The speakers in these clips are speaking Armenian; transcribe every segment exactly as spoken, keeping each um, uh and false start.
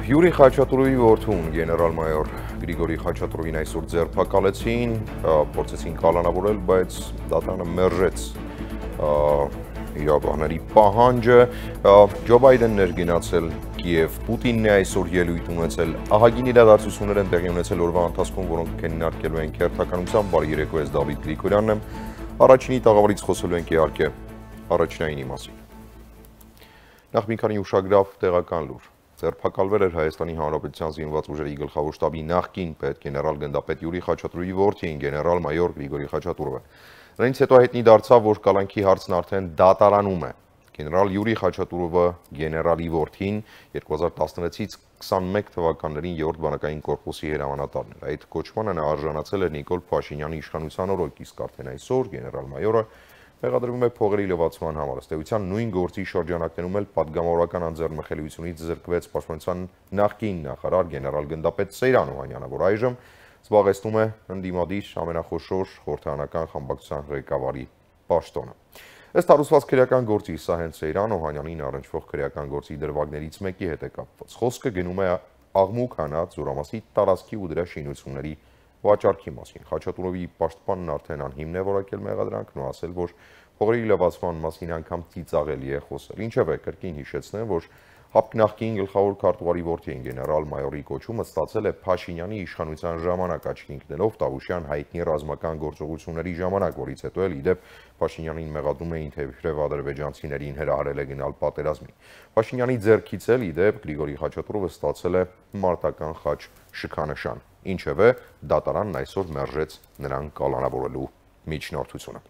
Յուրի Խաչատուրովի որդուն գեներալ-մայոր Գրիգորի Խաչատուրովին այսօր ձերբակալեցին, փորձեցին կալանավորել, բայց դատարանը մերժեց իրավահների պահանջը։ Ջո Բայդենն էր գնացել Կիև, Պուտինն է այսօր ելույթ ունեցել, ահագին իրադարձություններ են տեղի ունեցել օրվա ընթացքում, որոնք քննարկելու են քերթականությամբ։ Բարի երեկո, ես Դավիթ Գրիգորյանն եմ։ Առաջինի տաղավարից խոսելու ենք իհարկե առաջնայինի մասին։ Նախ մի քանի ուշագրավ տեղական լուր։ Ձերբակալվել էր Հայաստանի Հանրապետության զինված ուժերի գլխավոր շտաբի նախկին պետ գեներալ գնդապետ Յուրի Խաչատուրովի որդին գեներալ-մայոր Գրիգորի Խաչատուրովը։ Նրանից հետո հայտնի դարձավ, որ կալանքի հարցն արդեն դատարանում է։ Գեներալ Յուրի Խաչատուրովը գեներալի որդին երկու հազար տասնվեցից քսանմեկ թվականներին երրորդ բանակային կորպուսի հրամանատարն էր։ Այդ կոչմանը նա արժանացել էր Նիկոլ Փաշինյանի իշխանության օրոք, իսկ արդեն այսօր գեներալ-մայորը մեղադրվում է փողերի լվացման համար։ Ըստ էության նույն գործի շրջանակներում էլ պատգամավորական անձեռնմխելիությունից զրկվեց Պաշտպանության նախկին նախարար գեներալ գնդապետ Սեյրան Օհանյանը, որ այժմ զբաղեցնում է ընդդիմադիր ամենախոշոր խորհրդարանական խմբակցության ղեկավարի պաշտոնը։ Ըստ հարուցված քրեական գործի, սա հենց Սեյրան Օհանյանին առնչվող քրեական գործի դրվագներից մեկի հետ է կապված։ Խոսքը գնում է աղմուկ հանած Զորամասի տարածքի ու դրա շինությունների վաճառքի մասին։ Խաչատուրովի պաշտպանն արդեն անհիմն է որակել մեղադրանքն ու ասել, որ փողերի լվացման մասին անգամ ծիծաղելի է խոսել։ Ինչևէ, կրկին հիշեցնեմ, որ ՀԱՊԿ նախկին գլխավոր քարտուղարի որդին գեներալ-մայորի կոչումը ստացել է Փաշինյանի իշխանության ժամանակ, աչքի ընկնելով Տավուշյան հայտնի ռազմական գործողությունների ժամանակ, որից հետո էլ իդեպ Փաշինյանին մեղադրում էին, թե իբրև ադրբեջանցիներին հրահարել է գնալ պատերազմի։ Փաշինյանի ձեռքից էլ իդեպ Գրիգորի Խաչատուրովը ստացել է մարտական խաչ շքանշան։ Ինչևէ, դատարանն այսօր մերժեց նրան կալանավորելու միջնորդությունը։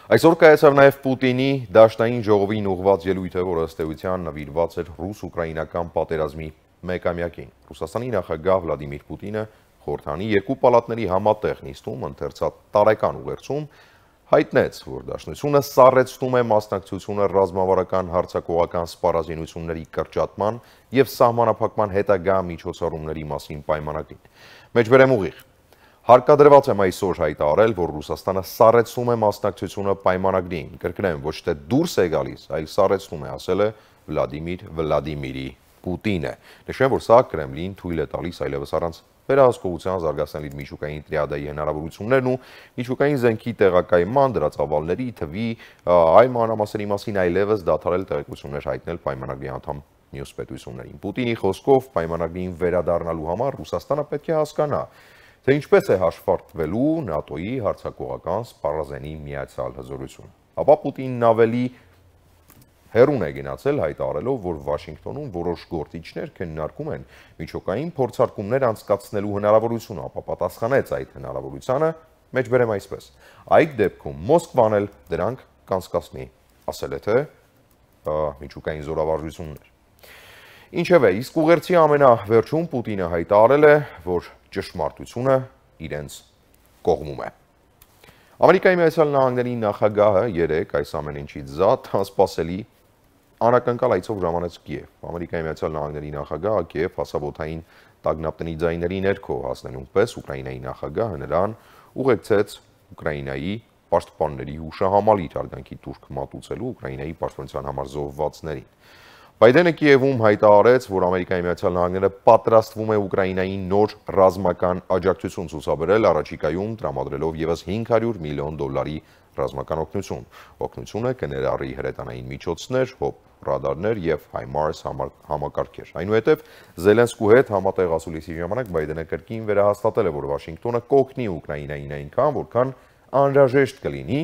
Այսօր կայացավ նաև Պուտինի դաշնային ժողովին ուղղված ելույթը, որը ըստ էության նվիրված էր ռուս-ուկրաինական պատերազմի մեկամյակին։ Ռուսաստանի նախագահ Վլադիմիր Պուտինը խորհրդանի երկու պալատների համատեղ նիստում ընթերցած տարեկան ուղերձում հայտնեց, որ դաշնությունը սառեցնում է մասնակցությունը ռազմավարական հարձակողական սպառազինությունների կրճատման և սահմանափակման հետագա միջոցառումների մասին պայմանագրին։ Մեջբերեմ ուղիղ։ Հարկադրված եմ այսօր հայտարարել, որ Ռուսաստանը սառեցնում է մասնակցությունը պայմանագրին, կրկնեմ, ոչ թե դուրս է գալիս, այլ սառեցնում է, ասել է Վլադիմիր Վլադիմիրի Պուտինը։ Նշեմ, որ սա Կրեմլին թույլ է տալիս այլևս առանց վերահսկողության զարգացնել իր միջուկային տրիադայի հնարավորություններն ու միջուկային զենքի տեղակայման, դրա ծավալների, թվի, այլ մանրամասերի մասին այլևս դադարել տեղեկություններ հայտնել պայմանագրի անդամ մյուս պետություններին։ Պուտինի խոսքով պայմանագրին վերադառնալու համար Ռուսաստանը պետք է հասկանա, թե ինչպես է հաշվարկվելու ՆԱՏՕ-ի հարձակողական սպառազենի միացյալ հզորությունը։ Ապա Պուտինն ավելի հեռուն է գնացել հայտարարելով, որ Վաշինգտոնում որոշ գործիչներ քննարկում են միջուկային փորձարկումներ անցկացնելու հնարավորությունը, ապա պատասխանեց այդ հնարավորությանը, մեջբերեմ այսպես. այդ դեպքում Մոսկվան էլ դրանք կանցկացնի, ասել է թե միջուկային զորավարժություններ։ Ինչևէ, իսկ ուղերձի ամենավերջում Պուտինը հայտարարել է, որ ճշմարտությունը իրենց կողմում է։ Ամերիկայի Միացյալ Նահանգների նախագահը երեկ այս ամեն ինչից զատ անսպասելի անակնկալ այցով ժամանեց Կիև։ Ամերիկայի Միացյալ Նահանգների նախագահը Կիև հասաբոթային տագնապտնի ձայների ներքո հասնելուն պես Ուկրաինայի նախագահը նրան ուղեկցեց Ուկրաինայի պաշտպանների հուշահամալիր հարգանքի տուրք մատուցելու Ուկրաինայի պաշտպանության համար զոհվածներին։ Բայդենը Կիևում հայտարարեց, որ Ամերիկայի Միացյալ Նահանգները պատրաստվում է Ուկրաինային նոր ռազմական աջակցություն ցուցաբերել, առաջիկայում տրամադրելով ևս հինգ հարյուր միլիոն դոլարի ռազմական օգնություն։ Օգնությունը կներառի հրետանային միջոցներ, հոպ ռադարներ և հայմարս համակարգեր։ Այնուհետև Զելենսկու հետ համատեղ ասուլիսի ժամանակ Բայդենը կրկին վերահաստատել է, որ Վաշինգտոնը կօգնի Ուկրաինային այնքան, որքան անհրաժեշտ կլինի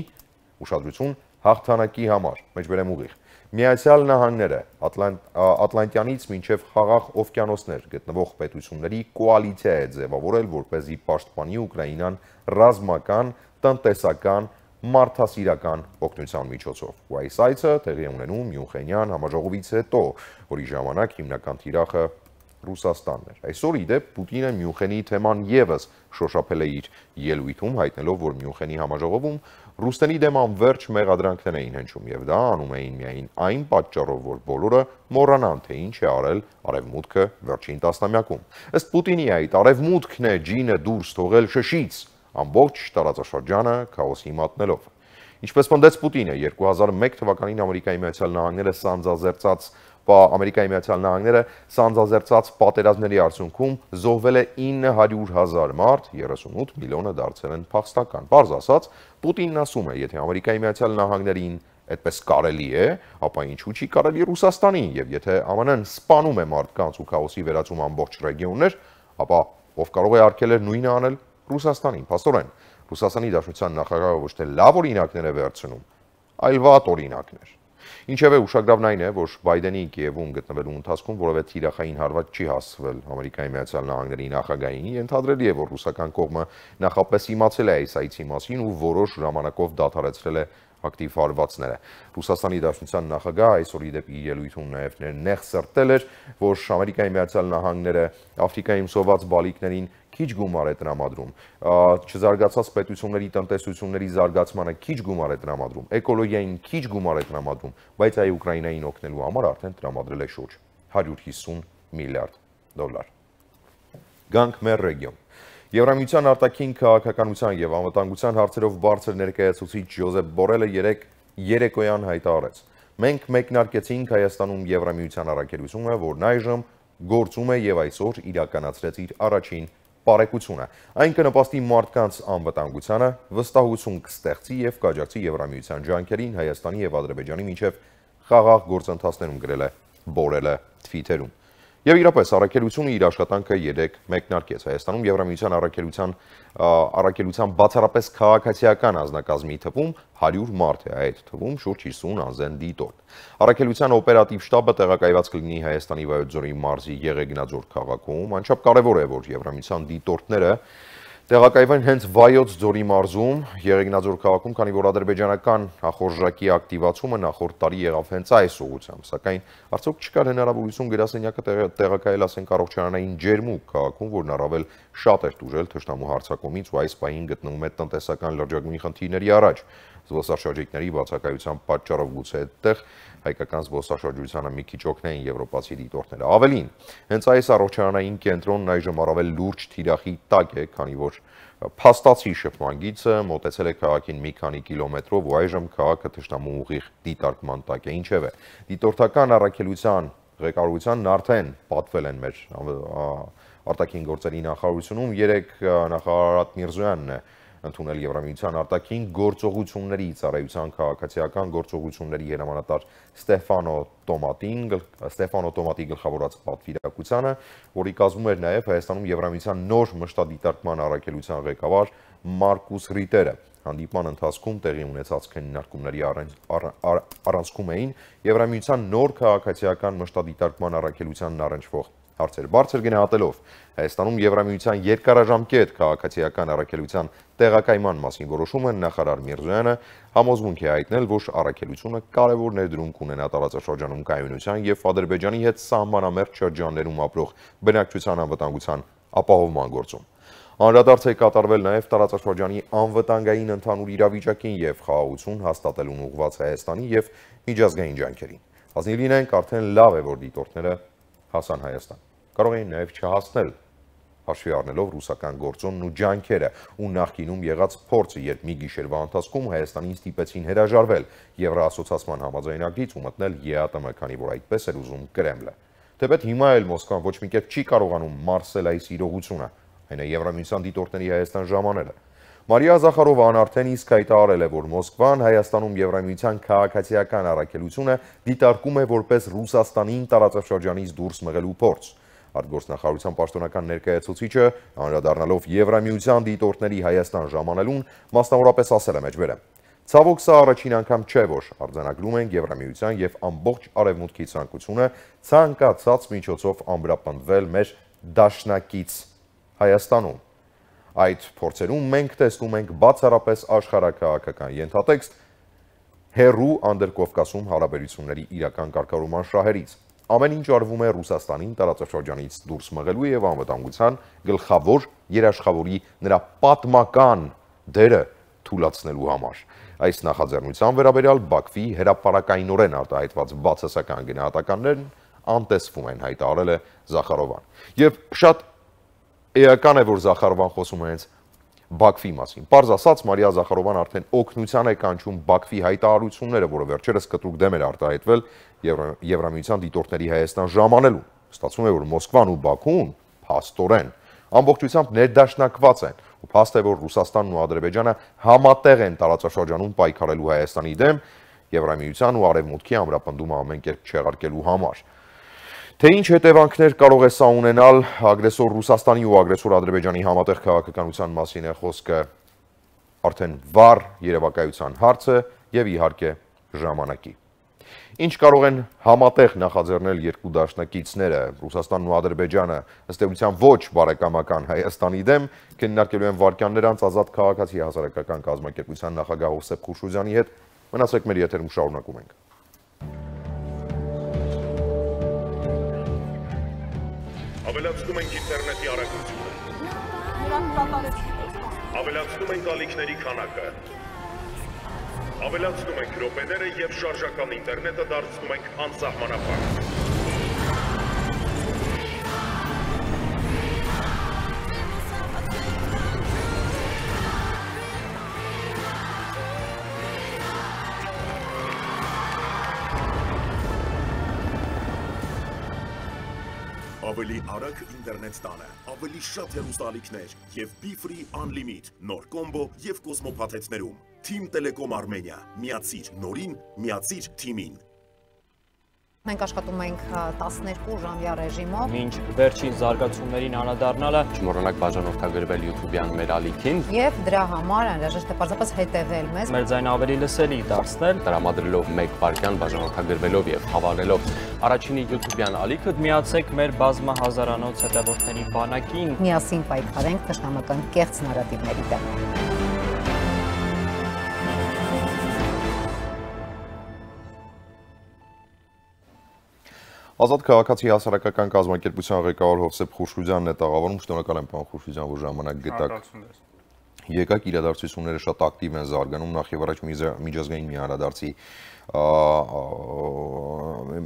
ուշադրություն հաղթանակի համար։ Մեջբերեմ ուղիղ։ Միացյալ Նահանգները Ատլանտյանից մինչև Խաղաղ օվկիանոսներ գտնվող պետությունների կոալիցիա է ձևավորել, որպեսզի պաշտպանի Ուկրաինան ռազմական, տնտեսական, մարդասիրական օգնության միջոցով։ Ու այս այցը տեղի է ունենում Մյունխենյան համաժողովից հետո, որի ժամանակ հիմնական թիրախը Ռուսաստանն էր։ Այսօր իդեպ Պուտինը Մյունխենի թեման ևս շոշափել է իր ելույթում, հայտնելով, որ Մյունխենի համաժողովում Ռուսների դեմ անվերջ մեղադրանքներ էին հնչում, եւ դա անում էին միայն այն պատճառով, որ բոլորը մոռանան, թե ինչ է արել Արևմուտքը վերջին տասնամյակում։ Ըստ Պուտինի այդ Արևմուտքն է ջինը դուրս թողել շշից, ամբողջ տարածաշրջանը քաոսի մատնելով։ Ինչպես պնդեց Պուտինը, երկու հազար մեկ թվականին Ամերիկայի Միացյալ Նահանգները սանձազերծած Ամերիկայի Միացյալ Նահանգները սանձազերծած պատերազմների արդյունքում զոհվել է ինը հարյուր հազար մարդ, երեսունութ միլիոնը դարձել են փախստական։ Պարզ ասած, Պուտինն ասում է, եթե Ամերիկայի Միացյալ Նահանգներին այդպես կարելի է, ապա ինչու չի կարելի Ռուսաստանին, եւ եթե ԱՄՆ-ն սպանում է մարդկանց ու քաոսի վերածում ամբողջ ռեգիոններ, ապա ով կարող է արգելել նույնը անել Ռուսաստանին։ Փաստորեն, Ռուսաստանի Դաշնության նախագահը ոչ թե լավ օրինակներ է վերցնում, այլ վատ օրինակներ։ Ինչևէ, ուշագրավն այն է, որ Բայդենի Կիևում գտնվելու ընթացքում որևէ թիրախային հարված չի հասցվել Ամերիկայի Միացյալ Նահանգների նախագահին, ենթադրելի է, որ ռուսական կողմը նախապես իմացել է այս այցի մասին ու որոշ ժամանակով դադարեցրել է ակտիվ հարվածները։ Ռուսաստանի Դաշնության նախագահը այսօր ի դեպ իր ելույթում նաև նեղ սրտել էր, որ Ամերիկայի Միացյալ Նահանգները Աֆրիկայում սոված բալիկներին քիչ գումար է տրամադրում, չզարգացած պետությունների տնտեսությունների զարգացմանը քիչ գումար է տրամադրում, էկոլոգիային քիչ գումար է տրամադրում, բայց այ Ուկրաինային օգնելու համար արդեն տրամադրել է շուրջ հարյուր հիսուն միլիարդ դոլար։ Գանք մեր ռեգիոն։ Եվրամիության արտաքին քաղաքականության եւ անվտանգության հարցերով բարձր ներկայացուցիչ Ջոզեփ Բորելը երեկ երեկոյան հայտարարեց. Մենք մեկնարկեցինք Հայաստանում Եվրամիության առաքելությունը, որն այժմ գործում է եւ այսօր իրականացրեց իր առաջին բարեկությունը։ Այն կնպաստի մարդկանց անվտանգությանը, վստահություն կստեղծի եւ կաջակցի Եվրամիության ջանքերին Հայաստանի եւ Ադրբեջանի միջև խաղաղ գործընթացներում, գրել է Բորելը թվիթերում։ Եվ իրապես առաքելությունը իր աշխատանքը երեք մեկնարկեց։ Հայաստանում Եվրամիության առաքելության առաքելության բացառապես քաղաքացիական անձնակազմի թվում հարյուր մարդ է, այդ թվում շուրջ հիսուն անձեն դիտորդ։ Առաքելության օպերատիվ շտաբը տեղակայված կլինի Հայաստանի Վայոց ձորի մարզի Եղեգնաձոր քաղաքում, անչափ կարևոր է, որ Եվրամիության դիտորդները տեղակայվեն հենց Վայոց ձորի մարզում, Եղեգնաձոր քաղաքում, քանի որ ադրբեջանական ախորժակի ակտիվացումը նախորդ տարի եղավ հենց այս ուղղությամբ, սակայն արդյոք չկար հնարավորություն գրասենյակը տեղակայել, ասենք, առողջարանային ջերմուկ քաղաքում, որն առավել շատ էր տուժել թշնամու հարձակումից ու այս պահին գտնվում է տնտեսական լրջագույն խնդիրների առաջ։ Զբոսաշրջիկների բացակայության պատճառով գուցե այդտեղ հայկական զբոսաշրջությանը մի քիչ օգնեն եվրոպացի դիտորդները։ Ավելին, հենց այս առողջարանային կենտրոնն այժմ առավել լուրջ թիրախի տակ է, քանի որ փաստացի շփման գիծը մոտեցել է քաղաքին մի քանի կիլոմետրով ու այժմ քաղաքը թշնամու ուղիղ դիտարկման տակ է։ Ինչևէ, դիտորդական առաքելության ղեկավարությանն արդեն պատվել են մեր արտաքին գործերի նախարարությունում, երեք նախարար Արադ Միրզոյանն է ընդունել Եվրամիության արտաքին գործողությունների ծառայության քաղաքացիական գործողությունների հրամանատար Ստեֆանո Տոմատին, Ստեֆանո Տոմատի գլխավորած պատվիրակությանը, որի կազմում էր նաև Հայաստանում Եվրամիության նոր մշտադիտարկման առաքելության ղեկավար Մարկուս Ռիտերը։ Հանդիպման ընթացքում տեղի ունեցած քննարկումների առանցքում էին Եվրամիության նոր քաղաքացիական մշտադիտարկման առաքելությանն առնչվող հարցեր։ Բարձր գնահատելով Հայաստանում Եվրամիության երկարաժամկետ քաղաքացիական առաքելության տեղակայման մասին որոշումը, նախարար Միրզոյանը համոզմունք է հայտնել, որ առաքելությունը կարևոր ներդրում կունենա տարածաշրջանում կայունության եւ Ադրբեջանի հետ սահմանամերձ շրջաններում ապրող բնակչության անվտանգության ապահովման գործում։ Անդրադարձ է կատարվել նաև տարածաշրջանի անվտանգային ընդհանուր իրավիճակին եւ խաղաղություն հաստատելուն ուղղված Հայաստանի եւ միջազգային ջանքերին։ Ազնիվ լինենք, արդեն լավ է, որ դիտորդները հասան Հայաստան։ Կարող էին նաև չհասնել, հաշվի առնելով ռուսական գործոնն ու ջանքերը ու նախկինում եղած փորձը, երբ մի գիշերվա ընթացքում Հայաստանին ստիպեցին հրաժարվել Եվրոասոցիացիան համաձայնագրից ու մտնել ԵԱՏՄ, քանի որ այդպես էր ուզում Կրեմլը։ Թեպետ հիմա էլ Մոսկվան ոչ մի կերպ չի կարողանում մարսել այս իրողությունը, այն է Եվրամիության դիտորդների Հայաստան ժամանելը։ Մարիա Զախարովան արդեն իսկ հայտարարել է, որ Մոսկվան Հայաստանում Եվրամիության քաղաքացիական առաքելությունը դիտարկում է որպես Ռուսաստանին տարածաշրջանից դուրս մղելու փորձ։ Արտգործնախարարության պաշտոնական ներկայացուցիչը, անդրադառնալով Եվրամիության դիտորդների Հայաստան ժամանելուն, մասնավորապես ասել է մեջբերը. Ցավոք սա առաջին անգամ չէ, որ արձանագրում ենք Եվրամիության եւ ամբողջ արևմուտքի ցանկությունը ցանկացած միջոցով ամրապնդվել մեր դաշնակից Հայաստանում։ Այդ փորձերում մենք տեսնում ենք բացառապես աշխարհաքաղաքական ենթատեքստ հերու Անդրկովկասում հարաբերությունների իրական կարգավորման շահերից։ Ամեն ինչ արվում է Ռուսաստանին տարածաշրջանից դուրս մղելու եւ անվտանգության գլխավոր երաշխավորի նրա պատմական դերը թույլատնելու համար։ Այս նախաձեռնության վերաբերյալ Բաքվի հրապարակայնորեն արտահայտված բացասական գնահատականներն անտեսվում են, հայտարարել է Զախարովան։ Եվ շատ էական է, որ Զախարովան խոսում է հենց Բաքվի մասին։ Պարզ ասած, Մարիա Զախարովան արդեն օգնության է կանչում Բաքվի հայտարարությունները, որը վերջերս կտրուկ դեմ էր արտահայտվել Եվրամիության դիտորդների Հայաստան ժամանելուն։ Ստացվում է, որ Մոսկվան ու Բաքուն փաստորեն ամբողջությամբ ներդաշնակված են, ու փաստ է, որ Ռուսաստանն ու Ադրբեջանը համատեղ են տարածաշրջանում պայքարելու Հայաստանի դեմ Եվրամիության ու Արևմուտքի ամրապնդումը ամեն կերպ չեղարկելու համար։ Թե ինչ հետևանքներ կարող է սա ունենալ ագրեսոր Ռուսաստանի ու ագրեսոր Ադրբեջանի համատեղ քաղաքականության մասին է խոսքը արդեն վառ երևակայության հարց է եւ իհարկե ժամանակի։ Ինչ կարող են համատեղ նախաձեռնել երկու դաշնակիցները, Ռուսաստանն ու Ադրբեջանը, ըստ էության ոչ բարեկամական Հայաստանի դեմ, քննարկելու են վարքյաններ անց Ազատ քաղաքացի հասարակական կազմակերպության նախագահ Հովսեփ Խուշուձյանի հետ։ Մնացեք մեր եթերում, շարունակում ենք։ Ավելացնում ենք ինտերնետի արագությունը։ Ավելացնում ենք ալիքների քանակը։ Ավելացնում ենք րոպեները եւ շարժական ինտերնետը դարձնում ենք անսահմանափակ։ Ավելի արագ ինտերնետ տանը, ավելի շատ հեռուստաալիքներ եւ Be-Free Unlimit, նոր կոմբո եւ Կոսմո փաթեթներում։ Team Telecom Armenia, միացիր նորին, միացիր թիմին։ Մենք աշխատում ենք տասներկու ժամյա ռեժիմով։ Մինչ վերջին զարգացումներին անդրադառնալը, Չմոռանաք բաժանորդագրվել YouTube-յան մեր ալիքին եւ դրա համար անհրաժեշտ է պարզապես հետեւել մեզ։ մեր ձայնը ավելի լսելի դարձնել, տրամադրելով մեկ վայրկյան բաժանորդագրվելով եւ հավանելով առաջինի YouTube-յան ալիքը, միացեք մեր բազմահազարանոց հետևորդների բանակին։ Միասին պայքարենք թշնամական կեղծ նարատիվների դեմ։ Ազատ քաղաքացի հասարակական կազմակերպության ղեկավար Հովսեփ Խուշուձյանն է տաղավարում, շնորհակալ եմ պարոն Խուշուձյան, որ ժամանակ գտաք։ Եկեք իրադարձությունները շատ ակտիվ են զարգանում, նախ եւ առաջ միջազգային մի անդրադարձի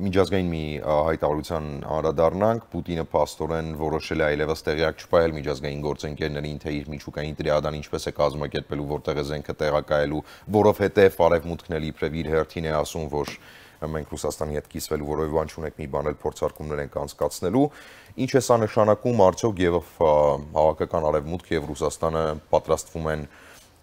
միջազգային մի հայտարարության անդրադառնանք, Պուտինը փաստորեն որոշել է այլևս տեղյակ չպահել միջազգային գործընկերներին, թե իր միջուկային տրիադան ինչպես է կազմակերպելու, որտեղ է զենքը տեղակայելու, որովհետեւ Արևմուտքն էլ իբրև իր հերթին է ասում, որ մենք Ռուսաստանի հետ կիսվելու որևէ բան չունենք, մի բան էլ փորձարկումներ ենք անցկացնելու։ Ինչ է սա նշանակում, արդյոք եւ հավաքական Արևմուտքը եւ Ռուսաստանը պատրաստվում են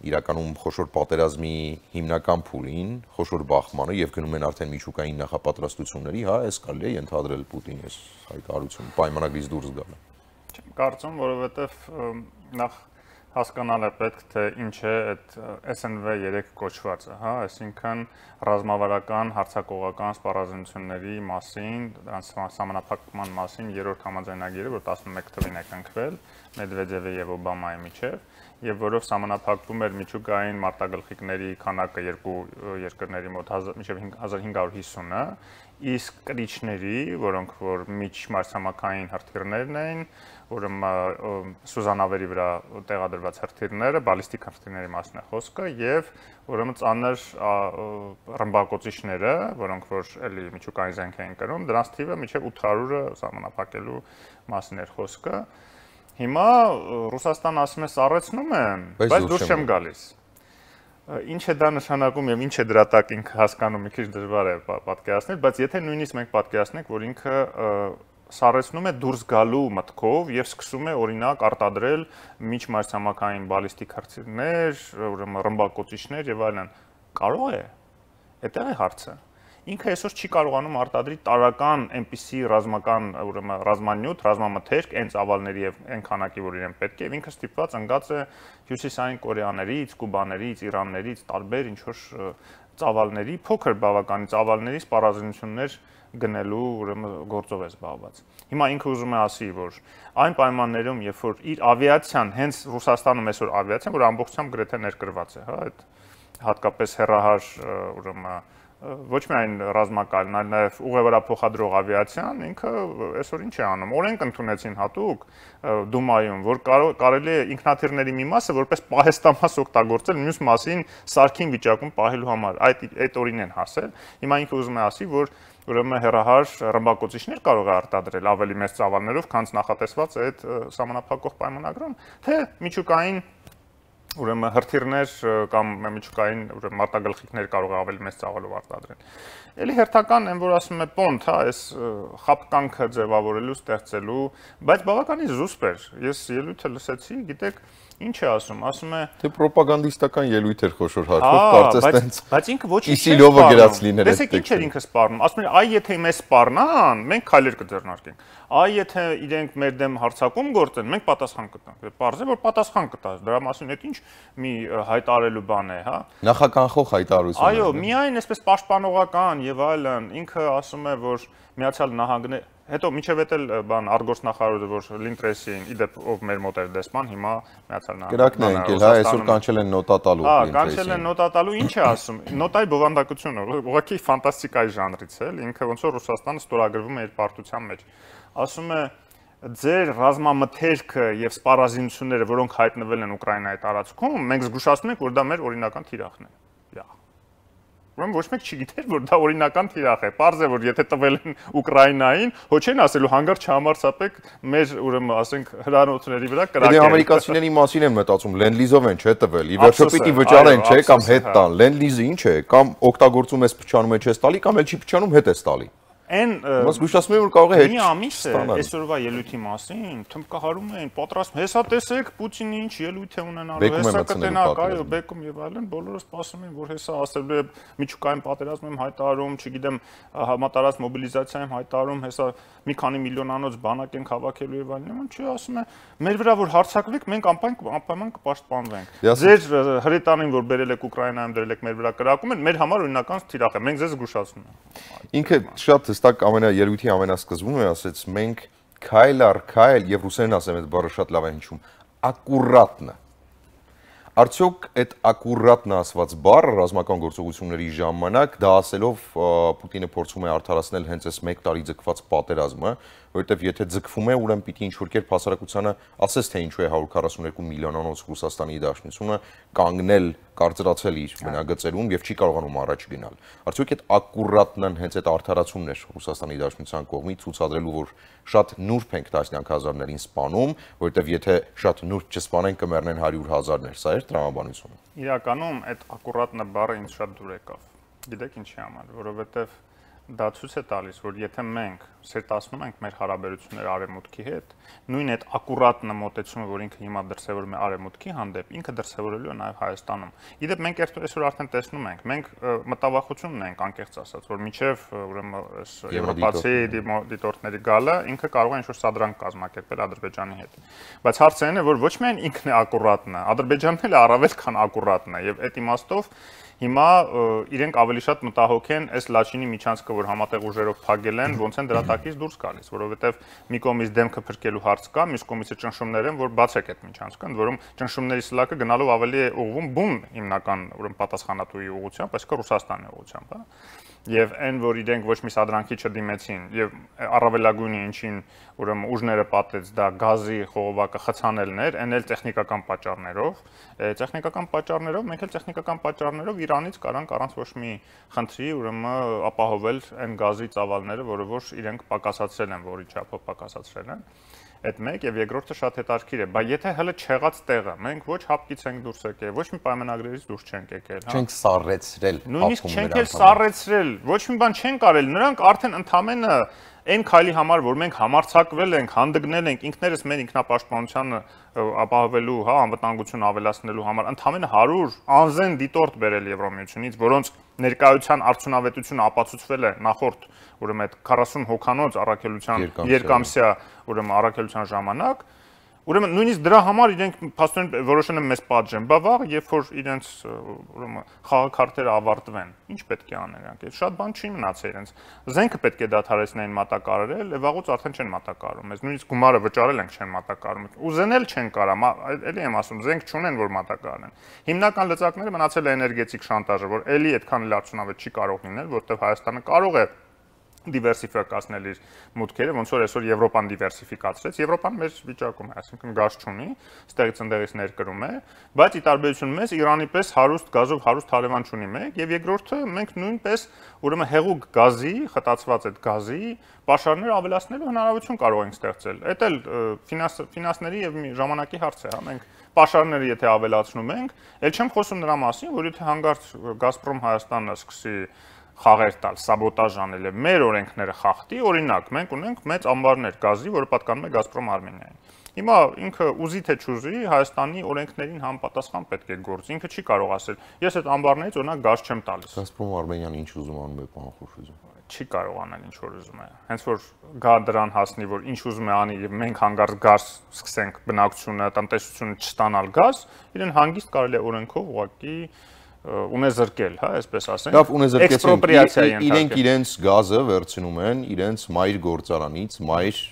իրականում խոշոր պատերազմի հիմնական փուլին, խոշոր բախմանը եւ գնում են արդեն միջուկային նախապատրաստությունների, հա, այս կարելի է ընդհանրել Պուտինի այս հայտարարությունը պայմանագրից դուրս գալը։ Չեմ կարծում, որովհետեւ նախ հասկանալ է պետք, թե ինչ է այդ S N V երեք կոչվածը, հա, այսինքն ռազմավարական հարձակողական սպառազինությունների մասին, դրանց սահմանափակման մասին երրորդ համաձայնագիրը, որ տասնմեկ թվականին է կնքվել Մեդվեդևի եւ Օբամայի միջեւ, եւ որով սահմանափակվում էր միջուկային մարտագլխիկների քանակը երկու երկրների մոտ մինչեւ հազար հինգ հարյուր հիսունը, իսկ կրիչների, որոնք որ միջմարսամաքային հրթիռներն էին, ուրեմն սուզանավերի վրա տեղադրված հրթիռները, բալիստիկ հրթիռների մասն է խոսքը, եւ ուրեմն ծանր ռմբակոծիչները, որոնք որ էլի միջուկային զենք էին կրում, դրանց թիվը մինչեւ ութ հարյուրը սահմանափակելու մասն էր խոսքը։ Հիմա Ռուսաստանը ասում է սառեցնում է, բայց դուրս չեմ գալիս։ Ինչ է դա նշանակում եւ ինչ է դրա տակ ինքը հասկանում, մի քիչ դժվար է պատկերացնել, բայց եթե նույնիսկ մենք պատկերացնենք, որ ինքը սառեցնում է դուրս գալու մտքով եւ սկսում է օրինակ արտադրել միջմարսամաքային բալիստիկ հրթիռներ, ուրեմն ռմբակոծիչներ եւ այլն, կարող է։ Այդտեղ է հարցը։ Ինքը այսօր չի կարողանում արտադրի տարական այնպիսի ռազմական, ուրեմն ռազմանյութ, ռազմամթերք, այն ծավալների եւ այն քանակի, որ իրեն պետք է, եւ ինքը ստիպված ընկած է հյուսիսային կորեաներից, կուբաներից, իրաններից, տարբեր ինչ որ ծավալների, փոքր բավականին ծավալների սպառազինություններ գնելու ուրեմն գործով է զբաղված։ Հիմա ինքը ուզում է ասի, որ այն պայմաններում, երբ որ իր ավիացիան, հենց Ռուսաստանում այսօր ավիացիան, որ ամբողջությամբ գրեթե ներկրված է, հա, այդ հատկապես հեռահար ուրեմն ոչ միայն ռազմական, այլ նաև ուղևորափոխադրող ավիացիան, ինքը այսօր ինչ է անում։ Օրենք ընդունեցին հատուկ Դումայում, որ կարելի է ինքնաթիռների մի մասը որպես պահեստամաս օգտագործել մյուս մասին սարքին վիճակում պահելու համար։ Այդ այդ օրին են հասել։ Հիմա ինքը ուզում է ասի, որ ուրեմն հեռահար ռմբակոծիչներ կարող է արտադրել ավելի մեծ ծավալներով, քան նախատեսված այդ սահմանափակող պայմանագրում, թե միջուկային ուրեմն հրթիռներ կամ միջուկային ուրեմն մարտագլխիկներ կարող է ավելի մեծ ծավալով արտադրել։ Էլի հերթական այն որ ասում է պոնտ, հա, այս խապկանքը ձևավորելու, ստեղծելու, բայց բավականին զուսպ էր։ Ես ելույթը լսեցի, գիտեք, ինչ է ասում, ասում է դե ռոպագանդիստական ելույթ էր խոշոր հաշվով, կարծես տենց։ Բայց ինքը ոչինչ չի Իսիլովը գրած լիներ։ Տեսեք ինչ էր ինքը սպառնում։ Ասում էր, այ եթե մեզ սպառնան, մենք քայլեր կձեռնարկենք։ Այ եթե իրենք մեր դեմ հարձակում գործեն, մենք պատասխան կտանք։ Պարզ է, որ պատասխան կտաս։ Դրա մասին այդ ինչ մի հայտարարելու բան է, հա։ Նախականխող հայտարարություն։ Այո, միայն այսպես պաշտպանողական եւ այլն, ինքը ասում է, որ Միացյալ Նահանգներ հետո միջև էտել բան արտգործնախարարը որ Լինտրեսին իդեպ ով մեր մոտ էր դեսպան հիմա Միացյալ Նահանգները կրակն է ընկել, հա, այսօր կանչել են նոտա տալու Լինտրեսին։ Հա, կանչել են նոտա տալու, ինչ է ասում։ Նոտայի բովանդակությունը, ուղղակի ֆանտաստիկայի ժանրից է, ինքը ոնց որ Ռուսաստանը ստորագրվում է իր պարտության մեջ։ Ասում է ձեր ռազմամթերքը եւ սպառազինությունները, որոնք հայտնվել են Ուկրաինայի տարածքում, մենք զգուշացնում ենք, որ դա մեր օրինական թիրախն է։ Յա Ուրեմն ոչ մեկ չգիտեր, որ դա օրինական թիրախ է։ Պարզ է, որ եթե տվել են Ուկրաինային, հո չեն ասելու հանգարց չհամարցապեք մեր, ուրեմն, ասենք, հրանոցների վրա կրակել։ Դե ամերիկացիների մասին են մտածում, լենդ-լիզով են չէ տվել։ Ի վերջո պիտի վճարեն, չէ, կամ հետ տան։ Լենդ-լիզը ինչ է, կամ օգտագործում ես փչանում ես տալի, կամ էլ չի փչանում հետ ես տալի։ Այն Մաս գուշտացնում եմ որ կարող է հետ։ Մի ամիս է այսօրվա ելույթի մասին, թմբկահարում էին, պատրաստ, հեսա տեսեք Պուտինը ինչ ելույթ է ունենալու, հեսա կտենակ, այո, բեկում եւ այլն, բոլորը սպասում են, որ հեսա ասելու է միջուկային պատերազմ եմ հայտարարում, չգիտեմ, համատարած մոբիլիզացիա եմ հայտարարում, հեսա մի քանի միլիոնանոց բանակ ենք հավաքելու եւ այլն, չի ասում է, մեր վրա որ հարձակվեք, մենք անպայման կպաշտպանվենք։ Ձեր հրետանին որ բերել եք Ուկրաինայում դրել եք մեր վրա կրակում են, մեր համար օրինական թիրախ է, մենք ձեզ զգուշացնում ենք։ Ինքը շատ հստակ ամենաելույթի ամենասկզբում է ասեց մենք քայլ առ քայլ եւ ռուսերեն ասեմ այդ բառը շատ լավ է հնչում ակուրատնը Արդյոք այդ ակուրատնը ասված բառը ռազմական գործողությունների ժամանակ դա ասելով Պուտինը փորձում է արդարացնել հենց այս մեկ տարի ձգված պատերազմը, որովհետև եթե ձգվում է, ուրեմն պիտի ինչ-որ կերպ հասարակությանը ասես թե ինչու է հարյուր քառասունյոթ միլիոնանոց Ռուսաստանի Դաշնությունը կանգնել, կարծրացել իր բնագծերում եւ չի կարողանում առաջ գնալ։ Արդյոք այդ ակուրատնն հենց այդ արդարացումն է Ռուսաստանի Դաշնության կողմից ցուցադրելու, որ շատ նուրբ ենք տասնյակ հազարներին սպանում, որովհետև եթե շատ նուրբ չսպանեն կմեռնեն հարյուր հազարներ, սա է տրամաբանությունը։ Իրականում այդ ակուրատնը բառը ինձ շատ դուր եկավ։ Գիտեք ինչի համար, որովհետև դա ցույց է տալիս, որ եթե մենք սերտացնում ենք մեր հարաբերությունները արևմուտքի հետ, նույն այդ ակուրատնը մոտեցումը, որ ինքը հիմա դրսևորում է արևմուտքի հանդեպ, ինքը դրսևորելու է նաև Հայաստանում։ Իդեպ մենք այսօր արդեն տեսնում ենք, մենք մտավախություն ունենք, անկեղծ ասած, որ մինչև ուրեմն այս եվրոպացի դիտորդների գալը ինքը կարող է ինչ-որ սադրանք կազմակերպել Ադրբեջանի հետ։ Բայց հարցը այն է, որ ոչ միայն ինքն է ակուրատնը, Ադրբեջանն էլ առավել քան ակուրատնն է, եւ այդ իմաստով հիմա իրենք ավելի շատ մտահոգ են այս Լաչինի միջանցքը, որ համատեղ ուժերով փակել են, ոնց են դրա տակից դուրս գալիս, որովհետև մի կողմից դեմքը փրկելու հարց կա, մյուս կողմից ճնշումներ են, որ բացեք այդ միջանցքը, ընդ որում ճնշումների սլակը գնալով ավելի է ուղղվում բուն հիմնական ուրեմն պատասխանատուի ուղղությամբ, այսինքն Ռուսաստանի ուղղությամբ, հա։ Եվ այն, որ իրենք ոչ մի սադրանքի չդիմեցին, եւ առավելագույնը ինչին ուրեմն ուժները պատեց դա գազի խողովակը խցանելներ, այն էլ տեխնիկական պատճառներով, տեխնիկական պատճառներով, մենք էլ տեխնիկական պատճառներով Իրանից կարանք առանց ոչ մի խնդրի ուրեմն ապահովել այն գազի ծավալները, որը որ իրենք պակասացրել են, որի չափով պակասացրել են։ Այդ մեկ եւ երկրորդը շատ հետաքրքիր է, բայց եթե հələ չեղած տեղը, մենք ոչ հապկից ենք դուրս եկել, ոչ մի պայմանագրերից դուրս չենք եկել, հա։ Չենք սառեցրել, նույնիսկ չենք էլ սառեցրել, ոչ մի բան չեն կարել, նրանք արդեն ընդամենը այն քայլի համար, որ մենք համարձակվել ենք, հանդգնել ենք ինքներս մեր ինքնապաշտպանությանը ապահովելու, հա, անվտանգություն ավելացնելու համար, ընդամենը հարյուր անզեն դիտորդ բերել Եվրոմիությունից, որոնց ներկայության արդյունավետությունը ապացուցվել է նախորդ ուրեմն այդ քառասուն հոգանոց առաքելության երկամսյա ուրեմն առաքելության ժամանակ, ուրեմն նույնիսկ դրա համար իրենք փաստորեն որոշեն են մեզ պատժեն, բա վաղ երբ որ իրենց ուրեմն խաղաքարտերը ավարտվեն, ինչ պետք է անեն իրանք, շատ բան չի մնացել իրենց, զենքը պետք է դադարեցնեն մատակարարել, եւ վաղուց արդեն չեն մատակարարում, մեզ նույնիսկ գումարը վճարել ենք չեն մատակարարում, ուզենել չեն կարա, էլի եմ ասում, զենք չունեն որ մատակարարեն։ Հիմնական լծակները մնացել է էներգետիկ շանտաժը, որ էլի այդքան էլ արդյունավետ չի կարող լինել, որտեղ Հայաստանը կարող է դիվերսիֆիկացնել իր մուտքերը, ոնց որ այսօր Եվրոպան դիվերսիֆիկացրեց, Եվրոպան մեր վիճակում է, այսինքն գազ չունի, ստեղից ընդեղից ներկրում է, բայց ի տարբերություն մեզ Իրանի պես հարուստ գազով հարուստ հարևան չունի մեկ, եւ երկրորդը մենք նույնպես ուրեմն հեղուկ գազի, խտացված այդ գազի պաշարներ ավելացնելու հնարավորություն կարող ենք ստեղծել։ Էդ էլ ֆինանսների եւ ժամանակի հարց է, հա, մենք Պաշարները եթե ավելացնում ենք, ել չեմ խոսում նրա մասին, որ եթե հանգարց Գազպրոմ Հայաստանը սկսի խաղեր տալ, սաբոտաժ անել եւ մեր օրենքները խախտի, օրինակ, մենք ունենք մեծ ամբարներ գազի, որը պատկանում է Գազպրոմ Արմենիային։ Հիմա ինքը ուզի թե չուզի Հայաստանի օրենքներին համապատասխան պետք է գործի։ Ինքը չի կարող ասել, ես այդ ամբարներից օրինակ գազ չեմ տալիս։ Գազպրոմ Արմենիան ինչ ուզում անում է, պարոն Խորշիդзе։ Չի կարող անել ինչ որ ուզում է։ Հենց որ գա դրան հասնի, որ ինչ ուզում է անի եւ մենք հանգարց գազ սկսենք բնակչությունը, տնտեսությունը չստանալ գազ, իրեն հանգիստ կարելի է օրենքով ուղղակի ունեզրկել, հա, այսպես ասենք։ Լավ, ունեզրկեցին։ Իրենք իրենց գազը վերցնում են իրենց մայր գործարանից, մայր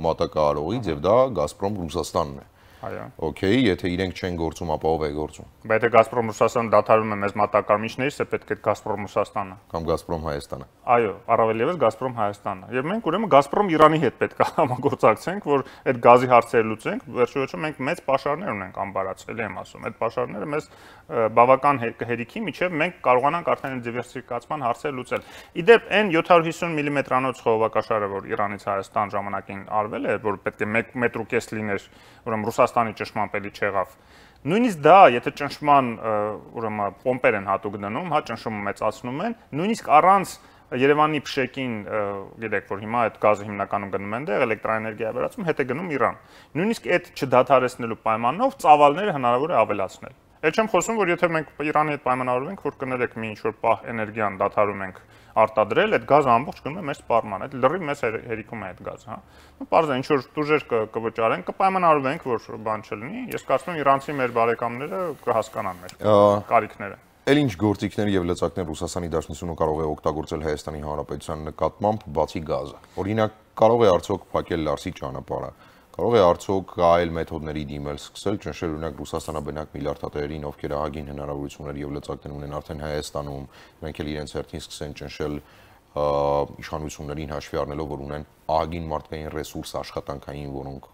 մատակարարողից եւ դա Գազպրոմ Ռուսաստանն է։ Այո։ Okay, եթե իրենք չեն գործում, ապա ով է գործում։ Բայց եթե Գազպրոմ Ռուսաստանը դադարում է մեզ մատակարարիչներից, է պետք է Գազպրոմ Ռուսաստանը կամ Գազպրոմ Հայաստանը։ Այո, առավել եւս Գազպրոմ Հայաստանը։ Եվ մենք ուրեմն Գազպրոմ Իրանի հետ պետք է համագործակցենք, որ այդ գազի հարցերը լուծենք, վերջիվերջո մենք մեծ պաշարներ ունենք ամբարացել, եմ ասում։ Այդ պաշարները մեզ բավական հերիքի միջև մենք կարողանանք արդեն դիվերսիֆիկացման հարցեր լուծել։ Իդեպ այն յոթ հիսուն միլիմետրանոց խողովակաշարը, որ Իրանից Հայաստան ժամանակին արվել է, որ պետք է մեկ մետր ու կես լիներ, ուրեմն Ռուսաստանի ճնշմամբ էլի չեղավ։ Նույնիսկ դա, եթե ճնշման ուրեմն պոմպեր են հատուկ դնում, հա ճնշումը մեծացնում են, նույնիսկ առանց Երևանի փշեկին, գիտեք, որ հիմա այդ գազը հիմնականում գնում են դեղ, էլեկտրաէներգիա վերածում, հետ է գնում Իրան։ Նույնիսկ այդ չդադարեցնելու պայմանով ծավալները հնարավոր է ավելացնել։ Էլ չեմ խոսում, որ եթե մենք Իրանի հետ պայմանավորվենք, որ կներեք մի ինչ-որ պահ էներգիան դադարում ենք արտադրել, այդ գազը ամբողջ գնում է մեր սպառման, այդ լրիվ մեծ հերիքում է այդ գազը, հա։ Ու պարզ է, ինչ որ տուժեր կվճարենք, կպայմանավորվենք, որ բան չլինի։ Ես կարծում եմ իրանցի մեր բարեկամները կհասկանան մեր կարիքները։ Էլ ինչ գործիքներ եւ լծակներ Ռուսաստանի Դաշնությունը կարող է օգտագործել Հայաստանի Հանրապետության նկատմամբ բացի գազը։ Օրինակ, կարող է արդյոք փակել Լարսի ճանապարհը, կարող է արդյոք այլ մեթոդների դիմել, սկսել ճնշել օրինակ Ռուսաստանաբնակ միլիարդատերերին, ովքեր ահագին հնարավորություններ եւ լծակներ ունեն արդեն Հայաստանում, նրանք էլ իրենց հերթին սկսեն ճնշել իշխանություններին հաշվի առնելով, որ ունեն ահագին մարդկային ռեսուրս աշխատանքային, որոնք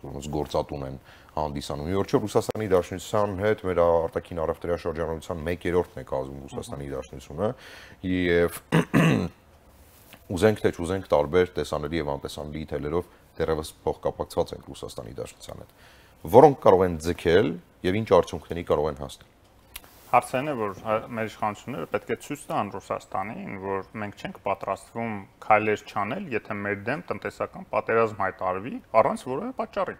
ոնց գործատուն են հանդիսանում։ Իհարկե Ռուսաստանի Դաշնության հետ մեր արտաքին առևտրի շրջանառության մեկերորդն է կազմում Ռուսաստանի Դաշնությունը եւ ուզենք թե չուզենք տարբեր տեսանելի եւ անտեսանելի թելերով դեռևս փոխկապակցված են Ռուսաստանի Դաշնության հետ, որոնք կարող են ձգել եւ ինչ արդյունքների կարող են հասնել։ Հարցն է, որ մեր իշխանությունները պետք է ցույց տան Ռուսաստանին, որ մենք չենք պատրաստվում քայլեր չանել, եթե մեր դեմ տնտեսական պատերազմ հայտարարվի առանց որևէ պատճառի։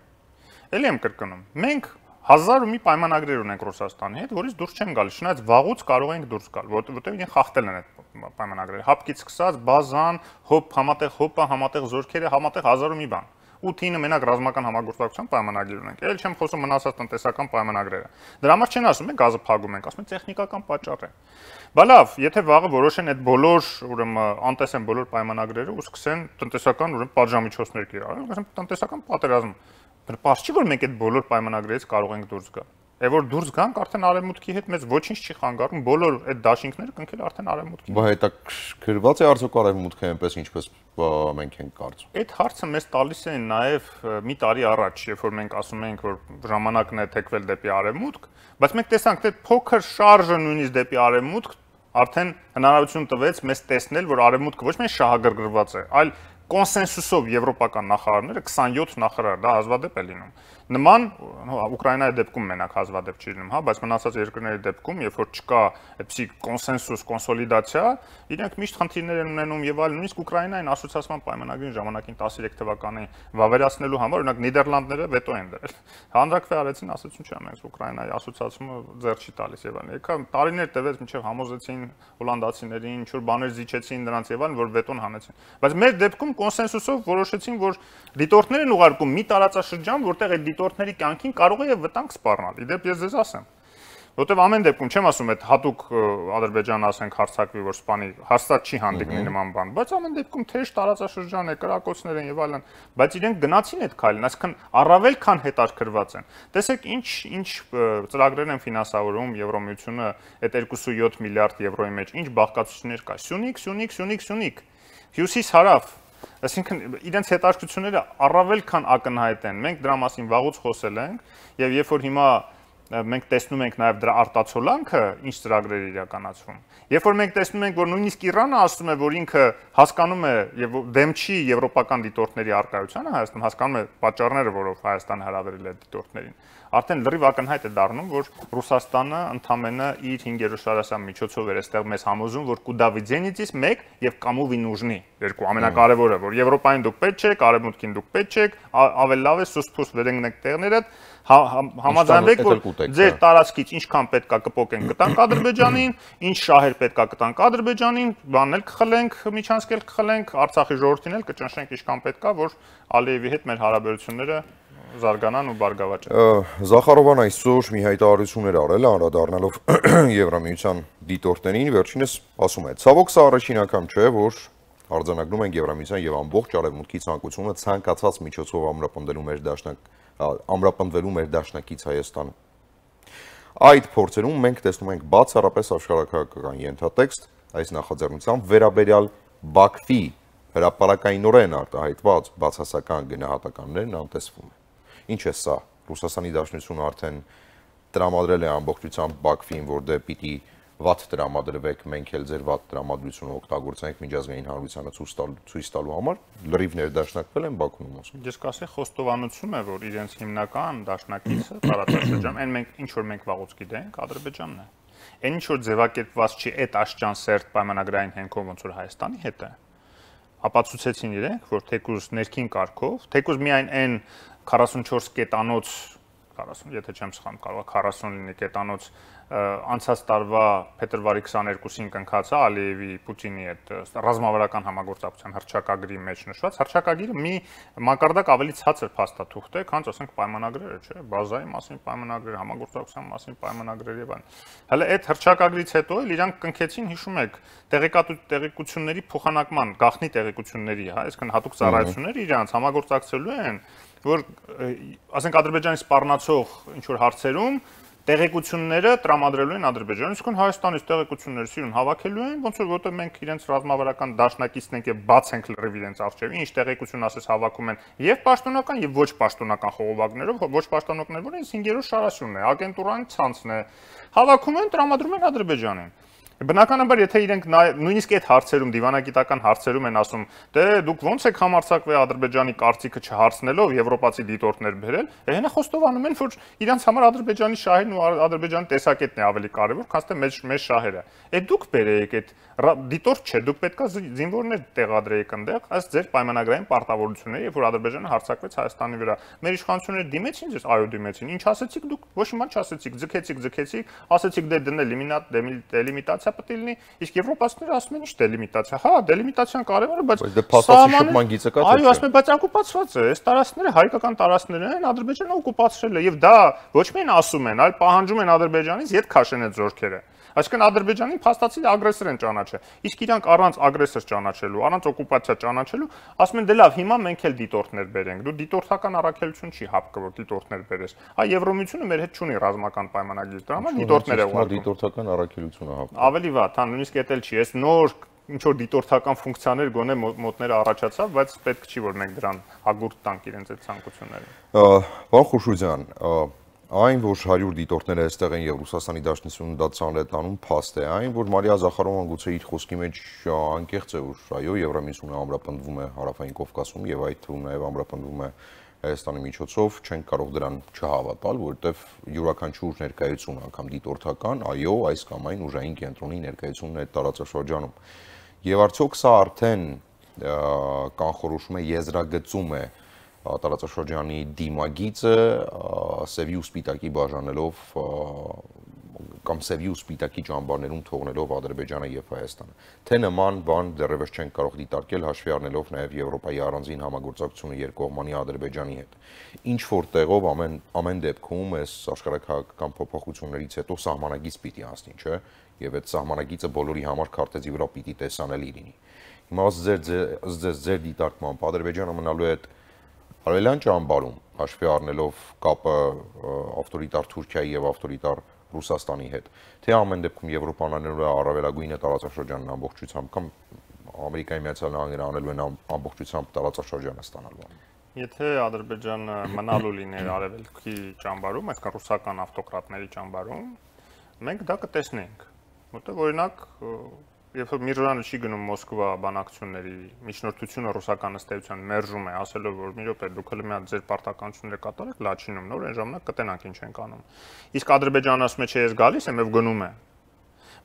Էլի եմ կրկնում, մենք հազար ու մի պայմանագրեր ունենք Ռուսաստանի հետ, որից դուրս չեն գալիս, չնայած վաղուց կարող ենք դուրս գալ, որովհետև իրեն խախտել են այդ պայմանագրերը, հապկից սկսած, բազան, հոբ, համատեղ հոպը, համատեղ զորքերը, համատեղ հազար ու մի բան։ ութը մենակ ռազմական համագործակցության պայմանագիր ունենք։ Էլ չեմ խոսում մնացած տնտեսական պայմանագրերը։ Դրա համար չեն ասում, մենք գազը փակում ենք, ասում են տեխնիկական պատճառ է։ Բա լավ, եթե վաղը որոշեն այդ բոլոր, ուրեմն անտեսեն բոլոր պայմանագրերը ու սկսեն տնտեսական ուրեմն պատժամիջոցներ կիրառել, ասեմ տնտեսական պատերազմ։ Պարզ չի, որ մենք այդ բոլոր պայմանագրերից կարող ենք դուրս գալ։ Եվ որ դուրս գանք, արդեն արևմուտքի հետ մեզ ոչինչ չի խանգարում, բոլոր այդ դաշինքները կնքել արդեն արևմուտքի։ Բա հետաքրքրված է արդյոք արևմուտքը այնպես ինչպես մենք ենք կարծում։ Այդ հարցը մեզ տալիս են նաև մի տարի առաջ, երբ որ մենք ասում ենք, որ ժամանակն է թեքվել դեպի արևմուտք, բայց մենք տեսանք, թե փոքր շարժը նույնիսկ դեպի արևմուտք արդեն հնարավորություն տվեց մեզ տեսնել, որ արևմուտքը ոչ միայն շահագրգռված է, այլ կոնսենսուսով եվրոպական նախարարները քսանյոթ նախարար, դա հազվադեպ է լինում։ Նման Ուկրաինայի դեպքում մենակ հազվադեպ չի լինում, հա, բայց մնացած երկրների դեպքում, երբ որ չկա այդպիսի կոնսենսուս, կոնսոլիդացիա, իրենք միշտ խնդիրներ են ունենում եւ այլ, նույնիսկ Ուկրաինային ասոցիացիան պայմանագրին ժամանակին տասներեք թվականի վավերացնելու համար, օրինակ Նիդերլանդները վետո են դրել։ Հանրակրվե արեցին, ասացին չէ, մենք Ուկրաինայի ասոցիացումը ձեռ չի տալիս եւ այլն։ Եկա տարիներ տևեց, մինչեւ համոզեցին հոլանդացիներին, ինչ որ բաներ զիջեցին նրանց եւ այլն, որ վետոն հանեցին։ Բայց մեր դեպքում կոնսենսուսով որոշեցին, որ դիտորդներ են ուղարկում մի տարածաշրջան, որտեղ այդ դիտորդների կյանքին կարող է վտանգ սպառնալ։ Իդեպ ես ձեզ ասեմ, որտեղ ամեն դեպքում չեմ ասում այդ հատուկ Ադրբեջանը ասենք հարցակվի, որ սպանի հաստատ չի հանդիպնի նման բան, բայց ամեն դեպքում թեժ տարածաշրջան է, կրակոցներ են եւ այլն, բայց իրենք գնացին այդ քայլին, այսինքն առավել քան հետաքրքրված են։ Տեսեք ինչ ինչ ծրագրեր են ֆինանսավորում Եվրոմիությունը այդ երկու յոթ միլիարդ եվրոյի մեջ, ինչ բաղկացություններ կա։ Սյունիք, Սյունիք, Սյունիք, Սյունիք, Հյուսիս-հարավ, այսինքն իրենց հետաքրքրությունները առավել քան ակնհայտ են։ Մենք դրա մասին վաղուց խոսել ենք եւ երբ որ հիմա մենք տեսնում ենք նաև դրա արտացոլանքը, ինչ ծրագրեր իրականացվում։ Երբ որ մենք տեսնում ենք, որ նույնիսկ Իրանը ասում է, որ ինքը հասկանում է եւ դեմ չի եվրոպական դիտորդների արկայությանը Հայաստանում, հասկանում է պատճառները, որով Հայաստանը հրավիրել է դիտորդներին, արդեն լրիվ ակնհայտ է դառնում, որ Ռուսաստանը ընդամենը իր հինգերորդ շարասան միջոցով էր այստեղ մեզ համոզում, որ կուդա վիդենիցիս մեկ եւ կամու վինուժնի, երկու ամենակարևորը, որ Եվրոպային դուք պետք չեք, Արևմուտքին դուք պետք չեք, ավելի լավ է սուսփուս վերընկնեք տեղներդ, համաձայնվեք, որ ձեր տարածքից ինչքան պետքա կպոկենք կտանք Ադրբեջանին, ինչ շահեր պետքա կտանք Ադրբեջանին, բանել կխլենք, միջանցքել կխլենք, Արցախի ժողովրդին էլ կճնշենք ինչքան պետքա, որ Ալիևի հետ մեր հարաբերությունները զարգանան ու բարգավաճեն։ Զախարովան այսօր մի հայտարարություն էր արել, անդրադառնալով Եվրամիության դիտորդներին, վերջինս ասում է. «Ցավոք սա առաջին անգամ չէ, որ արձանագրում ենք Եվրամիության եւ ամբողջ արևմուտքի ցանկությունը ցանկացած միջոցով ամրապնդելու մեր դաշնակ ամրապնդվելու մեր դաշնակից Հայաստանում։ Այդ փորձերում մենք տեսնում ենք բացառապես աշխարհակահաղական ենթատեքստ, այս նախաձեռնությամբ վերաբերյալ Բաքվի հրապարակայնորեն արտահայտված բացասական գնահատականներն անտեսվում է։ Ինչ է սա, Ռուսաստանի Դաշնությունը արդեն տրամադրել է ամբողջությամբ Բաքվին, որ դե պիտի վատ տրամադրվեք, մենք էլ ձեր վատ տրամադրությունը օգտագործենք միջազգային հանրությանը ցույց տալու համար, լրիվ ներդաշնակվել են Բաքվում ասում։ Ես կասեի խոստովանություն է, որ իրենց հիմնական դաշնակիցը տարածաշրջան, այն մենք ինչ որ մենք վաղուց գիտենք, Ադրբեջանն է։ Այն ինչ որ ձևակերպված չի այդ աշճան սերտ պայմանագրային հենքով ոնց որ Հայաստանի հետ է։ Ապացուցեցին իրենք, որ թեկուզ ներքին կարգով, թեկուզ միայն այն քառասունչորս կետանոց քառասուն, եթե չեմ սխալվում, կարող է քառասուն լինի կետանոց անցած տարվա փետրվարի քսաներկուսին կնքած է Ալիևի Պուտինի հետ ռազմավարական համագործակցության հռչակագրի մեջ նշված հռչակագիրը մի մակարդակ ավելի ցածր փաստաթուղթ է, քան ասենք պայմանագրերը, չէ՞, բազայի մասին պայմանագրեր, համագործակցության մասին պայմանագրեր եւ այլն։ Հələ այդ հռչակագրից հետո էլ իրանք կնքեցին, հիշում եք, տեղեկատվությունների փոխանակման, գաղտնի տեղեկությունների, հա, այսինքն հատուկ ծառայությունները իրանք համագործակցելու են, որ ասենք Ադրբեջանի սպառնացող ինչ որ հարցերում տեղեկությունները տրամադրելու են Ադրբեջանին, իսկ Հայաստանից տեղեկությունները սիրուն հավաքելու են, ոնց որ որտեղ մենք իրենց ռազմավարական դաշնակիցն ենք եւ բաց ենք լրիվ իրենց արժեվի, ինչ տեղեկություն ասես հավաքում են եւ պաշտոնական եւ ոչ պաշտոնական խողովակներով, ոչ պաշտոնականներ, որ ինձ հինգերորդ շարասյունն է, ագենտուրային ցանցն է, հավաքում են, տրամադրում են Ադրբեջանին։ Բնականաբար, եթե իրենք նույնիսկ այդ հարցերում, դիվանագիտական հարցերում են ասում, դե դուք ոնց եք համարձակվել Ադրբեջանի կարծիքը չհարցնելով եվրոպացի դիտորդներ բերել, հենա խոստովանում են, որ իրանց համար Ադրբեջանի շահերն ու Ադրբեջանի տեսակետն է ավելի կարևոր, քան թե մեր մեր շահերը։ Այդ դուք բերեիք այդ դիտորդ չէ, դուք պետքա զինվորներ տեղադրեիք այնտեղ, ըստ ձեր պայմանագրային պարտավորությունների, երբ որ Ադրբեջանը հարձակվեց Հայաստանի վրա։ Մեր իշխանությունները դիմեցին ձեզ, այո դիմեցին։ Ինչ ասեցիք դուք, ոչ մի բան չասեցիք, ձգեցիք, ձգեցիք, ասեցիք դե դնել դելիմիտացիա պետք է լինի, իսկ եվրոպացիները ասում են ինչ դելիմիտացիա։ Հա, դելիմիտացիան կարևոր է, բայց դե փաստացի շփման գիծը կա թե չէ։ Այո, ասում են, բայց օկուպացված է, այս տարածքները հայկական տարածքներ են, Ադրբեջանը օկուպացրել է, եւ դա ոչ միայն ասում են, այլ պահանջում են Ադրբեջանից ետ քաշեն այդ զորքերը։ Այսինքն Ադրբեջանին փաստացի ագրեսոր են ճանաչել։ Իսկ իրանք առանց ագրեսոր ճանաչելու, առանց օկուպացիա ճանաչելու, ասում են դե լավ, հիմա մենք էլ դիտորդներ բերենք։ Դու դիտորդական առաքելություն չի հապկը, որ դիտորդներ բերես։ Այ Եվրոմիությունը մեր հետ չունի ռազմական պայմանագիր, դրա համար դիտորդներ է ուղարկում։ Դիտորդական առաքելությունը հապկը։ Ավելի վատ, հա, նույնիսկ էդ էլ չի։ Այս նոր ինչ որ դիտորդական ֆունկցիաներ գոնե մոտները առաջացավ, բայց պետք չի որ մենք դրան հագուրտ տանք իրենց այդ ցանկությունները։ Պարոն Խուշուձյան, այն, որ հարյուր դիտորդները այստեղ են եւ Ռուսաստանի Դաշնությունը դա ցանել է տանում, փաստ է, այն, որ Մարիա Զախարովան գուցե իր խոսքի մեջ անկեղծ է, որ այո, Եվրամիությունը ամրապնդվում է Հարավային Կովկասում եւ այդ թվում նաեւ ամրապնդվում է Հայաստանի միջոցով, չենք կարող դրան չհավատալ, որովհետեւ յուրաքանչյուր ներկայություն անգամ դիտորդական, այո, այս կամ այն ուժային կենտրոնի ներկայությունն է տարածաշրջանում։ Եվ արդյոք սա արդեն կանխորոշում է, եզրագծում է տարածաշրջանի դիմագիծը սևի ու սպիտակի բաժանելով կամ սևի ու սպիտակի ճամբարներում թողնելով Ադրբեջանը եւ Հայաստանը։ Թե նման բան դեռևս չենք կարող դիտարկել հաշվի առնելով նաեւ Եվրոպայի առանձին համագործակցությունը երկկողմանի Ադրբեջանի հետ։ Ինչ որ տեղով ամեն ամեն դեպքում այս աշխարհակահաղական փոփոխություններից հետո սահմանագիծ պիտի անցնի, չէ՞, եւ այդ սահմանագիծը բոլորի համար քարտեզի վրա պիտի տեսանելի լինի։ Հիմա ձեր ձեր ձեր դիտարկմամբ Ադրբեջանը մնալու է արևելյան ճամբարում, հաշվի առնելով կապը ավտորիտար Թուրքիայի եւ ավտորիտար Ռուսաստանի հետ, թե ամեն դեպքում Եվրոպան անելու է առավելագույնը տարածաշրջանն ամբողջությամբ կամ Ամերիկայի Միացյալ Նահանգները անելու են ամբողջությամբ տարածաշրջանը ստանալու։ Եթե Ադրբեջանը մնալու լիներ արևելքի ճամբարում, այսինքն ռուսական ավտոկրատների ճամբարում, մենք դա կտեսնենք, որտեղ օրինակ երբ որ Միրզոյանը չի գնում Մոսկվա բանակցությունների, միջնորդությունը ռուսական ըստեյության մերժում է, ասելով որ մի րոպե դուք հենց մի հատ ձեր պարտականությունները կատարեք Լաչինում, նոր այն ժամանակ կտենանք ինչ ենք անում։ Իսկ Ադրբեջանը ասում է, չէ, ես գալիս եմ եւ գնում է։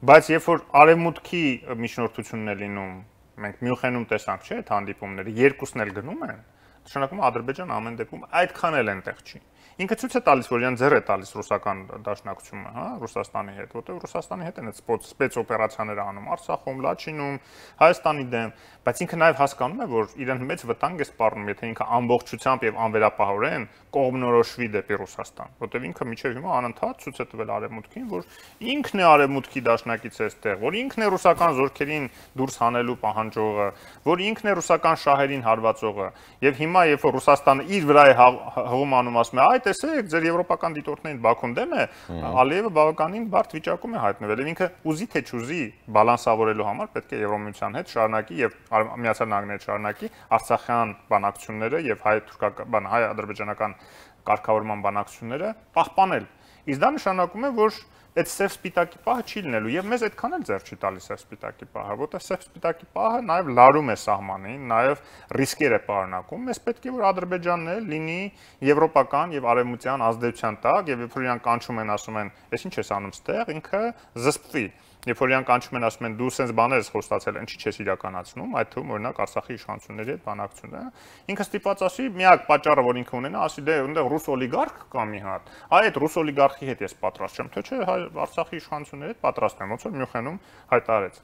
Բայց երբ որ արևմուտքի միջնորդությունն է լինում, մենք Մյունխենում տեսանք, չէ՞, այդ հանդիպումները երկուսն էլ գնում են, նշանակում է Ադրբեջանը ամեն դեպքում այդքան էլ այնտեղ չի։ Ինքը ցույց է տալիս, որ իրեն ձեռ է տալիս ռուսական դաշնակցությունը, հա, Ռուսաստանի հետ, որտեղ Ռուսաստանի հետ են այդ սպեցօպերացիաները անում Արցախում, Լաչինում, Հայաստանի դեմ, բայց ինքը նաև հասկանում է, որ իրեն մեծ վտանգ է սպառնում, եթե ինքը ամբողջությամբ եւ անվերապահորեն կողմնորոշվի դեպի Ռուսաստան, որտեղ ինքը միջև հիմա անընդհատ ցույց է տվել արևմուտքին, որ ինքն է արևմուտքի դաշնակից այստեղ, որ ինքն է ռուսական զորքերին դուրս հանելու պահանջողը, որ ինքն է ռուսական շահերին հարվածողը, եւ հիմա երբ որ Ռուսաստանը իր վրա է հղում անում, ասում է, այ տեսեք, ձեր եվրոպական դիտորդներին Բաքուն դեմ է, Ալիևը բավականին բարդ վիճակում է հայտնվել, եւ ինքը ուզի թե չուզի բալանսավորելու համար պետք է Եվրոմիության հետ շարունակի եւ Միացյալ Նահանգների հետ շարունակի Արցախյան բանակցությունները եւ հայ-թուրքական, հայ-ադրբեջանական կարգավորման բանակցությունները պահպանել։ Իսկ դա նշանակում է, որ այդ սև սպիտակի պահը չի լինելու եւ մեզ այդքան էլ ձեռ չի տալիս սև սպիտակի պահը, որտեղ սև սպիտակի պահը նաեւ լարում է սահմանին, նաեւ ռիսկեր է պարունակում։ Մեզ պետք է որ Ադրբեջանն էլ լինի եվրոպական եւ արևմտյան ազդեցության տակ եւ երբ որ իրանք կանչում են, ասում են, «Էս ինչ ես անում ստեղ», ինքը զսպվի։ Երբ որ իրանք կանչում են, ասում են, «Դու սենց բաներ ես խոստացել, ինչի՞ չես իրականացնում», այդ թվում օրինակ Արցախի իշխանությունների հետ բանակցությունը, ինքը ստիպված ասի, միակ պատճառը, որ ինքը ունենա, ասի, դե այնտեղ ռուս օլիգարխ կա մի հատ, այ այդ ռուս օլիգարխի հետ ես պատրաստ չեմ, թե չէ, Արցախի իշխանությունների հետ պատրաստ եմ, ոնց որ Մյունխենում հայտարարեց։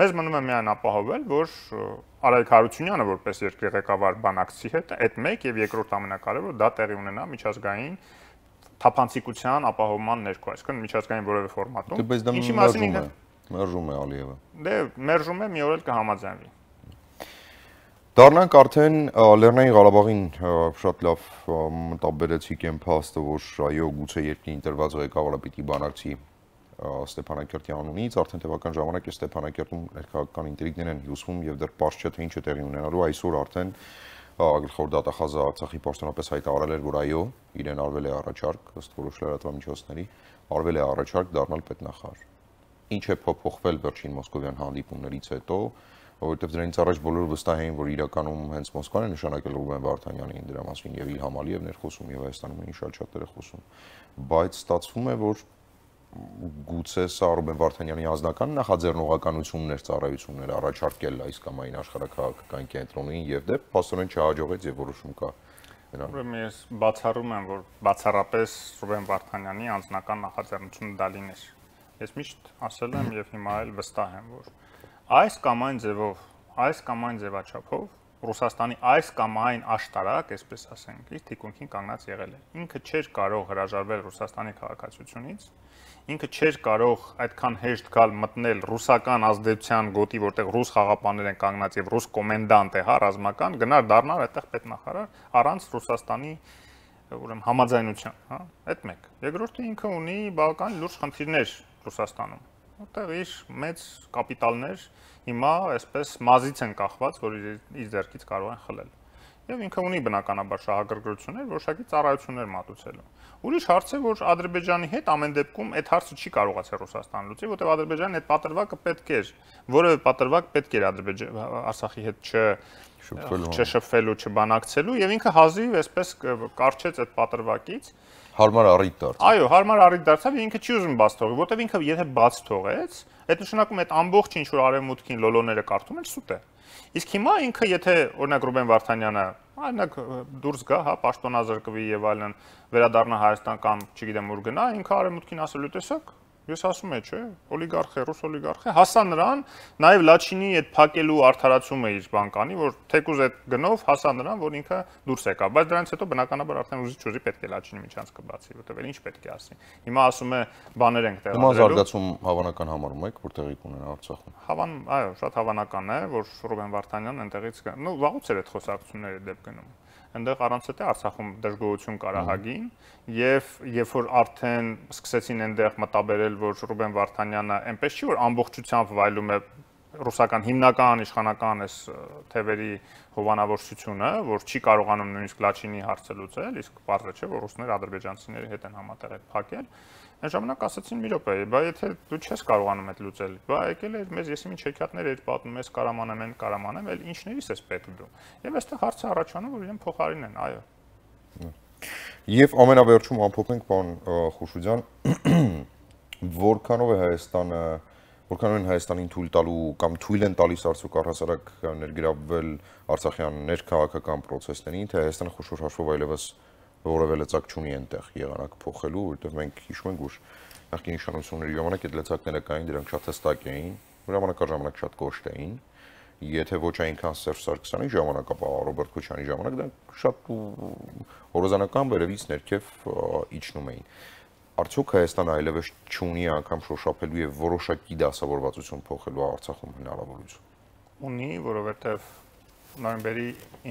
Մեզ մնում է միայն ապահովել, որ Արայք Հարությունյանը որպես երկրի ղեկավար բանակցի հետ, այդ մեկ եւ երկրորդ ամենակարևորը դա տեղի ունենա միջազգային թափանցիկության ապահովման ներքո, այսինքն միջազգային որևէ ֆորմատում։ Ինչի մասին ինքը մերժում է Ալիևը։ Դե մերժում է, մի օր էլ կհամաձայնվի։ Դառնանք արդեն Լեռնային Ղարաբաղին շատ լավ մտաբերեցիք այն փաստը, որ այո, գուցե երկրի ընտրված ղեկավարը պիտի բանակցի Ստեփանակերտի անունից, արդեն տևական ժամանակ է Ստեփանակերտում ներքաղաքական ինտրիգներ են հյուսվում եւ դեռ պարզ չէ թե ինչ է տեղի ունենալու, այսօր արդեն գլխավոր դատախազը Արցախի պաշտոնապես հայտարարել էր, որ այո, իրեն արվել է առաջարկ, ըստ որոշ լրատվամիջոցների, արվել է առաջարկ դառնալ պետնախարար։ Ինչ է փոփոխվել վերջին մոսկովյան հանդիպումներից հետո, որովհետև դրանից առաջ բոլորը վստահ էին, որ իրականում հենց Մոսկվան է նշանակել Ռուբեն Վարդանյանին դրա մասին եւ Իլհամ Ալիևն էր խոսում եւ Հայաստանում էին շատ շատերը խոսում, բայց ստացվում է, որ գուցե սա Ռուբեն Վարդանյանի անձնական նախաձեռնողականությունն էր, ծառայություններ առաջարկել այս կամ այն աշխարհաքաղաքական կենտրոնին եւ դե փաստորեն չհաջողեց եւ որոշում կա։ Ուրեմն ես բացառում եմ, որ բացառապես Ռուբեն Վարդանյանի անձնական նախաձեռնությունը դա լիներ։ Ես միշտ ասել եմ եւ հիմա էլ վստահ եմ, որ այս կամ այն ձևով, այս կամ այն ձևաչափով Ռուսաստանի այս կամ այն աշտարակ, այսպես ասենք, իր թիկունքին կանգնած եղել է։ Ինքը չէր կարող հրաժարվել Ռուսաստանի քաղաքացիությունից, ինքը չէր կարող այդքան հեշտ գալ մտնել ռուսական ազդեցության գոտի, որտեղ ռուս խաղապաններ են կանգնած եւ ռուս կոմենդանտ է, հա, ռազմական, գնար դառնալ այդտեղ պետնախարար առանց Ռուսաստանի ուրեմն համաձայնության, հա, այդ մեկ։ Երկրորդը ինքը ունի բավական լուրջ խնդիրներ Ռուսաստանում, որտեղ իր մեծ կապիտալներ հիմա այսպես մազից են կախված, որ իր ձեռքից կարող են խլել։ Եվ ինքը ունի բնականաբար շահագրգռություններ, որոշակի ծառայություններ մատուցելու։ Ուրիշ հարց է, որ Ադրբեջանի հետ ամեն դեպքում այդ հարցը չի կարողացել Ռուսաստանը լուծի, որտեղ Ադրբեջանն այդ պատրվակը պետք էր, որևէ պատրվակ պետք էր Ադրբեջան Արցախի հետ չշփվելու, չբանակցելու, եւ ինքը հազիվ այսպես կարճեց այդ պատրվակից։ Հարմար առիթ դարձավ։ Այո, հարմար առիթ դարձավ, ինքը չի ուզում բաց թողի, որտեղ ինքը եթե բաց թողեց, այդ նշանակում է այդ ամբողջ ինչ որ արևմուտքին լոլոները կարդում են սուտ է։ Իսկ հիմա ինքը եթե օրինակ Ռուբեն Վարդանյանը, օրինակ դուրս գա, հա, պաշտոնազրկվի եւ այլն, վերադառնա Հայաստան կամ չգիտեմ ուր գնա, ինքը արևմուտքին ասելու տեսակ, ես ասում եմ, չէ, օլիգարխ է, ռուս օլիգարխ է, հասա նրան, նաեւ Լաչինի այդ փակելու արդարացումը իր բանկանի, որ թեկուզ այդ գնով հասա նրան, որ ինքը դուրս եկա, բայց դրանից հետո բնականաբար արդեն ուզի չուզի պետք է Լաչինի միջանցքը բացի, որտեղ էլ ինչ պետք է ասի։ Հիմա ասում է բաներ ենք տեղադրելու։ Հիմա զարգացում հավանական համարում եք, որ տեղի կունենա Արցախում։ Հավան, այո, շատ հավանական է, որ Ռուբեն Վարդանյանն այնտեղից գա։ Նու վաղուց էր այդ խոսակցությունները դեպք գնում։ Այնտեղ առանց այդ Արցախում դժգոհություն կար ահագին եւ երբ որ արդեն սկսեցին այնտեղ մտաբերել, որ Ռուբեն Վարդանյանը այնպես չի որ ամբողջությամբ վայելում է ռուսական հիմնական իշխանական այս թևերի հովանավորչությունը, որ չի կարողանում նույնիսկ Լաչինի հարցը լուծել, իսկ բարձր չէ որ ռուսները ադրբեջանցիների հետ են համատեղ այդ փակել, Այն ժամանակ ասացին մի րոպե, բա եթե դու չես կարողանում այդ լուծել, բա եկել էր մեզ եսիմի չեքյատներ էր պատմում, ես կարամանեմ, են կարամանեմ, էլ ինչներիս ես պետք դու։ Եվ այստեղ հարցը առաջանում, որ իրեն փոխարինեն, այո։ Եվ ամենավերջում ամփոփենք, պարոն Խուշուձյան, որքանով է Հայաստանը, որքանով են Հայաստանին թույլ տալու կամ թույլ են տալիս արդյոք առհասարակ ներգրավվել Արցախյան ներքաղաքական process-ներին, թե Հայաստանը խոշոր հաշվով այլևս որևէ լծակ չունի այնտեղ եղանակ փոխելու, որովհետև մենք հիշում ենք, որ նախկին իշխանությունների ժամանակ այդ լծակները կային, դրանք շատ հստակ էին, ժամանակաժամանակ շատ կոշտ էին, եթե ոչ այնքան Սերժ Սարգսյանի ժամանակ, ապա Ռոբերտ Քոչարյանի ժամանակ դրանք շատ հորիզոնական վերևից ներքև իջնում էին։ Արդյոք Հայաստանը այլևս չունի անգամ շոշափելու եւ որոշակի դասավորվածություն փոխելու Արցախում հնարավորություն։ Ունի, որովհետև նոյեմբերի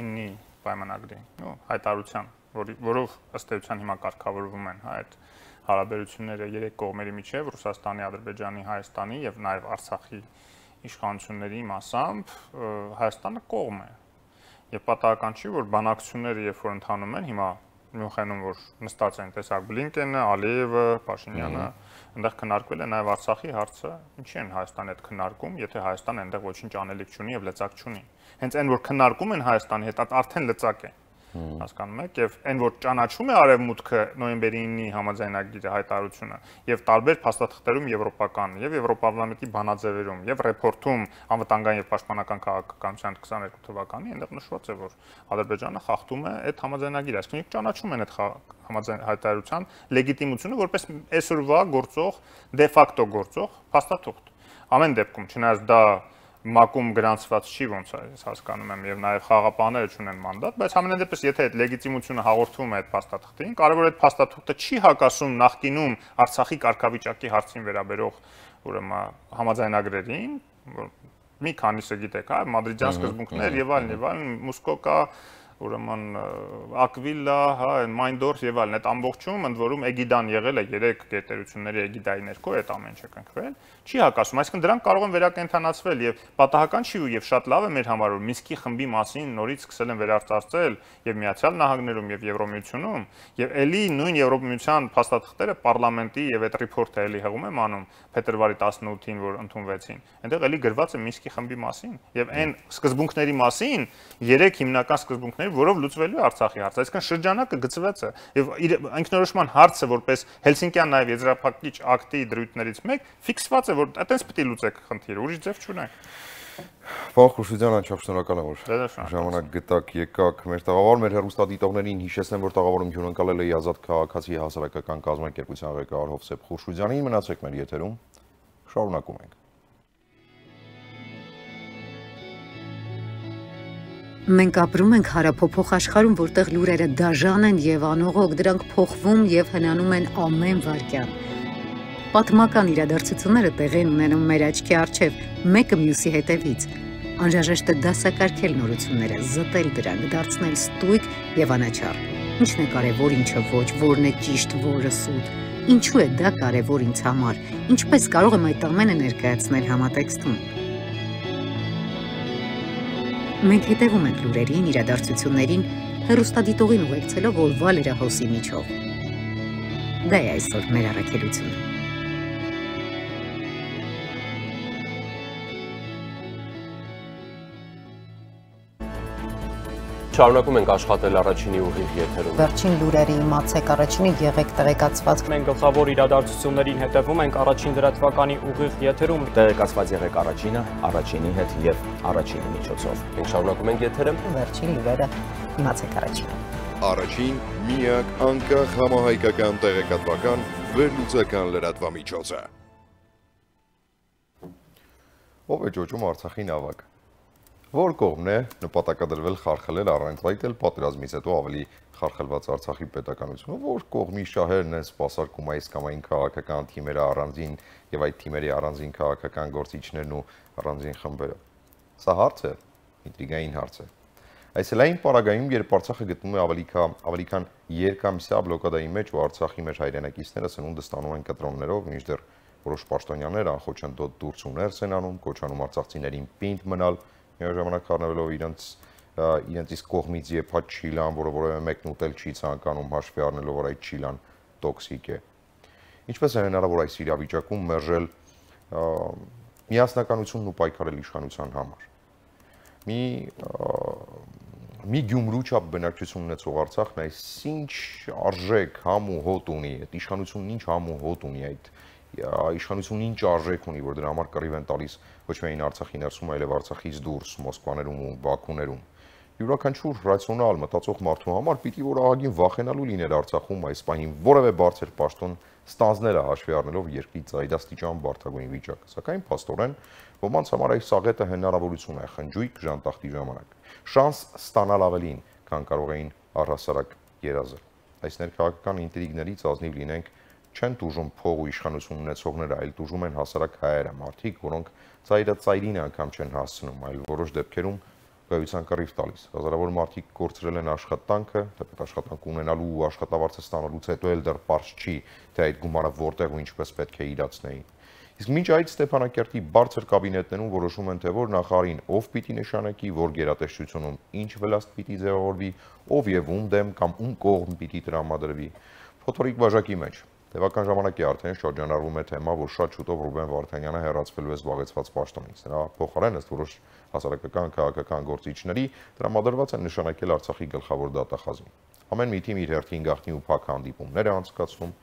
իննի պայմանագրի, նո, հայտարարության, որով ըստ էության հիմա կարգավորվում են այդ հարաբերությունները երեք կողմերի միջև, Ռուսաստանի, Ադրբեջանի, Հայաստանի եւ նաեւ Արցախի իշխանությունների մասամբ Հայաստանը կողմ է։ Եվ պատահական չի, որ բանակցությունները երբ որ ընթանում են, հիմա Մյունխենում որ նստած են տեսակ Բլինկենը, Ալիևը, Փաշինյանը, այնտեղ քննարկվել է նաև Արցախի հարցը, ինչի են Հայաստանի հետ քննարկում, եթե Հայաստանը այնտեղ ոչինչ անելիք չունի եւ լծակ չունի։ Հենց այն որ քննարկում են Հայաստանի հետ, արդեն լծակ է։ Հասկանում եք, եւ այն որ ճանաչում է արևմուտքը նոյեմբերի իննի համաձայնագիրը հայտարարությունը եւ տարբեր փաստաթղթերում եվրոպական եւ Եվրոպարլամենտի բանաձևերում եւ ռեպորտում անվտանգային եւ պաշտպանական քաղաքականության քսաներկու թվականի այնտեղ նշված է որ Ադրբեջանը խախտում է այդ համաձայնագիրը, այսինքն ճանաչում են այդ համաձայն հայտարարության լեգիտիմությունը որպես այսօրվա գործող դե ֆակտո գործող փաստաթուղթ։ Ամեն դեպքում, չնայած դա մակում գրանցված չի ոնց է, ես հասկանում եմ եւ նաեւ խաղապանները չունեն մանդատ, բայց ամենայն դեպս եթե այդ լեգիտիմությունը հաղորդվում է այդ փաստաթղթին, կարևոր է այդ փաստաթուղթը չի հակասում նախկինում Արցախի կարգավիճակի հարցին վերաբերող ուրեմն համաձայնագրերին, մի քանիսը գիտեք, հա, մադրիդյան սկզբունքներ եւ այլն եւ այլն, Մուսկոկա ուրեմն Ակվիլա, հա, Մայնդորֆ եւ այլն, այդ ամբողջում ընդ որում էգիդան եղել է երեք գերտերությունների էգիդայի ներքո այդ ամեն ինչը կնքվել, չի հակասում, այսինքն դրանք կարող են վերակենդանացվել եւ պատահական չի ու եւ շատ լավ է մեր համար որ Մինսկի խմբի մասին նորից սկսել են վերարտարծել եւ Միացյալ Նահանգներում եւ Եվրոմիությունում եւ ելի նույն Եվրոմիության փաստաթղթերը պարլամենտի եւ այդ ռիփորտը ելի հղում եմ անում փետրվարի տասնութին որ ընդունվեցին, այնտեղ ելի գրված է Մինսկի խմբի մասին եւ այն սկզբունքների մասին երեք հիմնական սկզբունքներ որով լուծվելու է Արցախի հարցը, այսինքն շրջանակը գծվեց է եւ ինքնորոշման հարցը որպես Հելսինկյան նաեւ եզրափակիչ ակտի դրույթներից մեկ ֆիքսված է որ այտենց պետք է լուծեք խնդիրը, ուրիշ ձև չունենք։ Պարոն Խուշուձյան, անչափ շնորհակալ եմ որ ժամանակ գտաք, եկաք մեր տաղավար, մեր հեռուստադիտողներին հիշեցնեմ, որ տաղավարում հյուրընկալել էի Ազատ քաղաքացի հասարակական կազմակերպության ղեկավար Հովսեփ Խուշուձյանին, մնացեք մեր եթերում, շարունակում ենք։ Մենք ապրում ենք հարափոփող աշխարհում, որտեղ լուրերը դաժան են եւ անողոք, դրանք փոխվում եւ հնանում են ամեն վայրկյան։ Պատմական իրադարձությունները տեղի են ունենում մեր աչքի առջև, մեկը մյուսի հետևից։ Անհրաժեշտ է դասակարգել նորությունները, զտել դրանք, դարձնել ստույգ եւ անաչառ։ Ինչն է կարեւոր, ինչը ոչ, որն է ճիշտ, որը սուտ։ Ինչու է դա կարեւոր ինձ համար։ Ինչպես կարող եմ այդ ամենը ներկայացնել համատեքստում։ Մենք հետևում ենք լուրերին, իրադարձություններին, հեռուստադիտողին ուղեկցելով օրվա լրահոսի միջով։ Դա է այսօր մեր առաքելությունը։ Շարունակում ենք աշխատել առաջինի ուղիղ եթերում։ Վերջին լուրերի իմացեք, առաջինի եղեք տեղեկացված։ Մենք գլխավոր իրադարձություններին հետևում ենք առաջին լրատվականի ուղիղ եթերում։ Տեղեկացված եղեք առաջինը, առաջինի հետ եւ առաջինի միջոցով։ Մենք շարունակում ենք եթերը։ Վերջին լուրերը իմացեք առաջինը։ Առաջին միակ անկախ համահայկական տեղեկատվական վերլուծական լրատվամիջոցը։ Ով է ճոճում Արցախի նավակ։ Որ կողմն է նպատակադրվել խարխլել առանց այդ էլ պատերազմից հետո ավելի խարխլված Արցախի պետականությունը, որ կողմի շահերն են սպասարկում այս կամ այն քաղաքական թիմերը առանձին եւ այդ թիմերի առանձին քաղաքական գործիչներն ու առանձին խմբերը։ Սա հարց է, ինտրիգային հարց է։ Այսօրային պարագայում, երբ Արցախը գտնվում է ավելի ավելի քան երկամսյա բլոկադայի մեջ ու Արցախի մեր հայրենակիցները սնունդը ստանում են կտրոններով, մինչդեռ որոշ պաշտոնյաներ անխոչնդոտ դուրս ու ներս են անում, կոչանում արցախցիներին պինդ մնալ Միաժամանակ առնվելով իրենց իրենց իսկ կողմից եփած չիլան, որը որևէ մեկն ուտել չի ցանկանում հաշվի առնելով որ այդ չիլան տոքսիկ է։ ինչպես է հնարավոր այս իրավիճակում մերժել միասնականությունն ու պայքարել իշխանության համար։ Մի մի Գյումրու չափ բնակչություն ունեցող Արցախն այս ինչ արժեք համ ու հոտ ունի, այդ իշխանությունն ինչ համ ու հոտ ունի, այդ իշխանությունն ինչ արժեք ունի, որ դրա համար կռիվ են տալիս ոչ միայն Արցախի ներսում, այլև Արցախից դուրս, Մոսկվաներում ու Բաքուներում։ Յուրաքանչյուր ռացիոնալ մտածող մարդու համար պիտի որ ահագին վախենալու լիներ Արցախում այս պահին որևէ բարձր պաշտոն ստանձնելը հաշվի առնելով երկրի ծայրաստիճան բարդագույն վիճակը։ Սակայն փաստորեն ոմանց համար այս աղետը հնարավորություն է խնջույք ժանտախտի ժամանակ։ Շանս ստանալ ավելին, քան կարող էին առհասարակ երազել։ Այս ներքաղաքական ինտրիգներից ազնիվ լինենք չեն տուժում փող ու իշխանություն ունեցողները, այլ տուժում են հասարակ հայերը, մարդիկ, որոնք ծայրը ծայրին անգամ չեն հասցնում, այլ որոշ դեպքերում գայության կռիվ տալիս։ Հազարավոր մարդիկ կորցրել են աշխատանքը, թեպետ աշխատանք ունենալու ու աշխատավարձը ստանալուց հետո էլ դեռ պարզ չի, թե այդ գումարը որտեղ ու ինչպես պետք է իրացնեին։ Իսկ մինչ այդ Ստեփանակերտի բարձր կաբինետներում որոշում են, թե որ նախարարին ով պիտի նշանակի, որ գերատեսչությունում ինչ վլաստ պիտի ձևավորվի, ով եւ ում դեմ կամ ում կողմ պիտի տրամադրվի։ Փոթորիկ բաժակի մեջ Տևական ժամանակ է արդեն շրջանառվում է թեմա, որ շատ շուտով Ռուբեն Վարդանյանը հեռացվելու է զբաղեցված պաշտոնից։ Նրա փոխարեն ըստ որոշ հասարակական քաղաքական գործիչների տրամադրված են նշանակել Արցախի գլխավոր դատախազին։ Ամեն մի թիմ իր հերթին գաղտնի ու փակ հանդիպումներ է անցկացնում,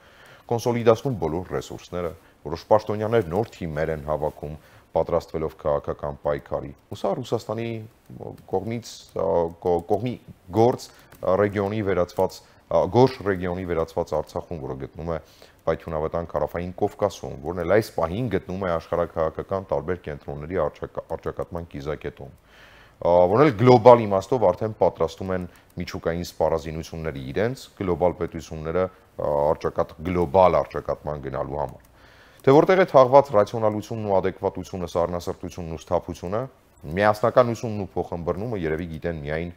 կոնսոլիդացնում բոլոր ռեսուրսները, որոշ պաշտոնյաներ նոր թիմեր են հավաքում, պատրաստվելով քաղաքական պայքարի։ Ու սա Ռուսաստանի կողմից կողմի գործ ռեգիոնի վերածված Գորշ ռեգիոնի վերածված Արցախում, որը գտնում է Պայթյունավետան Քարաֆային Կովկասում, որն էլ այս պահին գտնում է աշխարհակահաղական տարբեր կենտրոնների առճակատման կիզակետում, որն էլ գլոբալ իմաստով արդեն պատրաստում են միջուկային սպառազինությունների իրենց գլոբալ պետությունները առճակատ գլոբալ առճակատման գնալու համար։ Թե որտեղ է թաղված ռացիոնալությունն ու adekvatությունը, սառնասրտությունն ու սթափությունը, միասնականությունն ու փոխըմբռնումը երևի գիտեն միայն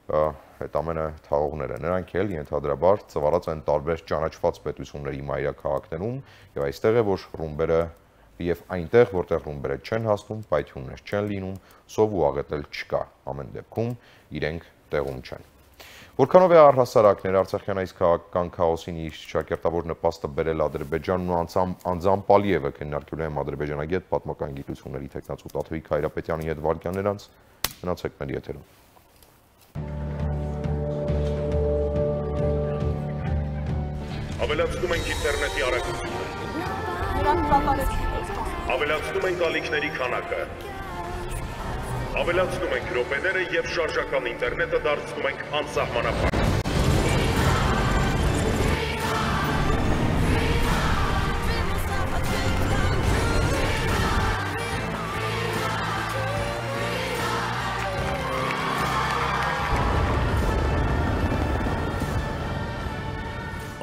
այդ ամենը թաղողները, նրանք էլ ենթադրաբար ծվարած են տարբեր ճանաչված պետությունների մայրաքաղաքներում եւ այստեղ է որ ռումբերը եւ այնտեղ որտեղ ռումբերը չեն հասնում, պայթյուններ չեն լինում, սով ու աղետել չկա, ամեն դեպքում իրենք տեղում չեն։ Որքանով է առհասարակ ներարցախյան այս քաղաքական քաոսին իր շակերտավոր նպաստը բերել Ադրբեջանն ու անձամբ Ալիևը քննարկելու եմ ադրբեջանագետ պատմական գիտությունների տեխնացու Տաթևիկ Հայրապետյանի հետ վարքյաններ անց մնացեք մեր եթերում։ Ավելացնում ենք ինտերնետի արագությունը։ Ավելացնում ենք ալիքների քանակը։ Ավելացնում ենք րոպեները եւ շարժական ինտերնետը դարձնում ենք անսահմանափակ։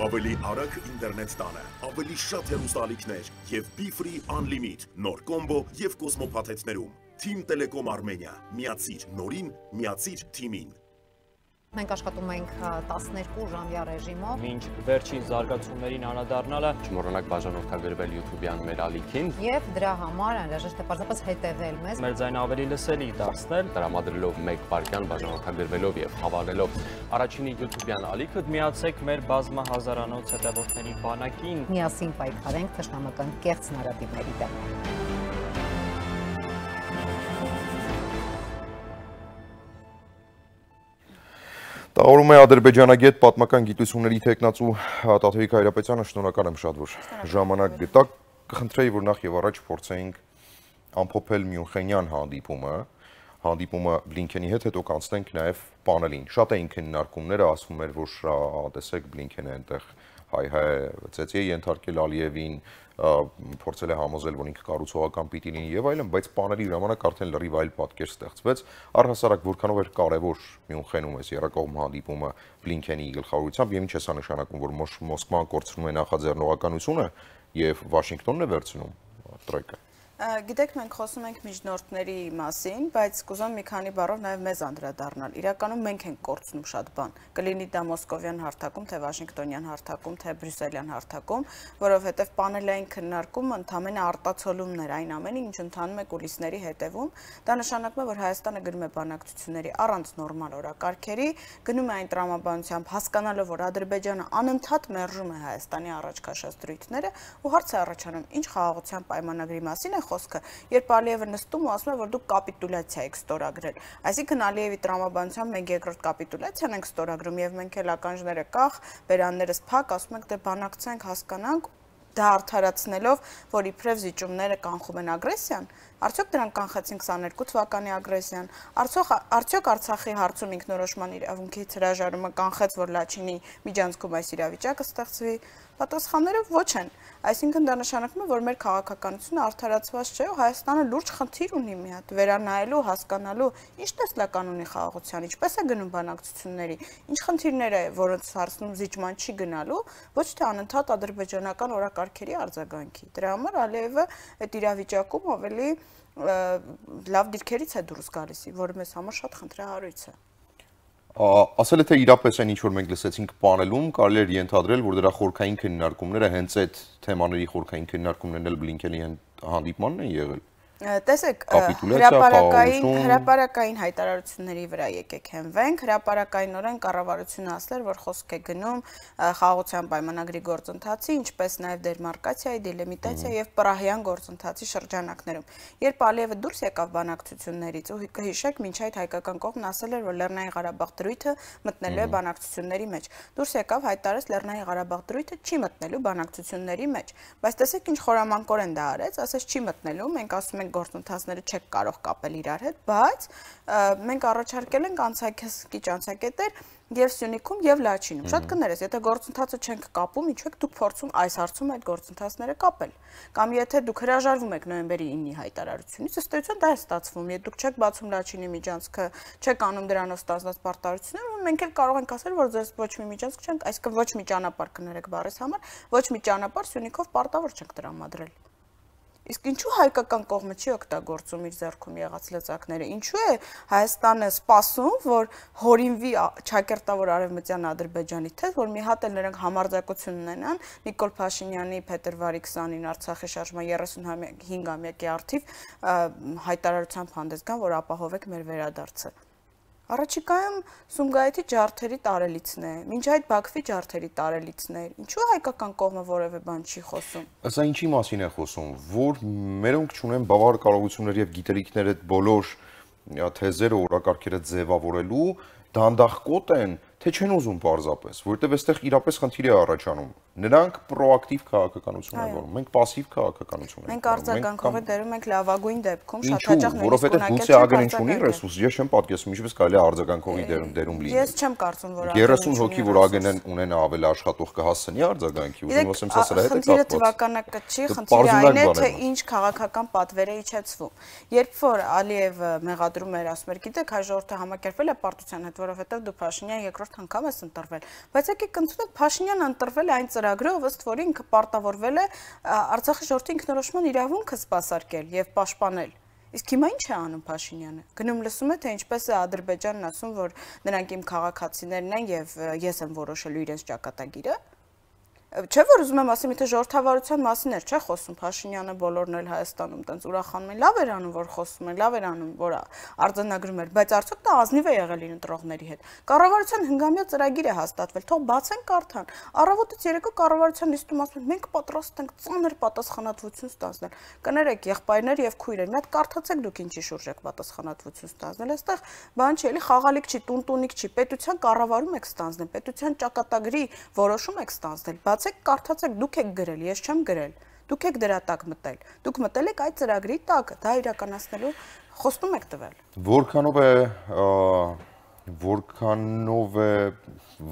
Ավելի արագ ինտերնետ տանը, ավելի շատ հեռուստաալիքներ եւ Be-Free Unlimit, նոր կոմբո եւ Կոսմո փաթեթներում։ Team Telecom Armenia, միացիր նորին, միացիր թիմին։ Մենք աշխատում ենք տասներկու ժամյա ռեժիմով։ Մինչ վերջին զարգացումներին անդրադառնալը, Չմոռանաք բաժանորդագրվել YouTube-յան մեր ալիքին եւ դրա համար անհրաժեշտ է պարզապես հետևել մեզ։ մեր ձայնը ավելի լսելի դարձնել, տրամադրելով մեկ վայրկյան բաժանորդագրվելով եւ հավանելով առաջինի YouTube-յան ալիքը միացեք մեր բազմահազարանոց հետևորդների բանակին։ Միասին պայքարենք թշնամական կեղծ նարատիվների դեմ։ Տաղորում է ադրբեջանագետ պատմական գիտությունների տեխնացու Տաթևիկ Հայրապետյանը, շնորհակալ եմ շատ, որ ժամանակ գտաք, կխնդրեի, որ նախ եւ առաջ փորձենք ամփոփել Մյունխենյան հանդիպումը, հանդիպումը Բլինքենի հետ, հետո կանցնենք նաեւ պանելին։ Շատ էին քննարկումները, ասվում էր, որ տեսեք Բլինքենը այնտեղ հայ-հայ ծեծի է ենթարկել Ալիևին, փորձել է համոզել, որ ինքը կառուցողական պիտի լինի եւ այլն, բայց պանելի ժամանակ արդեն լրիվ այլ պատկեր ստեղծվեց։ Առհասարակ որքանով էր կարեւոր Մյունխենում այս երակողմ հանդիպումը Բլինքենի գլխավորությամբ, եւ ինչ է սա նշանակում, որ Մոսկվան կորցնում է նախաձեռնողականությունը եւ Վաշինգտոնն է վերցնում տրոյկա։ Գիտեք, մենք խոսում ենք միջնորդների մասին, բայց կուզեմ մի քանի բառով նաև մեզ անդրադառնալ։ Իրականում մենք ենք կորցնում շատ բան։ Կլինի դա մոսկովյան հարթակում, թե վաշինգտոնյան հարթակում, թե բրյուսելյան հարթակում, որովհետև պանելային քննարկումը ընդհանրապես արտացոլումն էր այն ամենի, ինչ ընթանում է կուլիսների հետևում։ Դա նշանակում է, որ Հայաստանը գնում է բանակցությունների առանց նորմալ օրակարգերի, գնում է այն տրամաբանությամբ, հասկանալով, որ Ադրբեջանը անընդհատ մերժում է Հայաստանի առաջ քաշած դրույթները, ու հարց է առաջանում, ինչ խաղաղության պայմանագրի մասին է խոսքը, երբ Ալիևը նստում ու ասում է, որ դուք կապիտուլյացիա եք ստորագրել։ Այսինքն Ալիևի տրամաբանությամբ մենք երկրորդ կապիտուլյացիան ենք ստորագրում եւ մենք էլ ականջները կախ, բերաններս փակ, ասում ենք դե բանակցենք, հասկանանք, դա արդարացնելով, որ իբրև զիջումները կանխում են ագրեսիան, արդյոք դրանք կանխեցին քսաներկու թվականի ագրեսիան, արդյոք արդյոք Արցախի հարցում ինքնորոշման իրավունքից հրաժարումը կանխեց, որ Լաչինի միջանցքում այս իրավիճակը ստեղծվի, պատասխանները ոչ են։ Այսինքն դա նշանակում է, որ մեր քաղաքականությունը արդարացված չէ ու Հայաստանը լուրջ խնդիր ունի մի հատ վերանայելու, հասկանալու, ինչ տեսլական ունի խաղաղության, ինչպես է գնում բանակցությունների, ինչ խնդիրներ է, որոնց հարցնում զիջման չի գնալու, ոչ թե անընդհատ ադրբեջանական օրակարգերի արձագանքի։ Դրա համար Ալիևը այդ իրավիճակում ավելի լավ դիրքերից է դուրս գալիս, որը մեզ համար շատ խնդրահարույց է։ Ասել է թե իրապես այն ինչ որ մենք լսեցինք պանելում, կարելի էր ենթադրել, որ դրա խորքային քննարկումները հենց այդ թեմաների խորքային քննարկումներն էլ Բլինքենի հանդիպմանն են եղել։ Տեսեք, հրապարակային հրապարակային հայտարարությունների վրա եկեք հենվենք, հրապարակայինորեն կառավարությունը ասել, որ խոսք է գնում խաղաղության պայմանագրի գործընթացի, ինչպես նաև դերմարկացիայի, դելիմիտացիա եւ պրահյան գործընթացի շրջանակներում։ Երբ Ալիևը դուրս եկավ բանակցություններից, ու կհիշեք, մինչ այդ հայկական կողմն ասել էր, որ Լեռնային Ղարաբաղ դրույթը մտնելու է բանակցությունների մեջ։ Դուրս եկավ հայտարարեց Լեռնային Ղարաբաղ դրույթը չի մտնելու բանակցությունների մեջ։ Բայց տեսեք ինչ խորամանկորեն դա արեց, ասես չի մտնելու, մենք ասում գործընթացները չեք կարող կապել իրար հետ, բայց մենք առաջարկել ենք անցակի անցակետեր եւ Սյունիքում եւ Լաչինում։ Շատ կներես, եթե գործընթացը չենք կապում, ինչու եք դուք փորձում այս հարցում այդ գործընթացները կապել։ Կամ եթե դուք հրաժարվում եք նոյեմբերի ինի հայտարարությունից, ըստ էության դա է ստացվում, եթե դուք չեք բացում Լաչինի միջանցքը, չեք անում դրանով ստացված պարտավորություններ, մենք էլ կարող ենք ասել, որ ձեզ ոչ մի միջանցք չենք, այսինքն ոչ մի ճանապարհ կներեք բառիս համար, ոչ մի ճանապարհ Սյունիքով պարտավոր չենք տրամադրել։ Իսկ ինչու հայկական կողմը չի օգտագործում իր ձեռքում եղած լծակները, ինչու է Հայաստանը սպասում, որ հորինվի ճակերտավոր արևմտյան Ադրբեջանի թեզ, որ մի հատ էլ նրանք համարձակություն ունենան Նիկոլ Փաշինյանի փետրվարի քսանին Արցախի շարժման երեսունհինգամյակի առթիվ հայտարարությամբ հանդես գան, որ ապահովեք մեր վերադարձը։ Առաջիկայում Սումգայիթի ջարդերի տարելիցն է, մինչ այդ Բաքվի ջարդերի տարելիցն է, ինչու հայկական կողմը որևէ բան չի խոսում։ Սա ինչի մասին է խոսում, որ մերոնք չունեն բավարար կարողություններ եւ գիտելիքներ այդ բոլոր թեզերը, օրակարգերը ձևավորելու, դանդաղկոտ են, թե չեն ուզում պարզապես, որովհետև այստեղ իրապես խնդիր է առաջանում։ Նրանք պրոակտիվ քաղաքականություն են որում, մենք пассив քաղաքականություն ենք։ Մենք արձագանքողի դերում ենք լավագույն դեպքում, շատ հաճախ որովհետև գուցե ագրեն չունի ռեսուրս, ես չեմ պատկերացնում ինչպես կարելի է արձագանքողի դերում դերում լինել։ Ես չեմ կարծում, որ երեսուն հոգի, որ ագրեն ունենա ավելի աշխատող կհասցնի արձագանքի, ուզում ասեմ, սա սրա հետ է կապված։ Խնդիրը թվականակը չի, խնդիրը այն է, թե ինչ քաղաքական պատվեր է իջեցվում։ Երբ որ Ալիևը մեղադրում էր, ասում էր, գիտեք, հայ ժողովուրդը համակերպվել է պարտության հետ, որովհետև դու Փաշինյան երկրորդ անգամ ես ընտրվել։ Բայց եկեք ընդունենք, Փաշինյանը ընտրվել է այն ծրագրով, ըստ որի ինքը պարտավորվել է Արցախի ժողովրդի ինքնորոշման իրավունքը սպասարկել եւ պաշտպանել։ Իսկ հիմա ինչ է անում Փաշինյանը։ Գնում լսում է, թե ինչպես է Ադրբեջանն ասում, որ նրանք իմ քաղաքացիներն են եւ ես եմ որոշելու իրենց ճակատագիրը։ Չէ՞ որ ուզում եմ ասեմ, եթե ժողովրդավարության մասին էր, չէ՞ խոսում Փաշինյանը բոլորն էլ Հայաստանում տենց ուրախանում են, լավ էր անում, որ խոսում են, լավ էր անում, որ արձանագրում էր, բայց արդյոք դա ազնիվ է եղել իր ընտրողների հետ։ Կառավարության հնգամյա ծրագիր է հաստատվել, թող բացեն կարդան։ Առավոտից երեկո կառավարության նիստում ասում են, մենք պատրաստ ենք ծանր պատասխանատվություն ստանձնել։ Կներեք, եղբայրներ եւ քույրեր, մի հատ կարդացեք դուք ինչի շուրջ եք պատասխանատվություն ստանձնել։ Այստեղ բան չի, էլի խաղալիք չի, տունտունիկ չի, պետության կառավարում եք ստանձնել, պետության ճակատագրի որոշում եք ստանձնել։ Բացեք, կարդացեք, դուք եք գրել, ես չեմ գրել։ Դուք եք դրա տակ մտել։ Դուք մտել եք այդ ծրագրի տակ, դա իրականացնելու խոստում եք տվել։ Որքանով է Որքանով է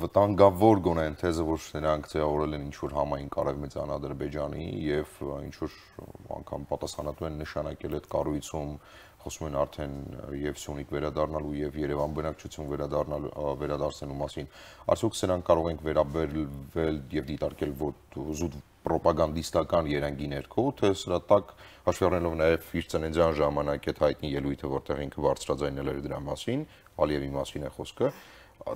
վտանգավոր գոնե այն թեզը, որ նրանք ձևավորել են ինչ-որ համային կարևմեծան Ադրբեջանի եւ ինչ-որ անգամ պատասխանատու են նշանակել այդ կառույցում, խոսում են արդեն եւ Սյունիք վերադառնալու եւ Երևան բնակչություն վերադառնալու վերադարձնելու մասին, արդյոք սրանք կարող ենք վերաբերվել եւ դիտարկել զուտ պրոպագանդիստական երանգի ներքո, թե սրա տակ հաշվի առնելով նաեւ իր ծննդյան ժամանակ այդ հայտնի ելույթը, որտեղ ինքը բարձրաձայնել էր դրա մասին, Ալիևի մասին է խոսքը,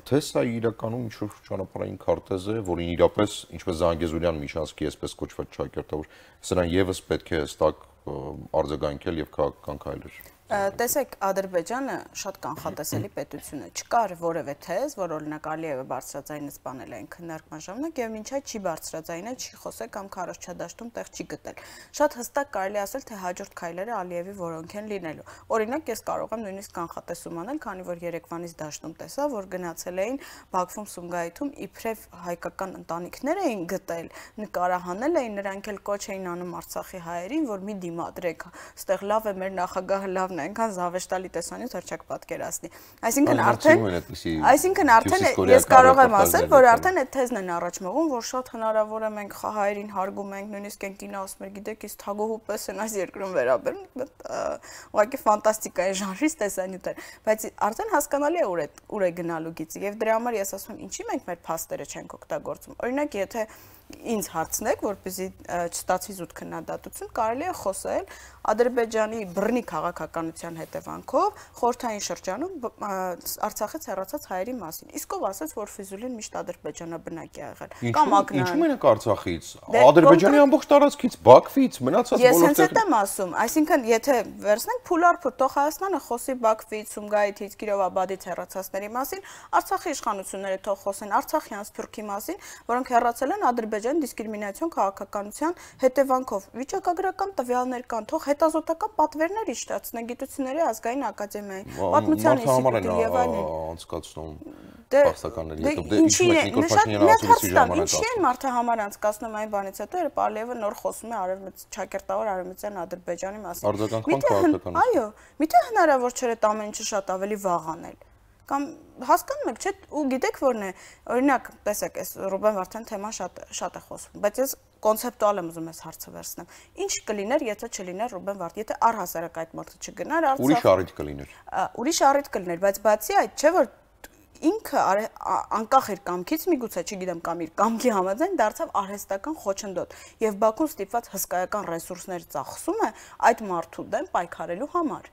թե սա իրականում ինչ-որ ճանապարհային քարտեզ է, որին իրապես, ինչպես Զանգեզուրյան միջանցքի այսպես կոչված ճակերտավոր, սրան եւս պետք է հստակ արձագանքել եւ քաղաքական քայլեր։ Տեսեք, Ադրբեջանը շատ կանխատեսելի պետություն է։ Չկար որևէ թեզ, որ օրինակ Ալիևը բարձրաձայնեց բանել այն քննարկման ժամանակ եւ մինչ այդ չի բարձրաձայնել, չի խոսել կամ քարոզչադաշտում տեղ չի գտել։ Շատ հստակ կարելի ասել, թե հաջորդ քայլերը Ալիևի որոնք են լինելու։ Օրինակ, ես կարող եմ նույնիսկ կանխատեսում անել, քանի որ Երևանից դաշտում տեսա, որ գնացել էին Բաքվում Սումգայիթում իբրև հայկական ընտանիքներ էին գտել, նկարահանել էին, նրանք էլ կոչ էին անում Արցախի հայերին, որ մի դիմադրեք, այստեղ լավ է մեր նախագահը լավ այնքան զավեշտալի տեսանյութ հրճակ պատկերացնի։ Այսինքն արդեն այսինքն արդեն ես կարող եմ ասել, որ արդեն այդ թեզն են առաջ մղում, որ շատ հնարավոր է մենք հայերին հարգում ենք, նույնիսկ են կինո ասում են, գիտեք, իս թագուհու պես են այս երկրում վերաբերում, ուղղակի ֆանտաստիկայի ժանրից տեսանյութեր, բայց արդեն հասկանալի է ուր է ուր է գնալու գիծը եւ դրա համար ես ասում եմ, ինչի մենք մեր փաստերը չենք օգտագործում։ Օրինակ, եթե ինձ հարցնեք, որպեսզի չստացվի զուտ քննադատություն, կարելի է խոսել Ադրբեջանի բռնի քաղաքականության հետևանքով խորհրդային շրջանում Արցախից հեռացած հայերի մասին։ Իսկ ով ասաց, որ Ֆիզուլին միշտ ադրբեջանաբնակ է եղել։ Կամ Ակնան։ Ինչու մենակ Արցախից, Ադրբեջանի ամբողջ տարածքից, Բաքվից, մնացած բոլոր։ Ես հենց այդ եմ ասում, այսինքն եթե վերցնենք փուլարփուլ, թող Հայաստանը խոսի Բաքվից, Սումգայիթից, Կիրովաբադից հեռացածների մասին, Արցախի իշխանությունները թող խոսեն Արցախյան Սփյուռքի մասին, որոնք հեռացել են Ադրբեջանի դիսկրիմինացիոն քաղաքականության հետևանքով։ Վիճակագրական տվյալներ կան, թող հետազոտական պատվերներ իշխեցնեն Գիտությունների ազգային ակադեմիայի, Պատմության ինստիտուտի եւ այլն անցկացնում փաստականների հետ։ Դե ինչի է Նիկոլ Փաշինյանը ասում ժամանակ։ Ինչի են մարդը համար անցկացնում այն բանից հետո, երբ Ալիևը նոր խոսում է արևմուտք ճակերտավոր արևմտյան Ադրբեջանի մասին։ Արձագանքման քաղաքականություն։ Այո, միթե հնարավոր չէ այդ ամեն ինչը շատ ավելի վաղ անել։ Կամ հասկանում եք, չէ՞, ու գիտեք որն է, օրինակ, տեսեք, այս Ռուբեն Վարդան թեման շատ շատ է խոսում, բայց ես կոնցեպտուալ եմ ուզում ես հարցը վերցնեմ։ Ինչ կլիներ, եթե չլիներ Ռուբեն Վարդան, եթե առհասարակ այդ մարդը չգնար Արցախ։ Ուրիշ առիթ կլիներ։ Ուրիշ առիթ կլիներ, բայց բացի այդ, չէ՞ որ ինքը անկախ իր կամքից միգուցե, չգիտեմ, կամ իր կամքի համաձայն դարձավ արհեստական խոչընդոտ եւ Բաքուն ստիպված հսկայական ռեսուրսներ ծախսում է այդ մարդու դեմ պայքարելու համար։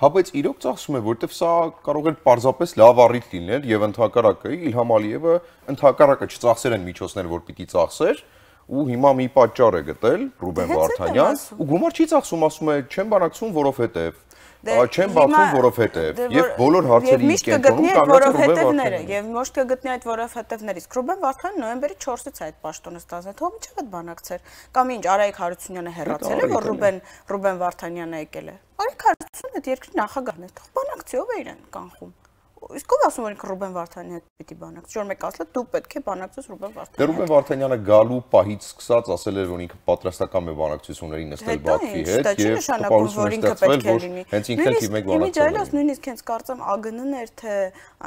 Հա, բայց իրոք ծախսում է, որտեվ սա կարող է պարզապես լավ առիթ լինել եւ ընդհակառակը Իլհամ Ալիևը ընդհակառակը չծախսեր են միջոցներ, որ պիտի ծախսեր, ու հիմա մի պատճառ է գտել Ռուբեն Վարդանյան, ու գումար չի ծախսում, ասում է, չեմ բանակցում, որովհետեւ չեմ բացում, որովհետեւ եւ բոլոր հարցերի կենտրոնում կանգնած է եւ ոչ կգտնի այդ որովհետեւները։ Իսկ Ռուբեն Վարդանյանը նոյեմբերի չորսից այդ պաշտոնը ստացել, թող միջև այդ բանակցեր։ Կամ ինչ Արայիկ Հարությունյանը հեռացել է, որ Ռուբեն Ռուբեն Վարդանյանը եկել է։ Արայիկ Հարությունյանը այդ երկրի նախագահն է, թող բանակցի, ով է իրեն կանխում։ Իսկ ով ասում որ Ռուբեն Վարդանյանը հետ պիտի բանակցի, որ մեկ ասել դու պետք է բանակցես Ռուբեն Վարդանյանը։ Դե Ռուբեն Վարդանյանը գալու պահից սկսած ասել էր որ ինքը պատրաստական է բանակցությունների նստել Բաքվի հետ եւ տպավորություն ստացվել որ հենց ինքը թիվ մեկ բանակցել։ Նույնիսկ հենց կարծեմ ԱԳՆ-ն էր թե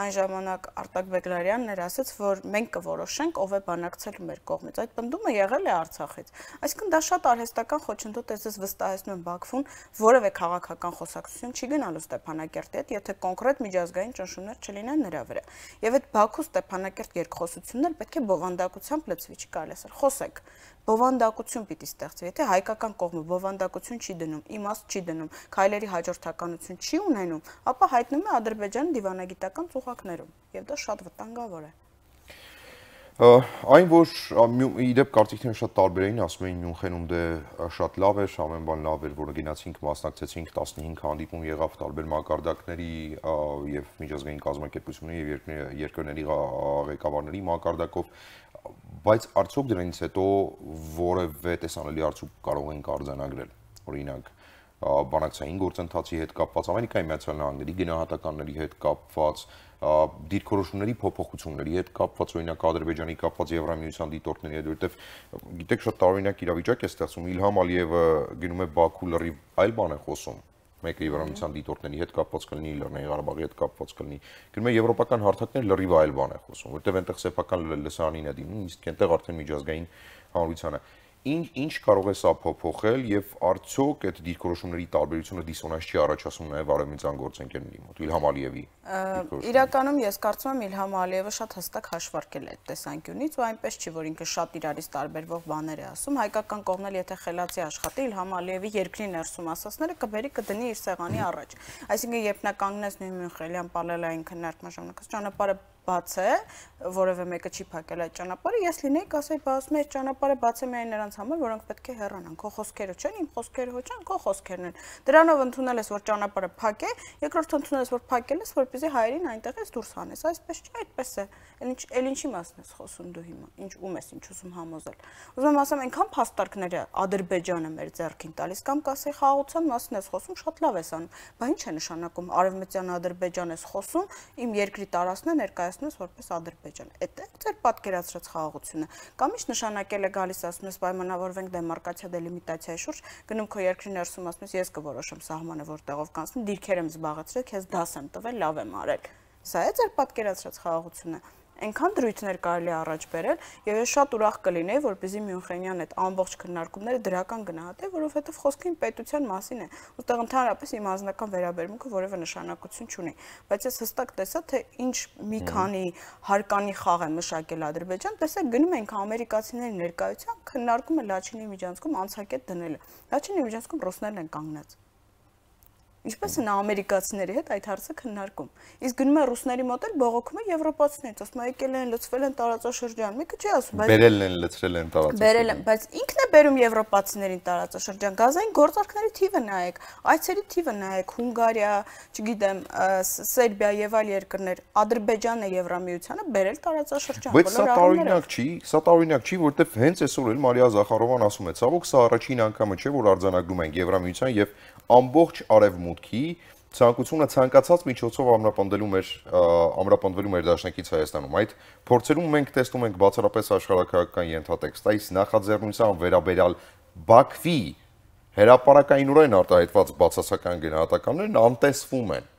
այն ժամանակ Արտակ Բեգլարյանն էր ասաց որ մենք կորոշենք ով է բանակցելու մեր կողմից։ Այդ պնդումը եղել է Արցախից։ Այսինքն դա շատ արհեստական խոչընդոտ է, ես վստահեցնում եմ Բաքվում որևէ քաղաքական խոսակցություն չի գնալու Ստեփանակերտի հետ, եթե կոնկրետ միջազգային ճնշումներ չլինեն նրա վրա։ Եվ այդ Բաքու Ստեփանակերտ երկխոսությունն էլ պետք է բովանդակությամբ լցվի, չի կարելի ասել։ Խոսեք, բովանդակություն պիտի ստեղծվի, եթե հայկական կողմը բովանդակություն չի դնում, իմաստ չի դնում, քայլերի հաջորդականություն չի ունենում, ապա հայտնում է Ադրբեջանը դիվանագիտական ծուղակներում, եւ դա շատ վտանգավոր է։ Այն որ իդեպ կարծիքները շատ տարբեր էին, ասում էին Մյունխենում դե շատ լավ էր, ամեն բան լավ էր, որը գնացինք, մասնակցեցինք, տասնհինգ հանդիպում եղավ տարբեր մակարդակների եւ միջազգային կազմակերպությունների եւ երկրների ղեկավարների մակարդակով, բայց արդյոք դրանից հետո որևէ տեսանելի արդյունք կարող ենք արձանագրել, օրինակ բանակցային գործընթացի հետ կապված, Ամերիկայի Միացյալ Նահանգների գնահատականների հետ կապված, դիրքորոշումների փոփոխությունների հետ կապված, օրինակ Ադրբեջանի կապված Եվրամիության դիտորդների հետ, որովհետև գիտեք շատ տարօրինակ իրավիճակ է ստեղծում, Իլհամ Ալիևը գնում է Բաքու լրիվ այլ բան է խոսում, մեկը Եվրամիության դիտորդների հետ կապված կլինի, Լեռնային Ղարաբաղի հետ կապված կլինի։ Գնում է եվրոպական հարթակներ լրիվ այլ բան է խոսում, որտեղ այնտեղ սեփական լսարանին է դիմում, իսկ այնտեղ արդեն միջազգային հանրությանը։ Ինչ ինչ կարող է սա փոփոխել եւ արդյոք այդ դիրքորոշումների տարբերությունը դիսոնանս չի առաջացնում նաեւ արևմտյան գործընկերների մոտ Իլհամ Ալիևի։ Իրականում ես կարծում եմ Իլհամ Ալիևը շատ հստակ հաշվարկել է այդ տեսանկյունից ու այնպես չի, որ ինքը շատ իրարից տարբերվող բաներ է ասում, հայկական կողմն էլ եթե խելացի աշխատի Իլհամ Ալիևի երկրի ներսում ասածները կբերի կդնի իր սեղանի առաջ։ Այսինքն երբ նա կանգնեց նույն Մյունխենյան պալելային քննարկման ժամանակ ճանապարհը բաց է, որևէ մեկը չի փակել այդ ճանապարհը, ես լինեի կասեի, բա ասում եմ, ճանապարհը բաց է միայն նրանց համար, որոնք պետք է հեռանան, քո խոսքերը չեն, իմ խոսքերը ոչ են, քո խոսքերն են։ Դրանով ընդունել ես, որ ճանապարհը փակ է, երկրորդ ընդունել ես, որ փակել ես, որպեսզի հայերին այնտեղից դուրս հանես, այսպես չէ, այդպես է։ Էլ ինչ էլ ինչի մասն ես խոսում դու հիմա, ինչ ում ես ինչ ուզում համոզել։ Ուզում եմ ասեմ, այնքան փաստարկներ է Ադրբեջանը մեր ձեռքին տալիս, կամ կասեի խաղաղության մասն ես խոսում, շատ լավ ես անում, բա ինչ է նշանակում արևմտյան Ադրբեջան ես խոսում, իմ երկրի տարածքն է ներկայացնում որպես Ադրբեջան։ Այդ է ձեր պատկերացրած խաղաղությունը։ Կամ ինչ նշանակել է գալիս ասում ես պայմանավորվենք դեմարկացիա դելիմիտացիայի շուրջ, գնում քո երկրի ներսում ասում ես ես կորոշեմ սահմանը որտեղով կանցնի, դիրքեր եմ զբաղեցրել, քեզ դաս եմ տվել, լավ եմ արել։ Սա է ձեր պատկերացրած խաղաղությունը։ Այնքան դրույթներ կարելի է առաջ բերել, եւ ես շատ ուրախ կլինեի, որպեսզի Մյունխենյան այդ ամբողջ քննարկումները դրական գնահատե, որովհետեւ խոսքը իմ պետության մասին է։ Ուստեղ ընդհանրապես իմ անձնական վերաբերմունքը որևէ նշանակություն չունի, բայց ես հստակ տեսա, թե ինչ մի քանի հարկանի խաղ է մշակել Ադրբեջան, տեսեք գնում ենք ամերիկացիների ներկայությամբ քննարկումը Լաչինի միջանցքում անցակետ դնելը։ Լաչինի միջանցքում ռուսներն են կանգնած։ Ինչպես են ամերիկացիների հետ այդ հարցը քննարկում։ Իսկ գնում է ռուսների մոտ էլ բողոքում է եվրոպացիներից, ասում է եկել են, լցվել են տարածաշրջան։ Մեկը չի ասում, բայց բերել են, լցրել են տարածաշրջան։ Բերել են, բայց ինքն է բերում եվրոպացիներին տարածաշրջան։ Գազային գործարքների թիվը նայեք, այցերի թիվը նայեք, Հունգարիա, չգիտեմ, Սերբիա եւ այլ երկրներ, Ադրբեջանն է Եվրամիությանը բերել տարածաշրջան։ Բայց սա տարօրինակ չի, սա տարօրինակ չի, որովհետեւ հենց այսօր էլ Մարիա Զախարովան ասում է, ցավոք սա առաջին անգամը չէ, որ արձանագրում են Եվրամիության եւ ամբողջ արևմուտքի ցանկությունը ցանկացած միջոցով ամրապնդելու մեր ամրապնդվելու մեր դաշնակից Հայաստանում։ Այդ փորձերում մենք տեսնում ենք բացառապես աշխարհակահաղական ենթատեքստ, այս նախաձեռնության վերաբերյալ Բաքվի հրապարակայնորեն արտահայտված բացասական գնահատականներն անտեսվում են։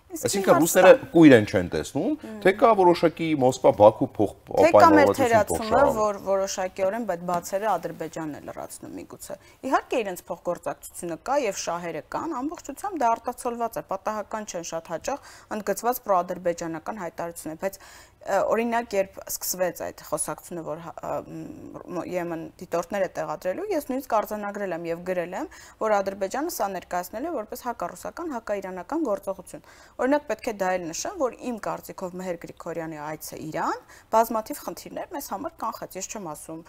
Այսինքն ռուսները կույր են չեն տեսնում, թե կա որոշակի Մոսկվա-Բաքու փոխպայմանավորվածություն, որ որոշակիորեն այդ բացերը Ադրբեջանն է լրացնում միգուցե։ Իհարկե իրենց փոխգործակցությունը կա եւ շահերը կան, ամբողջությամբ դա արտացոլված է, պատահական չեն շատ հաճախ ընդգծված պրոադրբեջանական հայտարարություններ, բայց օրինակ երբ սկսվեց այդ խոսակցությունը, որ Եմեն դիտորդները տեղադրելու, ես նույնիսկ արձանագրել եմ եւ գրել եմ, որ Ադրբեջանը սա ներկայացնել է որպես հակառուսական, հակաիրանական գործողություն։ Օրինակ պետք է դա էլ նշեմ, որ իմ կարծիքով Մեհեր Գրիգորյանի այցը Իրան բազմաթիվ խնդիրներ մեզ համար կանխեց։ Ես չեմ ասում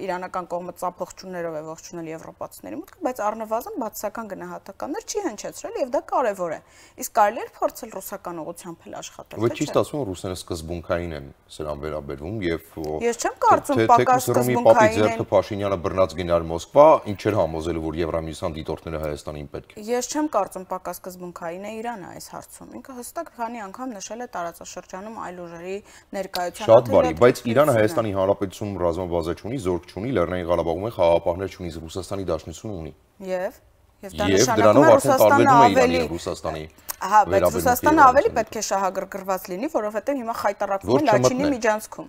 իրանական կողմը ծափողջուններով է ողջունել եվրոպացիների մուտքը, բայց առնվազն բացասական գնահատականներ չի հնչեցրել եւ դա կարեւոր է։ Իսկ կարելի է փորձել ռուսական ուղղությամբ էլ աշխատել։ Ոչ ճիշտ ասում, ռուսները սկզբունքային են սրան վերաբերվում եւ ես չեմ կարծում պակաս սկզբունքային են։ Փաշինյանը բռնած գնալ Մոսկվա, ինչ էր համոզելու, որ Եվրամիության դիտորդները Հայաստանին պետք է։ Ես չեմ կարծում պակաս սկզբունքային է Իրանը այս հարցում։ Ինքը հստակ քանի անգամ նշել է տարածաշրջանում այլ ուժերի ներկայության։ Շատ բարի, բայց Իրանը Հայաստանի Հանրապետությունում ռազմաբազա չունի, զորք չունի, Լեռնային Ղարաբաղում է խաղաղապահներ չունի, Ռուսաստանի Դաշնությունը ունի։ Եվ Եվ դա նշանակում է Ռուսաստանը ավելի Ռուսաստանի։ Ահա, բայց Ռուսաստանը ավելի պետք է շահագրգռված լինի, որովհետև հիմա խայտարակվում է Լաչինի միջանցքում։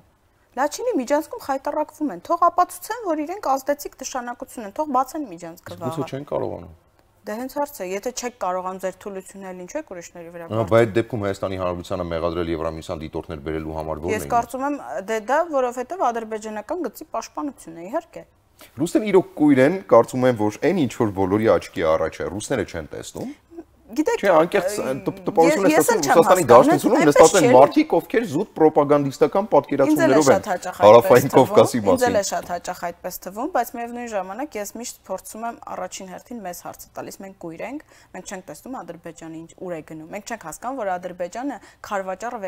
Լաչինի միջանցքում խայտարակվում են, թող ապացուցեն, որ իրենք ազդեցիկ նշանակություն են, թող բացեն միջանցքը վաղը։ Ո՞նց չեն կարողանում։ Դե հենց հարցը, եթե չեք կարողանում ձեր թուլությունն էլ ինչու եք ուրիշների վրա գործել։ Բայց այդ դեպքում Հայաստանի Հանրապետությանը մեղադրել Եվրամիության դիտորդներ բերելու համար ո՞րն է։ Ես կարծում եմ, դե դա որովհետև ադրբեջանական գծի պաշտպանություն է, իհարկե։ Ռուսները իրոք կույր են, կարծում եմ, որ այն ինչ որ բոլորի աչքի առաջ է, ռուսները չեն տեսնում։ Գիտեք, չէ, անկեղծ տպավորություն է ստացվում Ռուսաստանի Դաշնությունում նստած են մարդիկ, ովքեր զուտ պրոպագանդիստական պատկերացումներով են Հարավային Կովկասի մասին։ Ինձ էլ է շատ հաճախ այդպես թվում, բայց միևնույն ժամանակ ես միշտ փորձում եմ առաջին հերթին մեզ հարցը տալիս, մենք կույր ենք, մենք չենք տեսնում Ադրբեջանը ինչ ուր է գնում։ Մենք չենք հասկանում, որ Ադրբեջանը քարվաճառը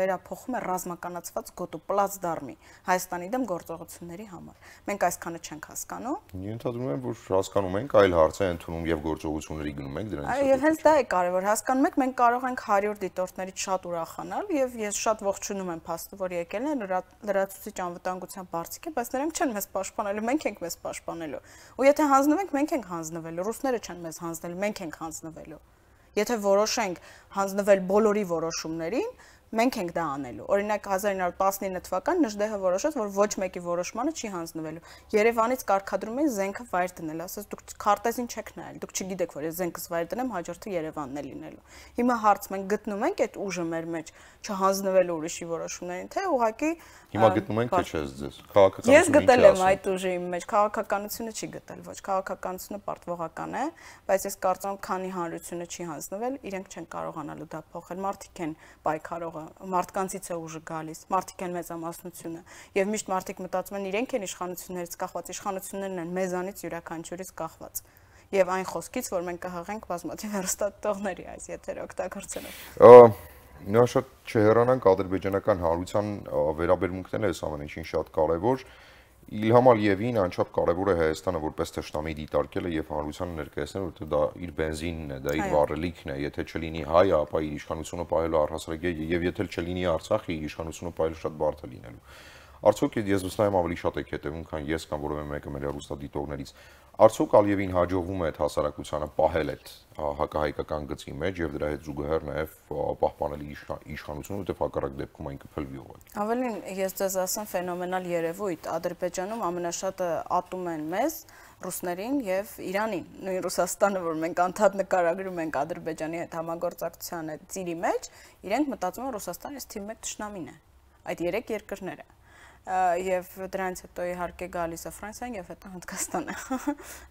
վերափոխում է ռազմականացված գոտու պլացդարմի Հայաստանի դեմ գործողությունների համար։ Մենք այսքանը չենք հասկանում։ Ենթադրում եմ, որ հասկանում ենք, այլ հարց է ընդունում եւ գործողությունների գնում ենք դրանից։ Եվ հենց դա է կարևոր, հասկանում եք, մենք կարող ենք հարյուր դիտորդներից շատ ուրախանալ եւ ես շատ ողջունում եմ փաստը, որ եկել են լրացուցիչ անվտանգության բարձիկ է, բայց նրանք չեն մեզ պաշտպանելու, մենք ենք մեզ պաշտպանելու։ Ու եթե հանձնվենք, մենք ենք հանձնվելու, ռուսները չեն մեզ հանձնելու, մենք ենք հանձնվելու։ Եթե որոշենք հանձնվել բոլորի որոշումներին, մենք ենք դա անելու։ Օրինակ հազար ինը հարյուր տասնինը թվական Նժդեհը որոշեց, որ ոչ մեկի որոշմանը չի հանձնվելու։ Երևանից կարգադրում էին զենքը վայր դնել, ասես դուք քարտեզին չեք նայել, դուք չգիտեք, որ ես զենքս վայր դնեմ, հաջորդը Երևանն է լինելու։ Հիմա հարց մենք գտնում ենք այդ ուժը մեր մեջ չհանձնվելու ուրիշի որոշումներին, թե ուղղակի Հիմա գտնում ենք, թե չէ ձեզ։ Քաղաքականությունը Ես գտել եմ այդ ուժի իմ մեջ, քաղաքականությունը չի գտել, ոչ, քաղաքականությունը պարտվողական է, բայց ես կարծում եմ, քանի հանրությունը չի հանձնվել, իրենք չեն կարողանալու դա փոխել, մարդիկ են պայքարողը, մարդկանցից է ուժը գալիս, մարդիկ են մեծամասնությունը, եւ միշտ մարդիկ մտածում են իրենք են իշխանություններից կախված, իշխանություններն են մեզանից յուրաքանչյուրից կախված։ Եվ այն խոսքից, որ մենք կհաղենք բազմաթիվ հեռուստատողների այս եթերը օգտագործելով։ Նա շատ չհեռանանք ադրբեջանական հանրության վերաբերմունքն է այս ամեն ինչին շատ կարևոր։ Իլհամ Ալիևին անչափ կարևոր է Հայաստանը որպես թշնամի դիտարկելը եւ հանրությանը ներկայացնել, որովհետեւ դա իր բենզինն է, դա իր վառելիքն է, եթե չլինի հայը, ապա իր իշխանությունը պահելու առհասարակ է եւ եթե չլինի Արցախը, իր իշխանությունը պահելու շատ բարդ է լինելու։ Արդյոք ես վստահ եմ ավելի շատ եք հետևում, քան ես կամ որևէ մեկը մեր հեռուստադիտողներից։ Արդյոք Ալիևին հաջողվում է այդ հասարակությանը պահել այդ հակահայկական գծի մեջ եւ դրա հետ զուգահեռ նաեւ պահպանել իշխանությունը, որտեղ հակառակ դեպքում այն կփլվի ուղղակի։ Ավելին ես ձեզ ասեմ ֆենոմենալ երևույթ, Ադրբեջանում ամենաշատը ատում են մեզ ռուսներին եւ Իրանին, նույն Ռուսաստանը, որ մենք անդադ նկարագրում ենք Ադրբեջանի հետ համագործակցության այդ ծիրի մեջ, իրենք մտածում են Ռուսաստանը այս թիվ մեկ թշնամին է։ Այդ երեք երկրները եւ դրանից հետո իհարկե գալիս է Ֆրանսիան եւ հետո Հնդկաստանը։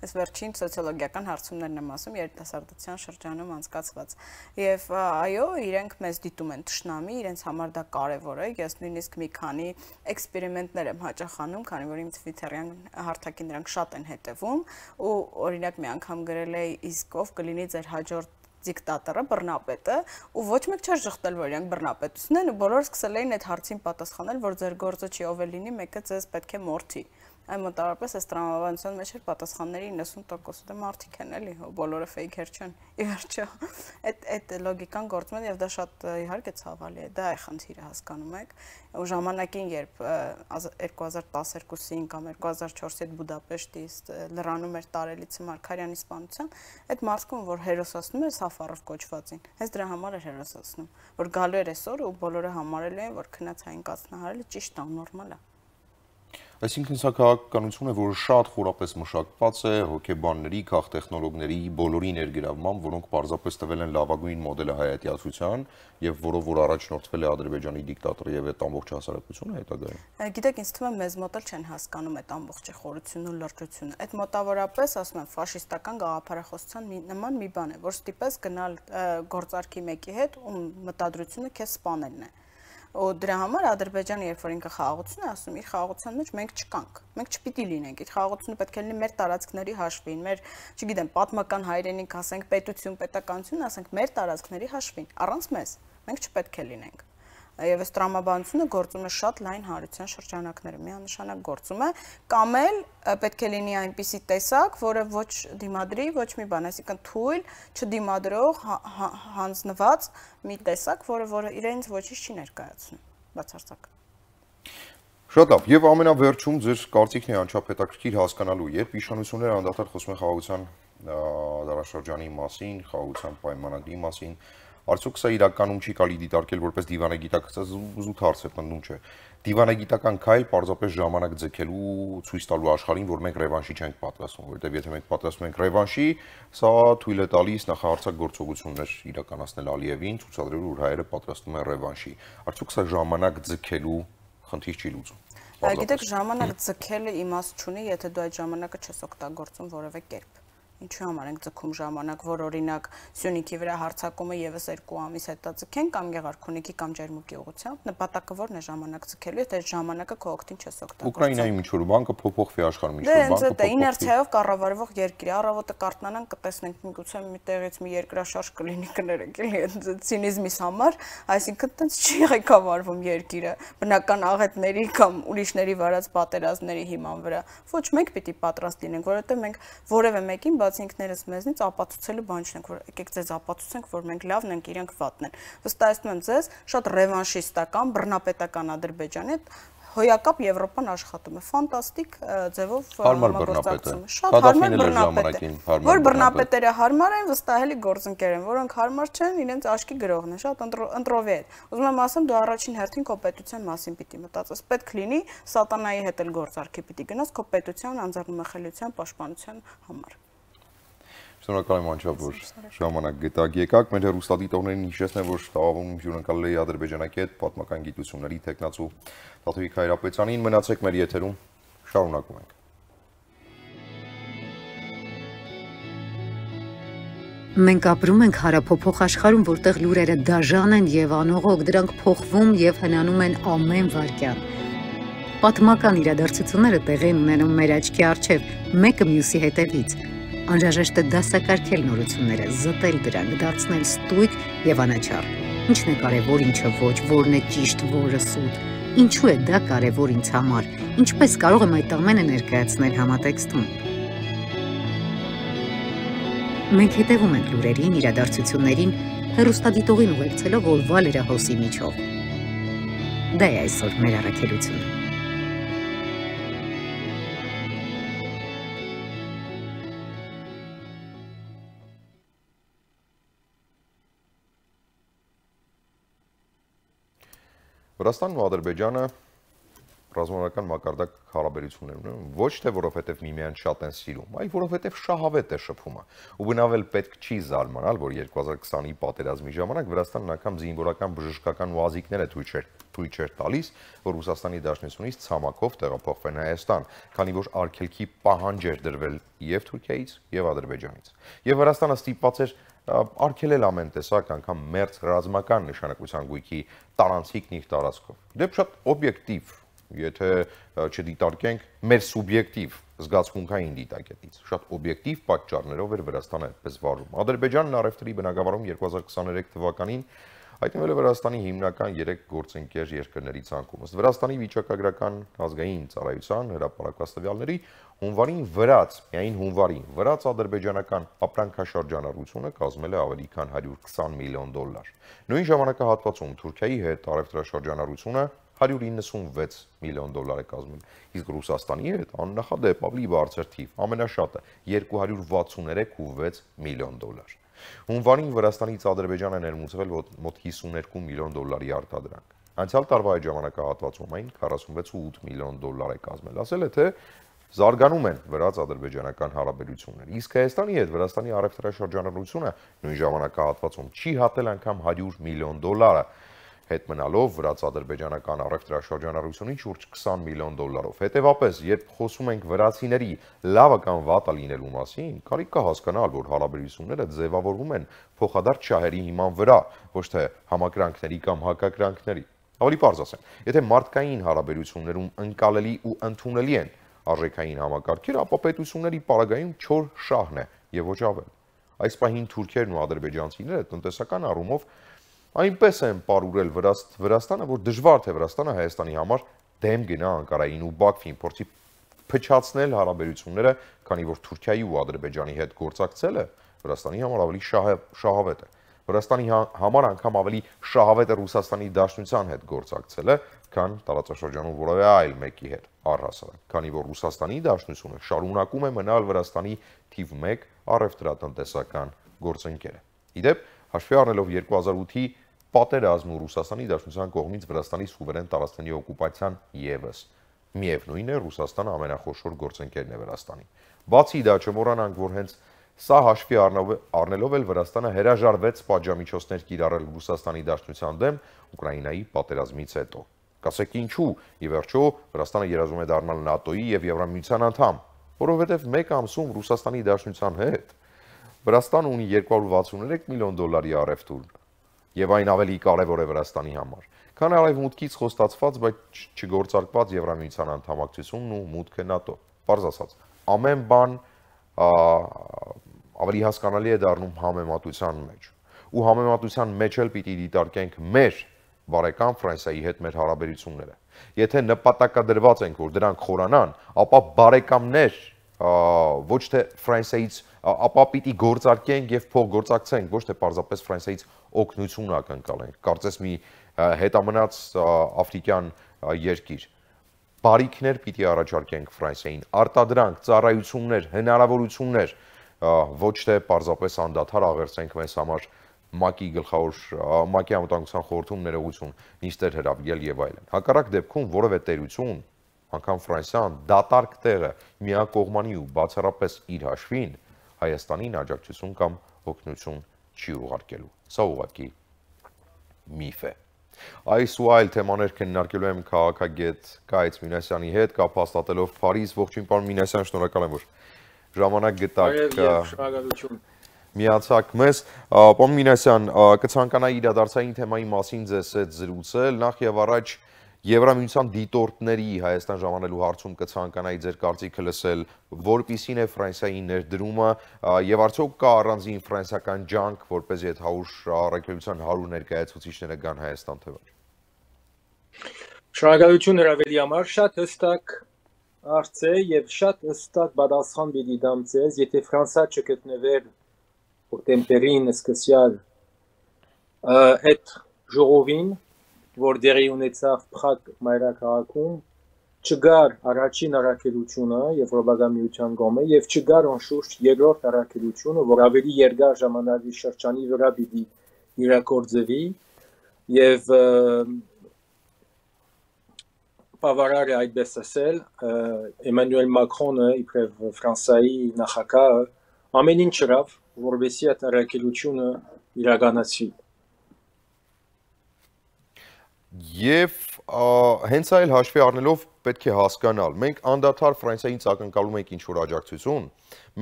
Այս վերջին սոցիոլոգիական հարցումներն եմ ասում երիտասարդության շրջանում անցկացված։ Եվ այո, իրենք մեզ դիտում են թշնամի, իրենց համար դա կարեւոր է։ Ես նույնիսկ մի քանի էքսպերիմենտներ եմ հաճախանում, քանի որ իմ Twitter-յան հարթակին նրանք շատ են հետևում, ու օրինակ մի անգամ գրել էի իսկ ով կլինի ձեր հաջորդ դիկտատորը, բռնապետը, ու ոչ մեկ չէր շղթել, որ իրանք բռնապետություն են, ու բոլորը սկսել էին այդ հարցին պատասխանել, որ ձեր գործը չի ով է լինի, մեկը ձեզ պետք է մորթի։ Այն մոտավորապես այս տրամաբանության մեջ էր պատասխանների իննսուն տոկոսը դե մարդիկ են էլի, բոլորը ֆեյքեր չեն։ Ի վերջո, այդ այդ լոգիկան գործում է եւ դա շատ իհարկե ցավալի է, դա է խնդիրը, հասկանում եք։ Ու ժամանակին, երբ երկու հազար տասներկուսին կամ երկու հազար չորսի այդ Բուդապեշտի լրանում էր տարելիցը Մարգարյանի սպանության, այդ մարդկուն, որ հերոսացնում է Սաֆարով կոչվածին, հենց դրա համար էր հերոսացնում, որ գալու էր այսօր ու բոլորը համարելու են, որ քնած հային կացնահարելը ճիշտ է, նորմալ է։ Այսինքն սա քաղաքականություն է, որը շատ խորապես մշակված է հոգեբանների, քաղտեխնոլոգների բոլորի ներգրավմամբ, որոնք պարզապես տվել են լավագույն մոդելը հայատյացության եւ որով որ առաջնորդվել է Ադրբեջանի դիկտատորը եւ այդ ամբողջ հասարակությունը հետագայում։ Գիտեք, ինձ թվում է մեզ մոտ էլ չեն հասկանում այդ ամբողջ խորությունն ու լրջությունը։ Այդ մոտավորապես, ասում եմ, ֆաշիստական գաղափարախոսության նման մի բան է, որ ստիպես գնալ գործարքի մեկի հետ, ում մտադրությունը քեզ սպանելն է։ Ու դրա համար Ադրբեջանը, երբ որ ինքը խաղաղություն է ասում, իր խաղաղության մեջ մենք չկանք, մենք չպիտի լինենք, իր խաղաղությունը պետք է լինի մեր տարածքների հաշվին, մեր, չգիտեմ, պատմական հայրենիք, ասենք, պետություն, պետականություն, ասենք, մեր տարածքների հաշվին, առանց մեզ, մենք չպետք է լինենք։ Եվ այս տրամաբանությունը գործում է շատ լայն հանրության շրջանակներում, միանշանակ գործում է, կամ էլ պետք է լինի այնպիսի տեսակ, որը ոչ դիմադրի, ոչ մի բան, այսինքն թույլ, չդիմադրող, հանձնված մի տեսակ, որը որը իրենց ոչինչ չի ներկայացնում, բացարձակ։ Շատ լավ, եւ ամենավերջում ձեր կարծիքն է անչափ հետաքրքիր հասկանալու, երբ իշխանությունները անդադար խոսում են խաղաղության դարաշրջանի մասին, խաղաղության պայմանագրի մասին, արդյոք սա իրականում չի կարելի դիտարկել որպես դիվանագիտական, զուտ հարց է, պնդում չէ, դիվանագիտական քայլ պարզապես ժամանակ ձգելու, ցույց տալու աշխարհին, որ մենք ռևանշի չենք պատրաստվում, որովհետև եթե մենք պատրաստվում ենք ռևանշի, սա թույլ է տալիս նախահարցակ գործողություններ իրականացնել Ալիևին, ցուցադրելու, որ հայերը պատրաստվում են ռևանշի։ Արդյոք սա ժամանակ ձգելու խնդիր չի լուծում։ Գիտեք, ժամանակ ձգելը իմաստ չունի, եթե դու այդ ժամանակը չես օգտագործում որևէ կերպ։ Ինչու համար ենք ձգում ժամանակ, որ օրինակ Սյունիքի վրա հարձակումը եւս երկու ամիս հետո ձգեն կամ Գեղարքունիքի կամ Ջերմուկի ուղղությամբ, նպատակը որն է ժամանակ ձգելու, եթե այդ ժամանակը քո օգտին չես օգտագործում։ Ուկրաինայի ինչ որ բանկը փոփոխվի աշխարհում ինչ որ բանկը։ բանկը Դե իներցիայով կառավարվող երկիր, առավոտը կարտնանանք, կտեսնենք միգուցե մի տեղից մի երկրաշարժ կլինի, կներեք, էլի ցինիզմիս համար, այսինքն տենց չի ղեկավարվում երկիրը բնական աղետների կամ ուրիշների վարած պատերազմների հիման վրա։ Ոչ մենք պիտի պատրաստ լինենք, որովհետեւ մենք որևէ մեկին բացի ինքներս մեզնից ապացուցելու բան չունենք, որ եկեք ձեզ ապացուցենք, որ մենք լավն ենք, իրենք վատն են։ Վստահեցնում եմ ձեզ, շատ ռևանշիստական, բռնապետական Ադրբեջանի հետ հոյակապ Եվրոպան աշխատում է, ֆանտաստիկ ձևով համագործակցում է։ Շատ հարմար բռնապետ է, որ բռնապետերը հարմար են, վստահելի գործընկեր են, որոնք հարմար չեն, իրենց աչքի գրողն է, շատ ընտրովի է։ Ուզում եմ ասեմ, դու առաջին հերթին քո պետության մասին պիտի մտածես, պետք լինի սատանայի հետ էլ գործարքի պիտի գնաս քո պետության անձեռնմխելիության պաշտպանության համար։ Շնորհակալ եմ անչափ, որ ժամանակ գտակ եկաք, մեր հեռուստադիտողներին հիշեցնեմ, որ տաղավարում հյուրընկալել էի ադրբեջանցի հետ պատմական գիտությունների թեկնածու Տաթևիկ Հայրապետյանին, մնացեք մեր եթերում, շարունակում ենք։ Մենք ապրում ենք հարափոփող աշխարհում, որտեղ լուրերը դաժան են եւ անողոք, դրանք փոխվում եւ հնանում են ամեն վայրկյան։ Պատմական իրադարձությունները տեղի են ունենում մեր աչքի առջև, մեկը մյուսի հետևից։ Անհրաժեշտ է դասակարգել նորությունները, զտել դրանք, դարձնել ստույգ եւ անաչառ։ Ինչն է կարևոր, ինչը ոչ, որն է ճիշտ, որը սուտ։ Ինչու է դա կարևոր ինձ համար։ Ինչպես կարող եմ այդ ամենը ներկայացնել համատեքստում։ Մենք հետևում ենք լուրերին, իրադարձություններին, հեռուստադիտողին ուղեկցելով օրվա լրահոսի միջով։ Դա է այսօր մեր առաքելությունը։ Վրաստանն ու Ադրբեջանը ռազմական մակարդակ հարաբերություններ ունեն, ոչ թե որովհետև միմյանց շատ են սիրում, այլ որովհետև շահավետ է շփումը։ Ու բնավել պետք չի զարմանալ, որ երկու հազար քսանի պատերազմի ժամանակ Վրաստանն անգամ զինվորական բժշկական ուազիկներ է թույլ չէր տալիս, որ Ռուսաստանի Դաշնությունից ցամաքով տեղափոխվեն Հայաստան, քանի որ արգելքի պահանջ էր դրվել եւ Թուրքիայից եւ Ադրբեջանից։ Եվ Վրաստանը ստիպված էր արգելել ամեն տեսակ անգամ մերձ ռազմական նշանակության գույքի տարանցիկն իր տարածքով։ Դեպ շատ օբյեկտիվ, եթե չդիտարկենք մեր սուբյեկտիվ զգացմունքային դիտակետից, շատ օբյեկտիվ պատճառներով էր Վրաստանը այդպես վարում։ Ադրբեջանն առևտրի բնագավառում երկու հազար քսաներեք թվականին հայտնվել է Վրաստանի հիմնական երեք գործընկեր երկրների ցանկում։ Ըստ Վրաստանի վիճակագրական ազգային ծառայության հրապարակված տվյալների հունվարին վրաց, միայն հունվարին վրաց ադրբեջանական ապրանքաշրջանառությունը կազմել է ավելի քան հարյուր քսան միլիոն դոլար։ Նույն ժամանակահատվածում Թուրքիայի հետ առևտրաշրջանառությունը հարյուր իննսունվեց միլիոն դոլար է կազմել, իսկ Ռուսաստանի հետ աննախադեպ ավելի բարձր թիվ, ամենաշատը երկու հարյուր վաթսուներեք ու վեց միլիոն դոլար։ Հունվարին Վրաստանից Ադրբեջանը ներմուծվել մոտ հիսուներկու միլիոն դոլարի արտադրանք։ Անցյալ տարվա այդ ժամանակահատվածում այն քառասունվեց ու ութ միլիոն դոլար է կազմել։ Ասել է, թե զարգանում են վրաց-ադրբեջանական հարաբերությունները։ Իսկ Հայաստանի հետ Վրաստանի առևտրաշրջանառությունը նույն ժամանակահատվածում չի հատել անգամ հարյուր միլիոն դոլարը, հետ մնալով վրաց-ադրբեջանական առևտրաշրջանառությունից շուրջ քսան միլիոն դոլարով։ Հետևաբար, երբ խոսում ենք վրացիների լավը կամ վատը լինելու մասին, կարիք կա հասկանալ, որ հարաբերությունները ձևավորվում են փոխադարձ շահերի հիման վրա, ոչ թե համակրանքների կամ հակակրանքների։ Ավելի պարզ ասեմ, եթե մարդկային հարաբերություններում ընկալելի ու ընդունելի են արժեքային համակարգերը, ապա պետությունների պարագայում չոր շահն է եւ ոչ ավել։ Այս պահին թուրքերն ու ադրբեջանցիները տնտեսական առումով այնպես են պարուրել Վրաստանը, որ դժվար թե Վրաստանը Հայաստանի համար դեմ գնա Անկարային ու Բաքվին, փորձի փչացնել հարաբերությունները, քանի որ Թուրքիայի ու Ադրբեջանի հետ գործակցելը Վրաստանի համար ավելի շահավետ է։ Վրաստանի համար անգամ ավելի շահավետ է Ռուսաստանի Դաշնության հետ գործակցելը, քան տարածաշրջանում որևէ այլ մեկի հետ, առհասարակ, քանի որ Ռուսաստանի Դաշնությունը շարունակում է մնալ Վրաստանի թիվ մեկ առևտրատնտեսական գործընկերը։ Իդեպ, հաշվի առնելով երկու հազար ութի պատերազմն ու Ռուսաստանի Դաշնության կողմից Վրաստանի սուվերեն տարածքների օկուպացիան ևս, միևնույն է Ռուսաստանը ամենախոշոր գործընկերն է Վրաստանի։ Բացի դա, չմոռանանք, որ հենց սա հաշվի առնելով էլ Վրաստանը հրաժարվեց պատժամիջոցներ կիրառել Ռուսաստանի Դաշնության դեմ Ուկրաինայի պատերազմից հետո։ Կասեք ինչու, ի վերջո Վրաստանը երազում է դառնալ ՆԱՏՕ-ի եւ Եվրամիության անդամ, որովհետեւ մեկ ամսում Ռուսաստանի Դաշնության հետ Վրաստանը ունի երկու հարյուր վաթսուներեք միլիոն դոլարի առևտուր, եւ այն ավելի կարեւոր է Վրաստանի համար, քան արևմուտքից խոստացված, բայց չգործարկված Եվրամիության անդամակցությունն ու մուտքը ՆԱՏՕ։ Պարզ ասած, ամեն բան ավելի հասկանալի է դառնում համեմատության մեջ։ Ու համեմատության մեջ էլ պիտի դիտարկենք մեր բարեկամ Ֆրանսիայի հետ մեր հարաբերությունները։ Եթե նպատակադրված ենք, որ դրանք խորանան, ապա բարեկամներ ոչ թե Ֆրանսիայից ապա պիտի գործարկենք եւ փոխգործակցենք, ոչ թե պարզապես Ֆրանսիայից օգնություն ակնկալենք։ Կարծես մի հետամնաց աֆրիկյան երկիր։ Բարիքներ պիտի առաջարկենք Ֆրանսիային, արտադրանք, ծառայություններ, հնարավորություններ, ոչ թե պարզապես անդադար աղերսենք մեզ համար ՄԱԿ-ի գլխավոր ՄԱԿ-ի անվտանգության խորհրդում ներողություն, նիստեր հրավիրել եւ այլն։ Հակառակ դեպքում որևէ տերություն, անգամ Ֆրանսիան դատարկ տեղը միակողմանի ու բացառապես իր հաշվին Հայաստանին աջակցություն կամ օգնություն չի ուղարկելու։ Սա ուղղակի միֆ է։ Այս ու այլ թեմաներ քննարկելու եմ քաղաքագետ Գայց Մինասյանի հետ, կապ հաստատելով Փարիզ։ Ողջույն, պարոն Մինասյան, շնորհակալ եմ, որ ժամանակ գտաք միացաք մեզ։ Պարոն Մինասյան, կցանկանայի իրադարձային թեմայի մասին ձեզ հետ զրուցել, նախ եւ առաջ Եվրամիության դիտորդների Հայաստան ժամանելու հարցում կցանկանայի ձեր կարծիքը լսել, որպիսին է Ֆրանսիայի ներդրումը եւ արդյոք կա առանձին ֆրանսիական ջանք, որպեսզի այդ հարյուր առաքելության հարյուր ներկայացուցիչները գան Հայաստան թե ոչ։ Շնորհակալություն հրավերի համար, շատ հստակ հարց է եւ շատ հստակ պատասխան պիտի դամ ձեզ, եթե Ֆրանսիա չգտնվեր օկտեմբերին սկսյալ այդ ժողովին, որ դերի ունեցավ Փրագ մայրաքաղաքում, չգար առաջին առաքելությունը Եվրոպական միության կողմից եւ չգար անշուշտ երկրորդ առաքելությունը, որ ավելի երկար ժամանակի շրջանի վրա պիտի իրագործվի եւ բավարար է այդպես ասել, Էմանուել Մակրոնը իբրև Ֆրանսիայի նախագահը ամեն ինչ արավ, որովհետեւ այդ առաքելությունը իրականացվի։ Եվ հենց այլ հաշվի առնելով պետք է հասկանալ, մենք անդադար Ֆրանսիային ակնկալում ենք ինչ-որ աջակցություն,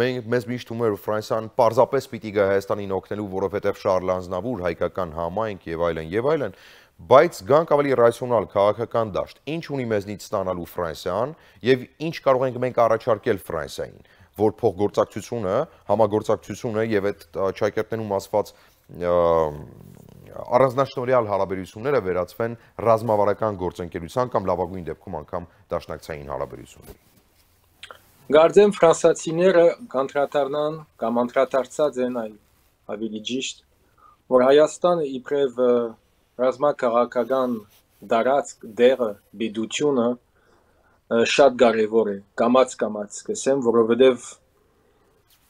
մենք մեզ միշտ թվում է, որ Ֆրանսիան պարզապես պիտի գա Հայաստանին օգնելու, որովհետև Շարլ Ազնավուր, հայկական համայնք եւ այլն եւ այլն, բայց գանք ավելի ռացիոնալ քաղաքական դաշտ, ինչ ունի մեզնից ստանալու Ֆրանսիան եւ ինչ կարող ենք մենք առաջարկել Ֆրանսիային, որ փոխգործակցությունը, համագործակցությունը եւ այդ ճակերտներում ասված առանձնաշնորհյալ հարաբերությունները վերածվեն ռազմավարական գործընկերության կամ լավագույն դեպքում անգամ դաշնակցային հարաբերությունների։ Գարձեմ ֆրանսիացիները կոնտրատառնան կամ անդրադարձած են այլ ավելի ճիշտ, որ Հայաստանը իբրև ռազմաքաղաքական դարածք դերը բիդությունը շատ կարևոր է, կամաց-կամաց կսեմ, որովհետև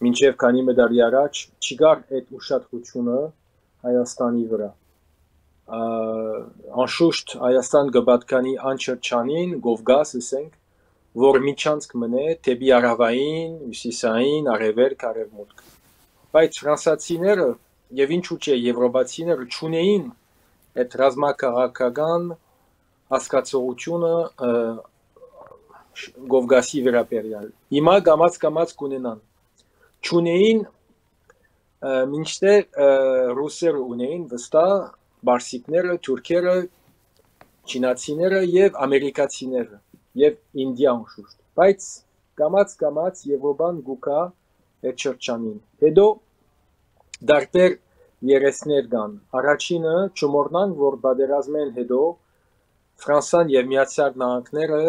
մինչև քանի մդարի առաջ չկար այդ ուշադրությունը Հայաստանի վրա։ Անշուշտ Հայաստան կպատկանի անչրջանին, Կովկաս, ասենք, որ միջանցք մնե դեպի հարավային, հյուսիսային, արևելք, արևմուտք։ Բայց ֆրանսիացիները եւ ինչու՞ չէ եվրոպացիները չունեին այդ ռազմաքաղաքական հասկացողությունը Կովկասի վերաբերյալ։ Հիմա կամաց-կամաց կունենան։ Չունեին մինչդեռ ռուսերը ունեին վստահ, բարսիկները, թուրքերը, չինացիները եւ ամերիկացիները եւ Ինդիան շուտ։ Բայց կամաց-կամաց Եվրոպան գուկա այդ շրջանին։ Հետո դարբեր երեսներ կան։ Առաջինը չմոռնանք, որ պատերազմեն հետո Ֆրանսիան եւ Միացյալ Նահանգները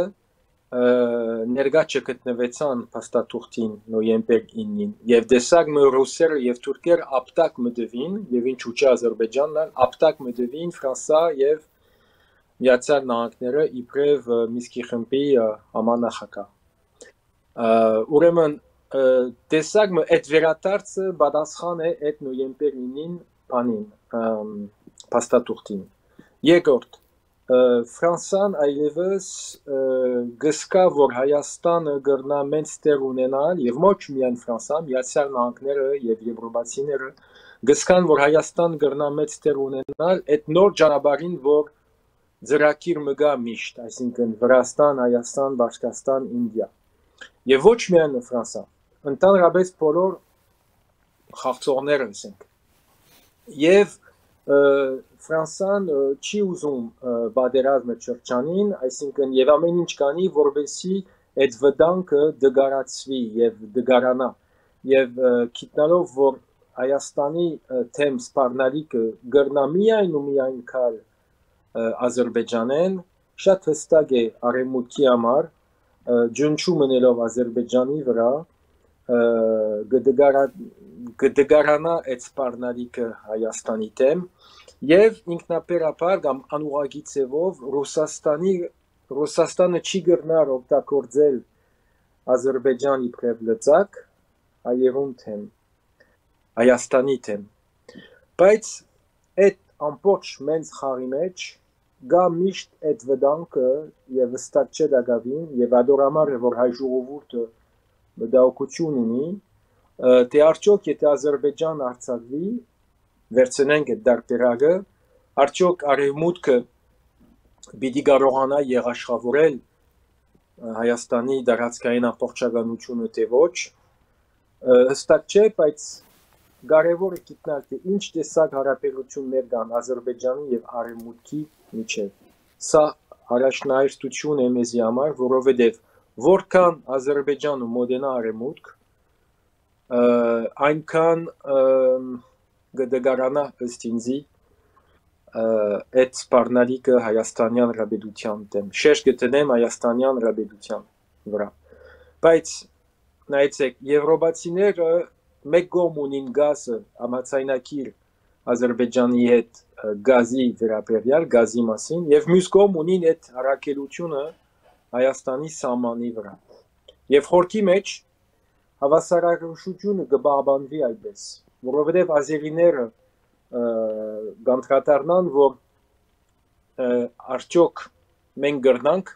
ներկա չգտնվեցան փաստաթուղթին նոյեմբեր ինին եւ դեսակ մը ռուսերը եւ թուրքերը ապտակ մտվին եւ ինչու՞ չէ Ադրբեջանն ապտակ մտվին Ֆրանսիա եւ Միացյալ Նահանգները իբրև Միսկի խմբի համանախագահ ուրեմն դեսակ մը այդ վերադարձը պատասխան է այդ նոյեմբեր ինին բանին փաստաթուղթին երկրորդ Ֆրանսիան այլևս գսկա, որ Հայաստանը գրնա մեծ տեղ ունենալ եւ ոչ միայն Ֆրանսիան, Միացյալ Նահանգները եւ եվրոպացիները գսկան, որ Հայաստան գրնա մեծ տեղ ունենալ այդ նոր ճանապարհին, որ ծրագիր մգա միշտ, այսինքն Վրաստան, Հայաստան, Բաշկաստան, Ինդիա։ Եվ ոչ միայն Ֆրանսիա, ընդհանրապես բոլոր խաղացողները ասենք։ Եվ Ֆրանսիան չի ուզում պատերազմը շրջանին, այսինքն եւ ամեն ինչ կանի, որովհետեւ այդ վտանգը դգարացվի եւ դգարանա եւ գիտնալով, որ Հայաստանի թեմ սպառնալիքը գրնա միայն ու միայն կալ Ադրբեջանեն, շատ հստակ է արևմուտքի համար ջնջում մնելով Ադրբեջանի վրա, գդգարանա այդ սպառնալիքը Հայաստանի դեմ եւ ինքնաբերաբար կամ անուղղակի ձևով Ռուսաստանի Ռուսաստանը չի գտնար օգտագործել Ադրբեջանի իբրև լծակ հայերուն թեմ Հայաստանի թեմ բայց այդ ամբողջ մենց խաղի մեջ գա միշտ այդ վտանգը եւ վստահ չէ դակավին եւ ադորամար է որ հայ ժողովուրդը մտահոգություն ունի թե արդյոք եթե Ադրբեջան արձակվի վերցնենք այդ դարբերակը արդյոք արևմուտքը պիտի կարողանա եղաշխավորել Հայաստանի դարածքային ամբողջականությունը թե ոչ հստակ չէ բայց կարևոր է գտնել թե ինչ տեսակ հարաբերություններ կան Ադրբեջանի եւ արևմուտքի միջեւ սա առաջնահերթություն է մեզի համար որովհետեւ որքան Ադրբեջանը մոտենա արևմուտք այնքան գդգարանա ըստ ինձի այդ սպառնալիքը Հայաստանյան ռաբեդության դեմ շեշտ կտնեմ Հայաստանյան ռաբեդության վրա բայց նայեցեք եվրոպացիները մեկ կողմ ունին գազը համաձայնագիր Ադրբեջանի հետ գազի վերաբերյալ գազի մասին եւ մյուս կողմ ունին այդ առաքելությունը Հայաստանի սահմանի վրա եւ խորքի մեջ հավասարակշռությունը կբաղբանվի այդպես որովհետեւ ազերիները գանտրատարնան որ արդյոք մենք գրնանք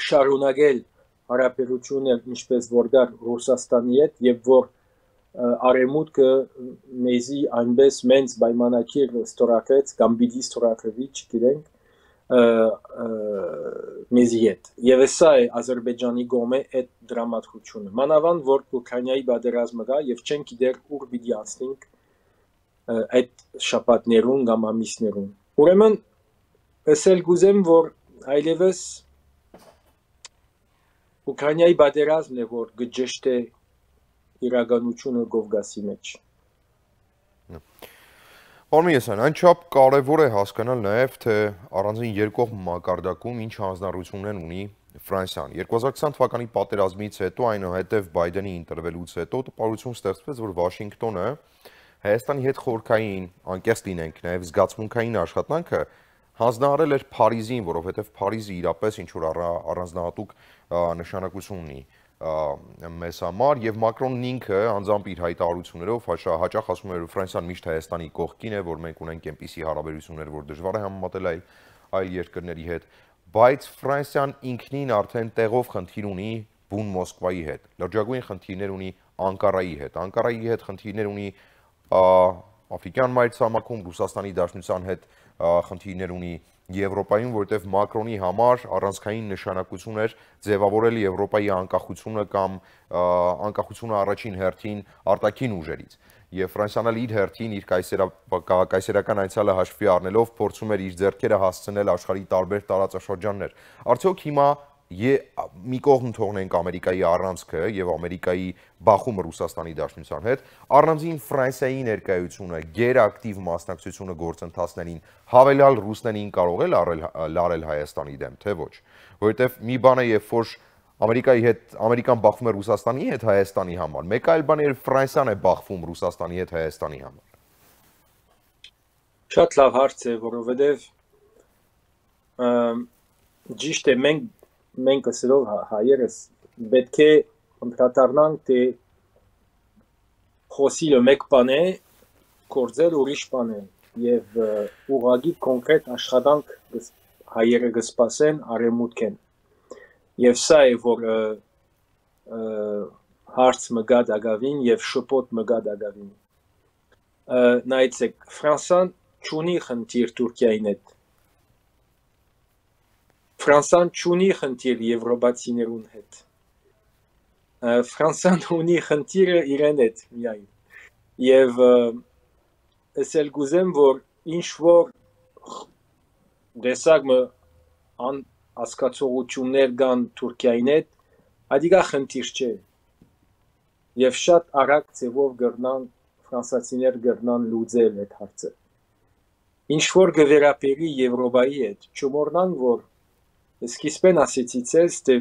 շարունակել հարաբերություններ ինչպես որ դար Ռուսաստանի հետ եւ որ արևմուտքը մեզի այնպես մենց պայմանագիր ստորագրեց կամ պիտի ստորագրվի չգիտենք մեզի հետ եւ սա է Ադրբեջանի կողմը այդ դրամատուրգությունը մանավանդ որ Ուկրաինայի պատերազմը կա եւ չեն գիտեր ուր պիտի անցնենք այդ շաբաթներուն կամ ամիսներուն ուրեմն ասել գուզեմ որ այլևս Ուկրաինայի պատերազմն է որ գճշտե իրականությունը Կովկասի մեջ Պարոն այնչափ կարևոր է հասկանալ նաև թե առանձին երկկողմ մակարդակում ինչ հանձնառություններ ունի Ֆրանսիան երկու հազար քսան թվականի պատերազմից հետո այնուհետև Բայդենի ընտրվելուց հետո տպավորություն ստեղծվեց որ Վաշինգտոնը Հայաստանի հետ խորքային անկեղծ լինենք նաև զգացմունքային աշխատանքը հանձնարարել էր Փարիզին, որովհետև Փարիզը իրապես ինչ որ առանձնահատուկ նշանակություն ունի մեզ համար եւ Մակրոնն ինքը անձամբ իր հայտարարություններով հաճախ ասում էր Ֆրանսիան միշտ Հայաստանի կողքին է, որ մենք ունենք այնպիսի հարաբերություններ, որ դժվար է համեմատել այլ այլ երկրների հետ, բայց Ֆրանսիան ինքնին արդեն տեղով խնդիր ունի բուն Մոսկվայի հետ, լրջագույն խնդիրներ ունի Անկարայի հետ, Անկարայի հետ խնդիրներ ունի Աֆրիկյան մայրցամաքում, Ռուսաստանի Դաշնության հետ խնդիրներ ունի Եվրոպայում, որտեղ Մակրոնի համար առանցքային նշանակություն էր ձևավորել Եվրոպայի անկախությունը կամ անկախությունը առաջին հերթին արտաքին ուժերից։ Եվ Ֆրանսիան իր հերթին իր կայսերական այցելը հաշվի առնելով փորձում էր իր ձեռքերը հասցնել աշխարհի տարբեր տարածաշրջաններ։ Արդյոք հիմա մի կողմ թողնենք Ամերիկայի առանցքը եւ Ամերիկայի բախումը Ռուսաստանի Դաշնության հետ, առանձին Ֆրանսիայի ներկայությունը, գերակտիվ մասնակցությունը գործընթացներին հավելյալ ռուսներին կարող է լարել Հայաստանի դեմ, թե ոչ, որովհետեւ մի բան է երբ որ Ամերիկայի հետ Ամերիկան բախվում է Ռուսաստանի հետ Հայաստանի համար, մեկ այլ բան է երբ Ֆրանսիան է բախվում Ռուսաստանի հետ Հայաստանի համար։ Շատ լավ հարց է, որովհետեւ ճիշտ է մենք մենք ասելով հայերս պետք է ընդհանրանանք թե խոսիլը մեկ բան է, գործել ուրիշ բան է եւ ուղղակի կոնկրետ աշխատանք հայերը կսպասեն արևմուտքեն եւ սա է որ հարց մը գա դակավին եւ շփոթ մը գա դակավին նայեցեք Ֆրանսիան չունի խնդիր Թուրքիայի հետ Ֆրանսիան չունի խնդիր եվրոպացիներուն հետ Ֆրանսիան ունի խնդիրը իրեն հետ միայն եւ ասել գուզեմ որ ինչ որ դեսագ մը ան ասկացողություններ կան Թուրքիայի հետ ադիգա խնդիր չէ եւ շատ արագ ձևով գրնան ֆրանսացիներ գրնան լուծել այդ հարցը ինչ որ գվերապերի Եվրոպայի հետ չմոռնանք որ Սկիզբեն ասեցի ցես թե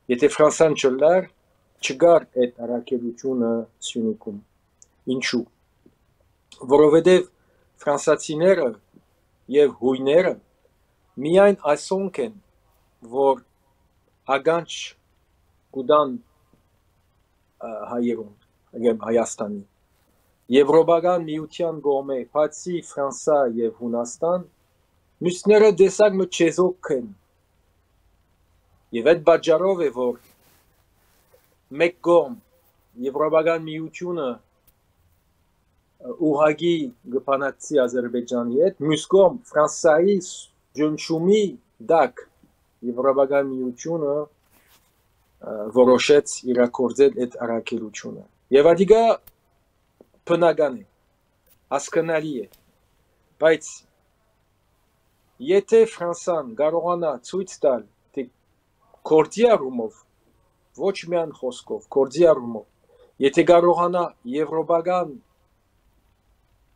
եթե Ֆրանսիան չլար չգար այդ առաքելությունը Սյունիքում։ Ինչու՞։ Որովհետև ֆրանսացիները եւ հույները միայն այսոնք են, որ ագանչ կուդան հայերուն, ագեմ Հայաստանի։ Եվրոպական միության գոմե, բացի Ֆրանսա եւ Հունաստան, մյուսները դեսակ մը չեզոք են։ Եվ այդ բաժարով է, որ մեկ գոմ Եվրոպական միությունը ուղագի գպանակցի Ադրբեջանի հետ, մյուս կողմ Ֆրանսայի ջնշումի դակ Եվրոպական միությունը որոշեց իրագործել այդ առաքելությունը։ Եվ ադիգա բնական է, հասկանալի է, բայց եթե Ֆրանսան կարողանա ցույց տալ, թե գործի առումով, ոչ միայն խոսքով, գործի առումով, եթե կարողանա եվրոպական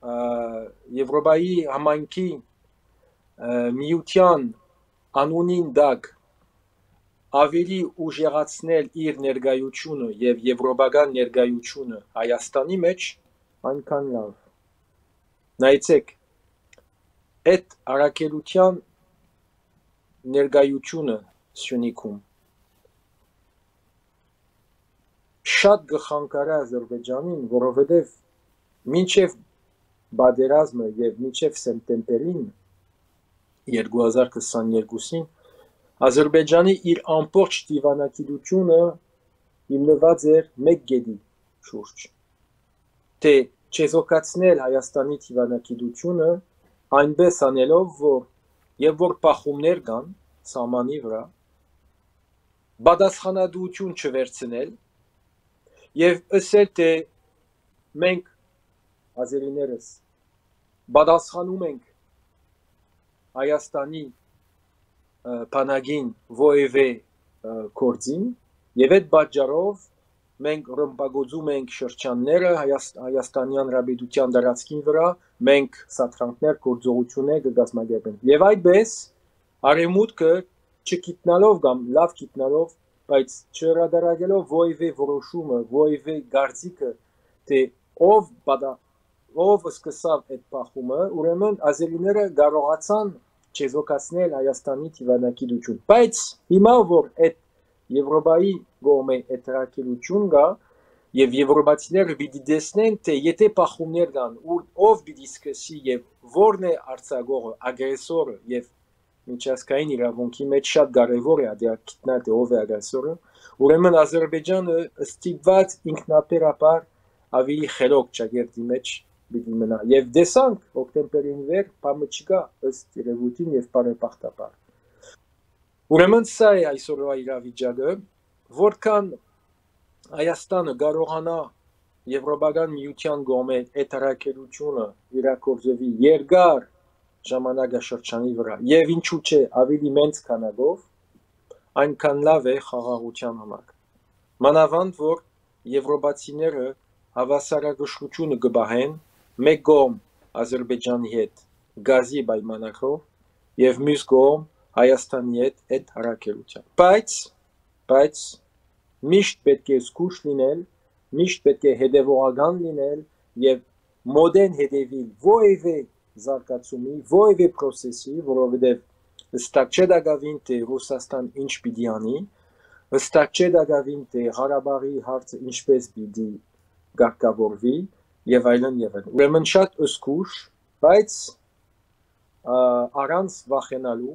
Եվրոպայի համայնքի միության անունին դակ ավելի ուժեղացնել իր ներկայությունը եւ եվրոպական ներկայությունը Հայաստանի մեջ, այնքան լավ։ Նայեցեք, այդ առաքելության ներկայությունը Սյունիքում շատ գխանկարա Ադրբեջանին, որովհետեւ մինչեւ բادرազմը եւ մինչեւ սեպտեմբերին երկու հազար քսաներկուսին Ադրբեջանի իր ամբողջ դիվանագիտությունը հիմնված էր մեկ գեդի շուրջ, թե չեզոքացնել Հայաստանի դիվանագիտությունը այնպես անելով, որ եւ որ բախումներ կան սահմանի վրա, բադասխանատվություն չվերցնել եւ ասել, թե մենք ազերիներս բադասխանում ենք Հայաստանի բանակին ովևէ գործին եւ այդ պատճառով մենք ռմբագոծում ենք շրջանները Հայաստանի Հանրապետության տարածքին վրա, մենք սատրանքներ գործողություններ կգազմագերբենք եւ այդպես արևմուտքը չգիտնալով կամ լավ գիտնալով, բայց չհրադարագելով ովևէ որոշումը, ովևէ գարցիկը, թե ով բադա ով սկսավ այդ բախումը, ուրեմն ազերիները կարողացան չեզոքացնել Հայաստանի դիվանագիտություն։ Բայց հիմա որ այդ Եվրոպայի գոմե այդ առաքելություն կա եւ եվրոպացիները պիտի տեսնեն, թե եթե բախումներ կան, ով պիտի սկսի եւ որն է արձակողը, ագրեսորը եւ միջազգային իրավունքի մեջ շատ կարեւոր է դիտել թե ով է ագրեսորը, ուրեմն Ադրբեջանը ստիպված ինքնաբերաբար ավելի խելոք ճակերտի մեջ պիտի մնա եւ դեսանք հոկտեմբերին վեր բամը չկա ըստ երևույթին եւ բարեբախտաբար։ Ուրեմն սա է այսօրվա իրավիճակը, որքան Հայաստանը կարողանա Եվրոպական միության կողմէ այդ առաքելությունը իրագործվի երկար ժամանակաշրջանի վրա եւ ինչու՞ չէ ավելի մեծ քանակով, այնքան լավ է խաղաղության համար։ Մանավանդ որ եվրոպացիները հավասարակշռությունը կբահեն մեկ կողմ Ադրբեջանի հետ գազի պայմանագրով եւ մյուս կողմ Հայաստանի հետ այդ առաքելությամբ։ Բայց բայց միշտ պետք է զգուշ լինել, միշտ պետք է հետևողական լինել եւ մոդեն հետևել ովևէ զարգացումի, ովևէ process-ի, որովհետեւ ըստակ չէ դակավին թե Ռուսաստան ինչ պիտի անի, ըստակ չէ դակավին թե Ղարաբաղի հարցը ինչպես պիտի գարկավորվի եւ այլն եւ այլն։ Ուրեմն շատ զգուշ, բայց առանց վախենալու,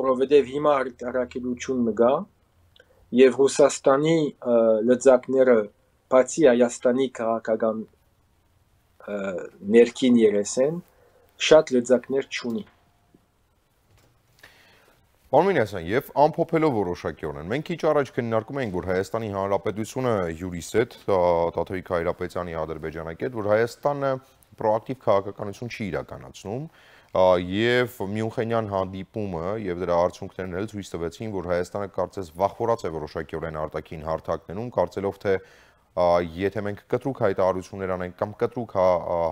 որովհետեւ հիմա առաքելություն մգա եւ Ռուսաստանի լծակները բացի Հայաստանի քաղաքական ներքին երեսեն շատ լծակներ չունի։ Պարոն Մինասյան, եւ ամփոփելով որոշակիորեն, մենք քիչ առաջ քննարկում էինք, որ Հայաստանի Հանրապետությունը հյուրիս հետ, Տաթևիկ Հայրապետյանի ադրբեջանակետ, որ Հայաստանը պրոակտիվ քաղաքականություն չի իրականացնում, եւ Մյունխենյան հանդիպումը եւ դրա արդյունքներն էլ ցույց տվեցին, որ Հայաստանը կարծես վախվորած է որոշակիորեն արտաքին հարթակներում, կարծելով թե եթե մենք կտրուկ հայտարարություններ անենք կամ կտրուկ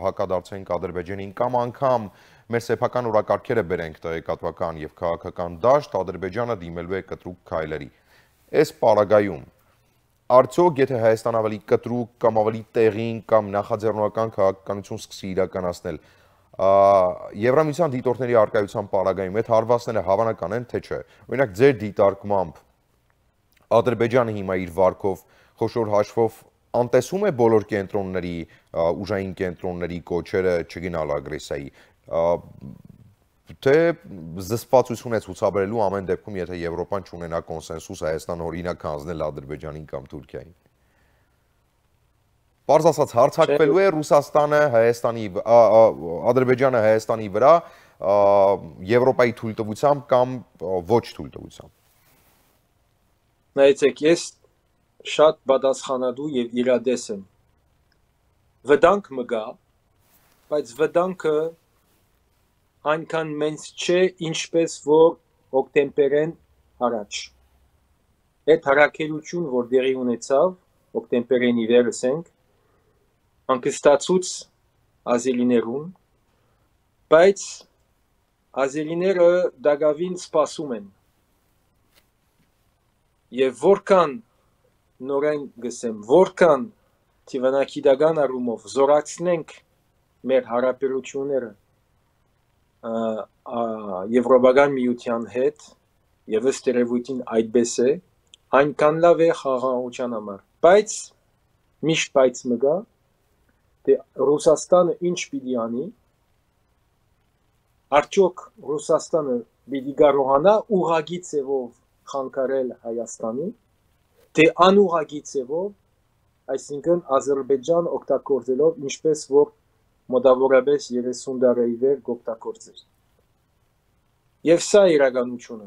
հակադարձենք Ադրբեջանին կամ անգամ մեր սեփական օրակարգերը բերենք տեղեկատվական եւ քաղաքական դաշտ, Ադրբեջանը դիմելու է կտրուկ քայլերի։ Այս պարագայում Արդյոք եթե Հայաստան ավելի կտրուկ կամ ավելի տեղին կամ նախաձեռնական քաղաքականություն սկսի իրականացնել, Եվրամիության դիտորդների առկայության պարագայում այդ հարվածները հավանական են, թե չէ։ Օրինակ ձեր դիտարկմամբ Ադրբեջանը հիմա իր վարկով խոշոր հաշվով անտեսում է բոլոր կենտրոնների, ուժային կենտրոնների կոչերը չգնալ ագրեսիայի, թե զսպվածություն է ցուցաբերելու ամեն դեպքում, եթե Եվրոպան չունենա կոնսենսուս Հայաստան օրինակ հանձնել Ադրբեջանին կամ Թուրքիային։ Պարզ ասած, հարձակվելու է Ռուսաստանը Հայաստանի, Ադրբեջանը Հայաստանի վրա Եվրոպայի թույլտվությամբ կամ ոչ թույլտվությամբ։ Նայեցեք, ես շատ պատասխանատու եւ իրադես եմ։ Վտանգ մը գա, բայց վտանգը այնքան մեծ չէ, ինչպես որ օկտեմբերին առաջ։ Այդ հարակերություն, որ դերի ունեցավ, օկտեմբերին ի վերս ենք, անկստացուց ազելիներուն, բայց ազելիները դակավին սպասում են։ Եվ որքան նորեն գսեմ, որքան թիվանակիդական առումով զորացնենք մեր հարաբերությունները Եվրոպական միության հետ, եւ ըստ երևույթին այդպես է, այնքան լավ է խաղաղության համար։ Բայց միշտ բայց մը գա, թե Ռուսաստանը ինչ պիտի անի, արդյոք Ռուսաստանը պիտի կարողանա ուղղակի ձևով խանգարել Հայաստանի, թե անուղղակի ձևով, այսինքն Ադրբեջան օգտագործելով ինչպես որ մոտավորապես երեսուն տարի վեր օգտագործել։ Եվ սա իրականությունը։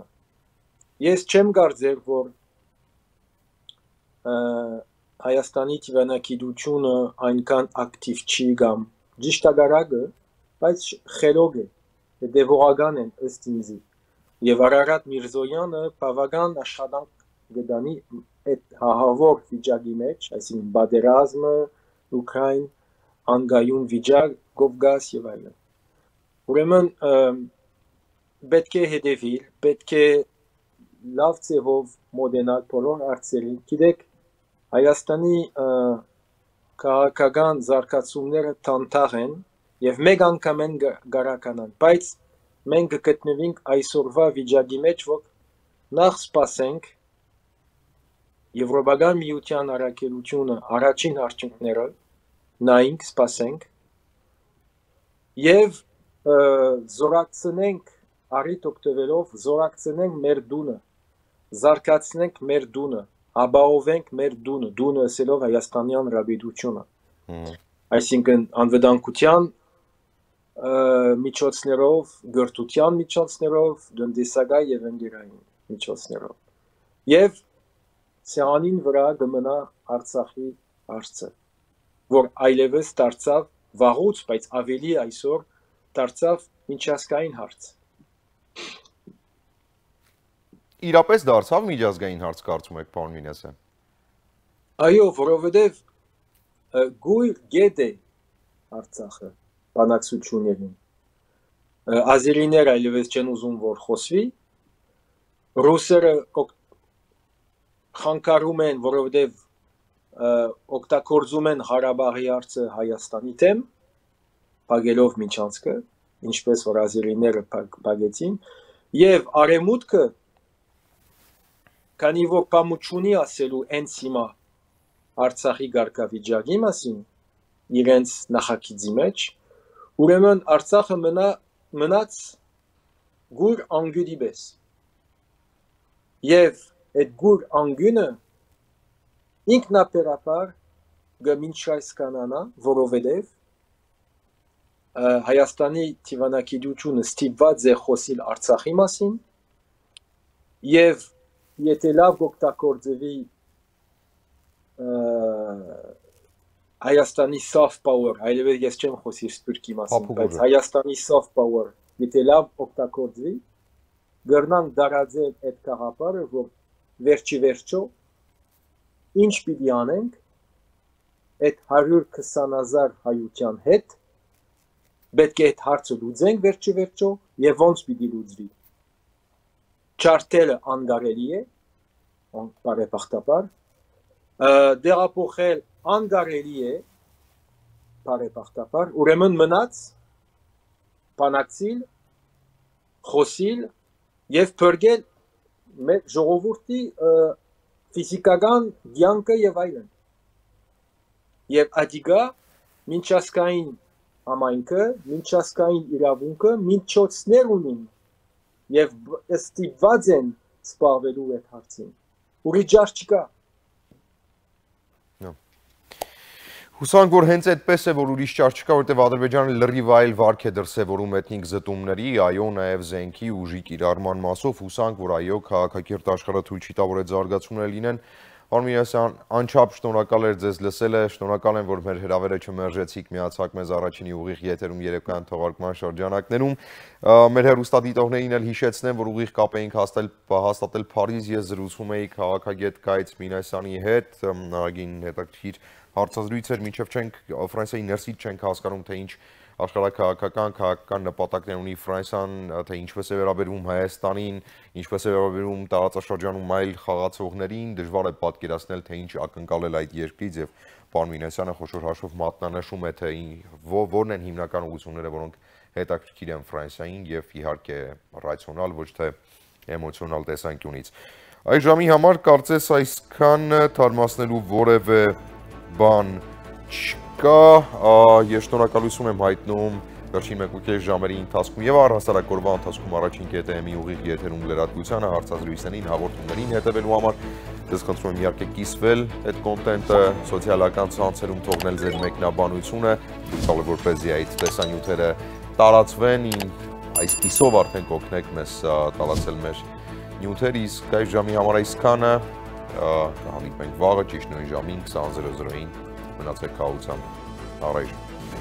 Ես չեմ կարծեր, որ Հայաստանի թիվանակիդությունը այնքան ակտիվ չի կամ ճիշտագարակը, բայց խելոք է, դեվողական են ըստ ինձի։ Եվ Արարատ Միրզոյանը բավական աշխատանք գտանի այդ հահավոր վիճակի մեջ, այսինքն պատերազմը, Ուկրաին, անգայուն վիճակ, Կովկաս եւ այլն։ Ուրեմն պետք է հետևել, պետք է լավ ձևով մոդենալ բոլոր հարցերին։ Գիտեք, Հայաստանի քաղաքական զարգացումները տանտաղ են եւ մեկ անգամ են գարականան, բայց մենք գտնվենք այսօրվա վիճակի մեջ, որ նախ սպասենք Եվրոպական միության առաքելությունը առաջին արդյունքները նայենք, սպասենք եւ զորակցնենք առիթ օգտվելով զորակցնենք մեր դունը, զարգացնենք մեր դունը, ապահովենք մեր դունը, դունը ասելով Հայաստանյան ռաբիդությունը։ Այսինքն անվտանգության միջոցներով, գրթության միջոցներով, տնտեսական եւ ընկերային միջոցներով։ Եվ սյանին վրա կմնա Արցախի հարցը, որ այլևս դարձավ վաղուց, բայց ավելի այսօր դարձավ միջազգային հարց։ Իրապես դարձավ միջազգային հարց, կարծում եք, պարոն Մինասյան։ Այո, որովհետև գույր գետ է Արցախը բանակցություններին։ Ազերիները այլևս չեն ուզում, որ խոսվի, ռուսերը խանգարում են, որովհետև օգտագործում են Ղարաբաղի հարցը Հայաստանի դեմ, փակելով միջանցքը, ինչպես որ ազերիները փակեցին, եւ արևմուտքը, քանի որ բամուչունի ասելու հենց հիմա Արցախի գարկավիճակի մասին, իրենց նախագծի մեջ, ուրեմն Արցախը մնա մնաց գուր անգյունի պես։ Եվ այդ գուր անգյունը ինքնաբերաբար գմինչայս կանանա, որովհետև Հայաստանի թիվանակիդությունը ստիպված է խոսիլ Արցախի մասին եւ եթե լավ օգտագործվի Հայաստանի soft power, այլևս ես չեմ խոսի Սփյուռքի մասին, բայց Հայաստանի soft power, եթե լավ օգտագործվի, գրնանք դարաձել այդ կաղապարը, որ վերջի վերջո ինչ պիտի անենք այդ հարյուր քսան հազար հայության հետ, պետք է այդ հարցը լուծենք վերջի վերջո եւ ոնց պիտի լուծվի։ Չարտելը անգարելի է, բարեբախտաբար, դեղափոխել անկարելի է բարեբախտաբար, ուրեմն մնաց բանակցիլ, խոսիլ եւ փրկել մեր ժողովրդի ֆիզիկական կյանքը եւ այլն։ Եվ ադիգա մինչասկային համայնքը, մինչասկային իրավունքը մինչոցներ ունին եւ ստիպված են սպառվելու այդ հարցին։ Ուրի ջար չկա։ Հուսանք, որ հենց այդպես է, որ ուրիշ ճար չկա, որտեղ Ադրբեջանը լրիվ այլ վարք է դրսևորում էթնիկ զտումների, այո, նաև զենքի ուժի կիրառման մասով, հուսանք, որ այո, քաղաքակիրթ աշխարհը թույլ չի տա, որ այդ զարգացումները լինեն։ Պարոն Մինասյան, անչափ շնորհակալ եմ ձեզ լսելը, շնորհակալ եմ, որ մեր հրավերը չմերժեցիք, միացաք մեզ առաջինի ուղիղ եթերում երեկոյան թողարկման շրջանակներում։ Մեր հեռուստադիտողներին էլ հիշեցնեմ, որ ուղիղ կապ էինք հաստատել Փարիզ, ես զրուցում էի քաղաքագետ Գայծ Մինասյանի հետ, նարագին հետաքրքիր հարցազրույց էր, մինչև չենք Ֆրանսիայի ներսից չենք հասկանում, թե ինչ աշխարհաքաղաքական, քաղաքական նպատակներ ունի Ֆրանսիան, թե ինչպես է վերաբերվում Հայաստանին, ինչպես է վերաբերվում տարածաշրջանում այլ խաղացողներին, դժվար է պատկերացնել, թե ինչ ակնկալել այդ երկրից եւ պարոն Մինասյանը խոշոր հաշվով մատնանշում է, թե որն են հիմնական ուղղությունները, որոնք հետաքրքիր են Ֆրանսիային եւ իհարկե ռացիոնալ, ոչ թե էմոցիոնալ տեսանկյունից։ Այս ժամի համար կարծես այսքան թարմացնելու որևէ բան չկա, ես շնորհակալություն եմ հայտնում վերջին մեկ ու կես ժամերի ընթացքում եւ առհասարակ օրվա ընթացքում առաջին կետեմի ուղիղ եթերում լրատվությանը, հարցազրույցներին, հաղորդումներին հետևելու համար ձեզ խնդրում եմ իհարկե կիսվել այդ կոնտենտը սոցիալական ցանցերում, թողնել ձեր մեկնաբանությունը, ցույցալ որպեսզի այդ տեսանյութերը տարածվեն, այսպիսով արդեն կօգնեք մեզ տարածել մեր նյութեր, իսկ այս ժամի համար այսքանը կհանդիպենք վաղը ճիշտ նույն ժամին քսան զրո զրոյին, մնացեք քաջությամբ, առայժմ։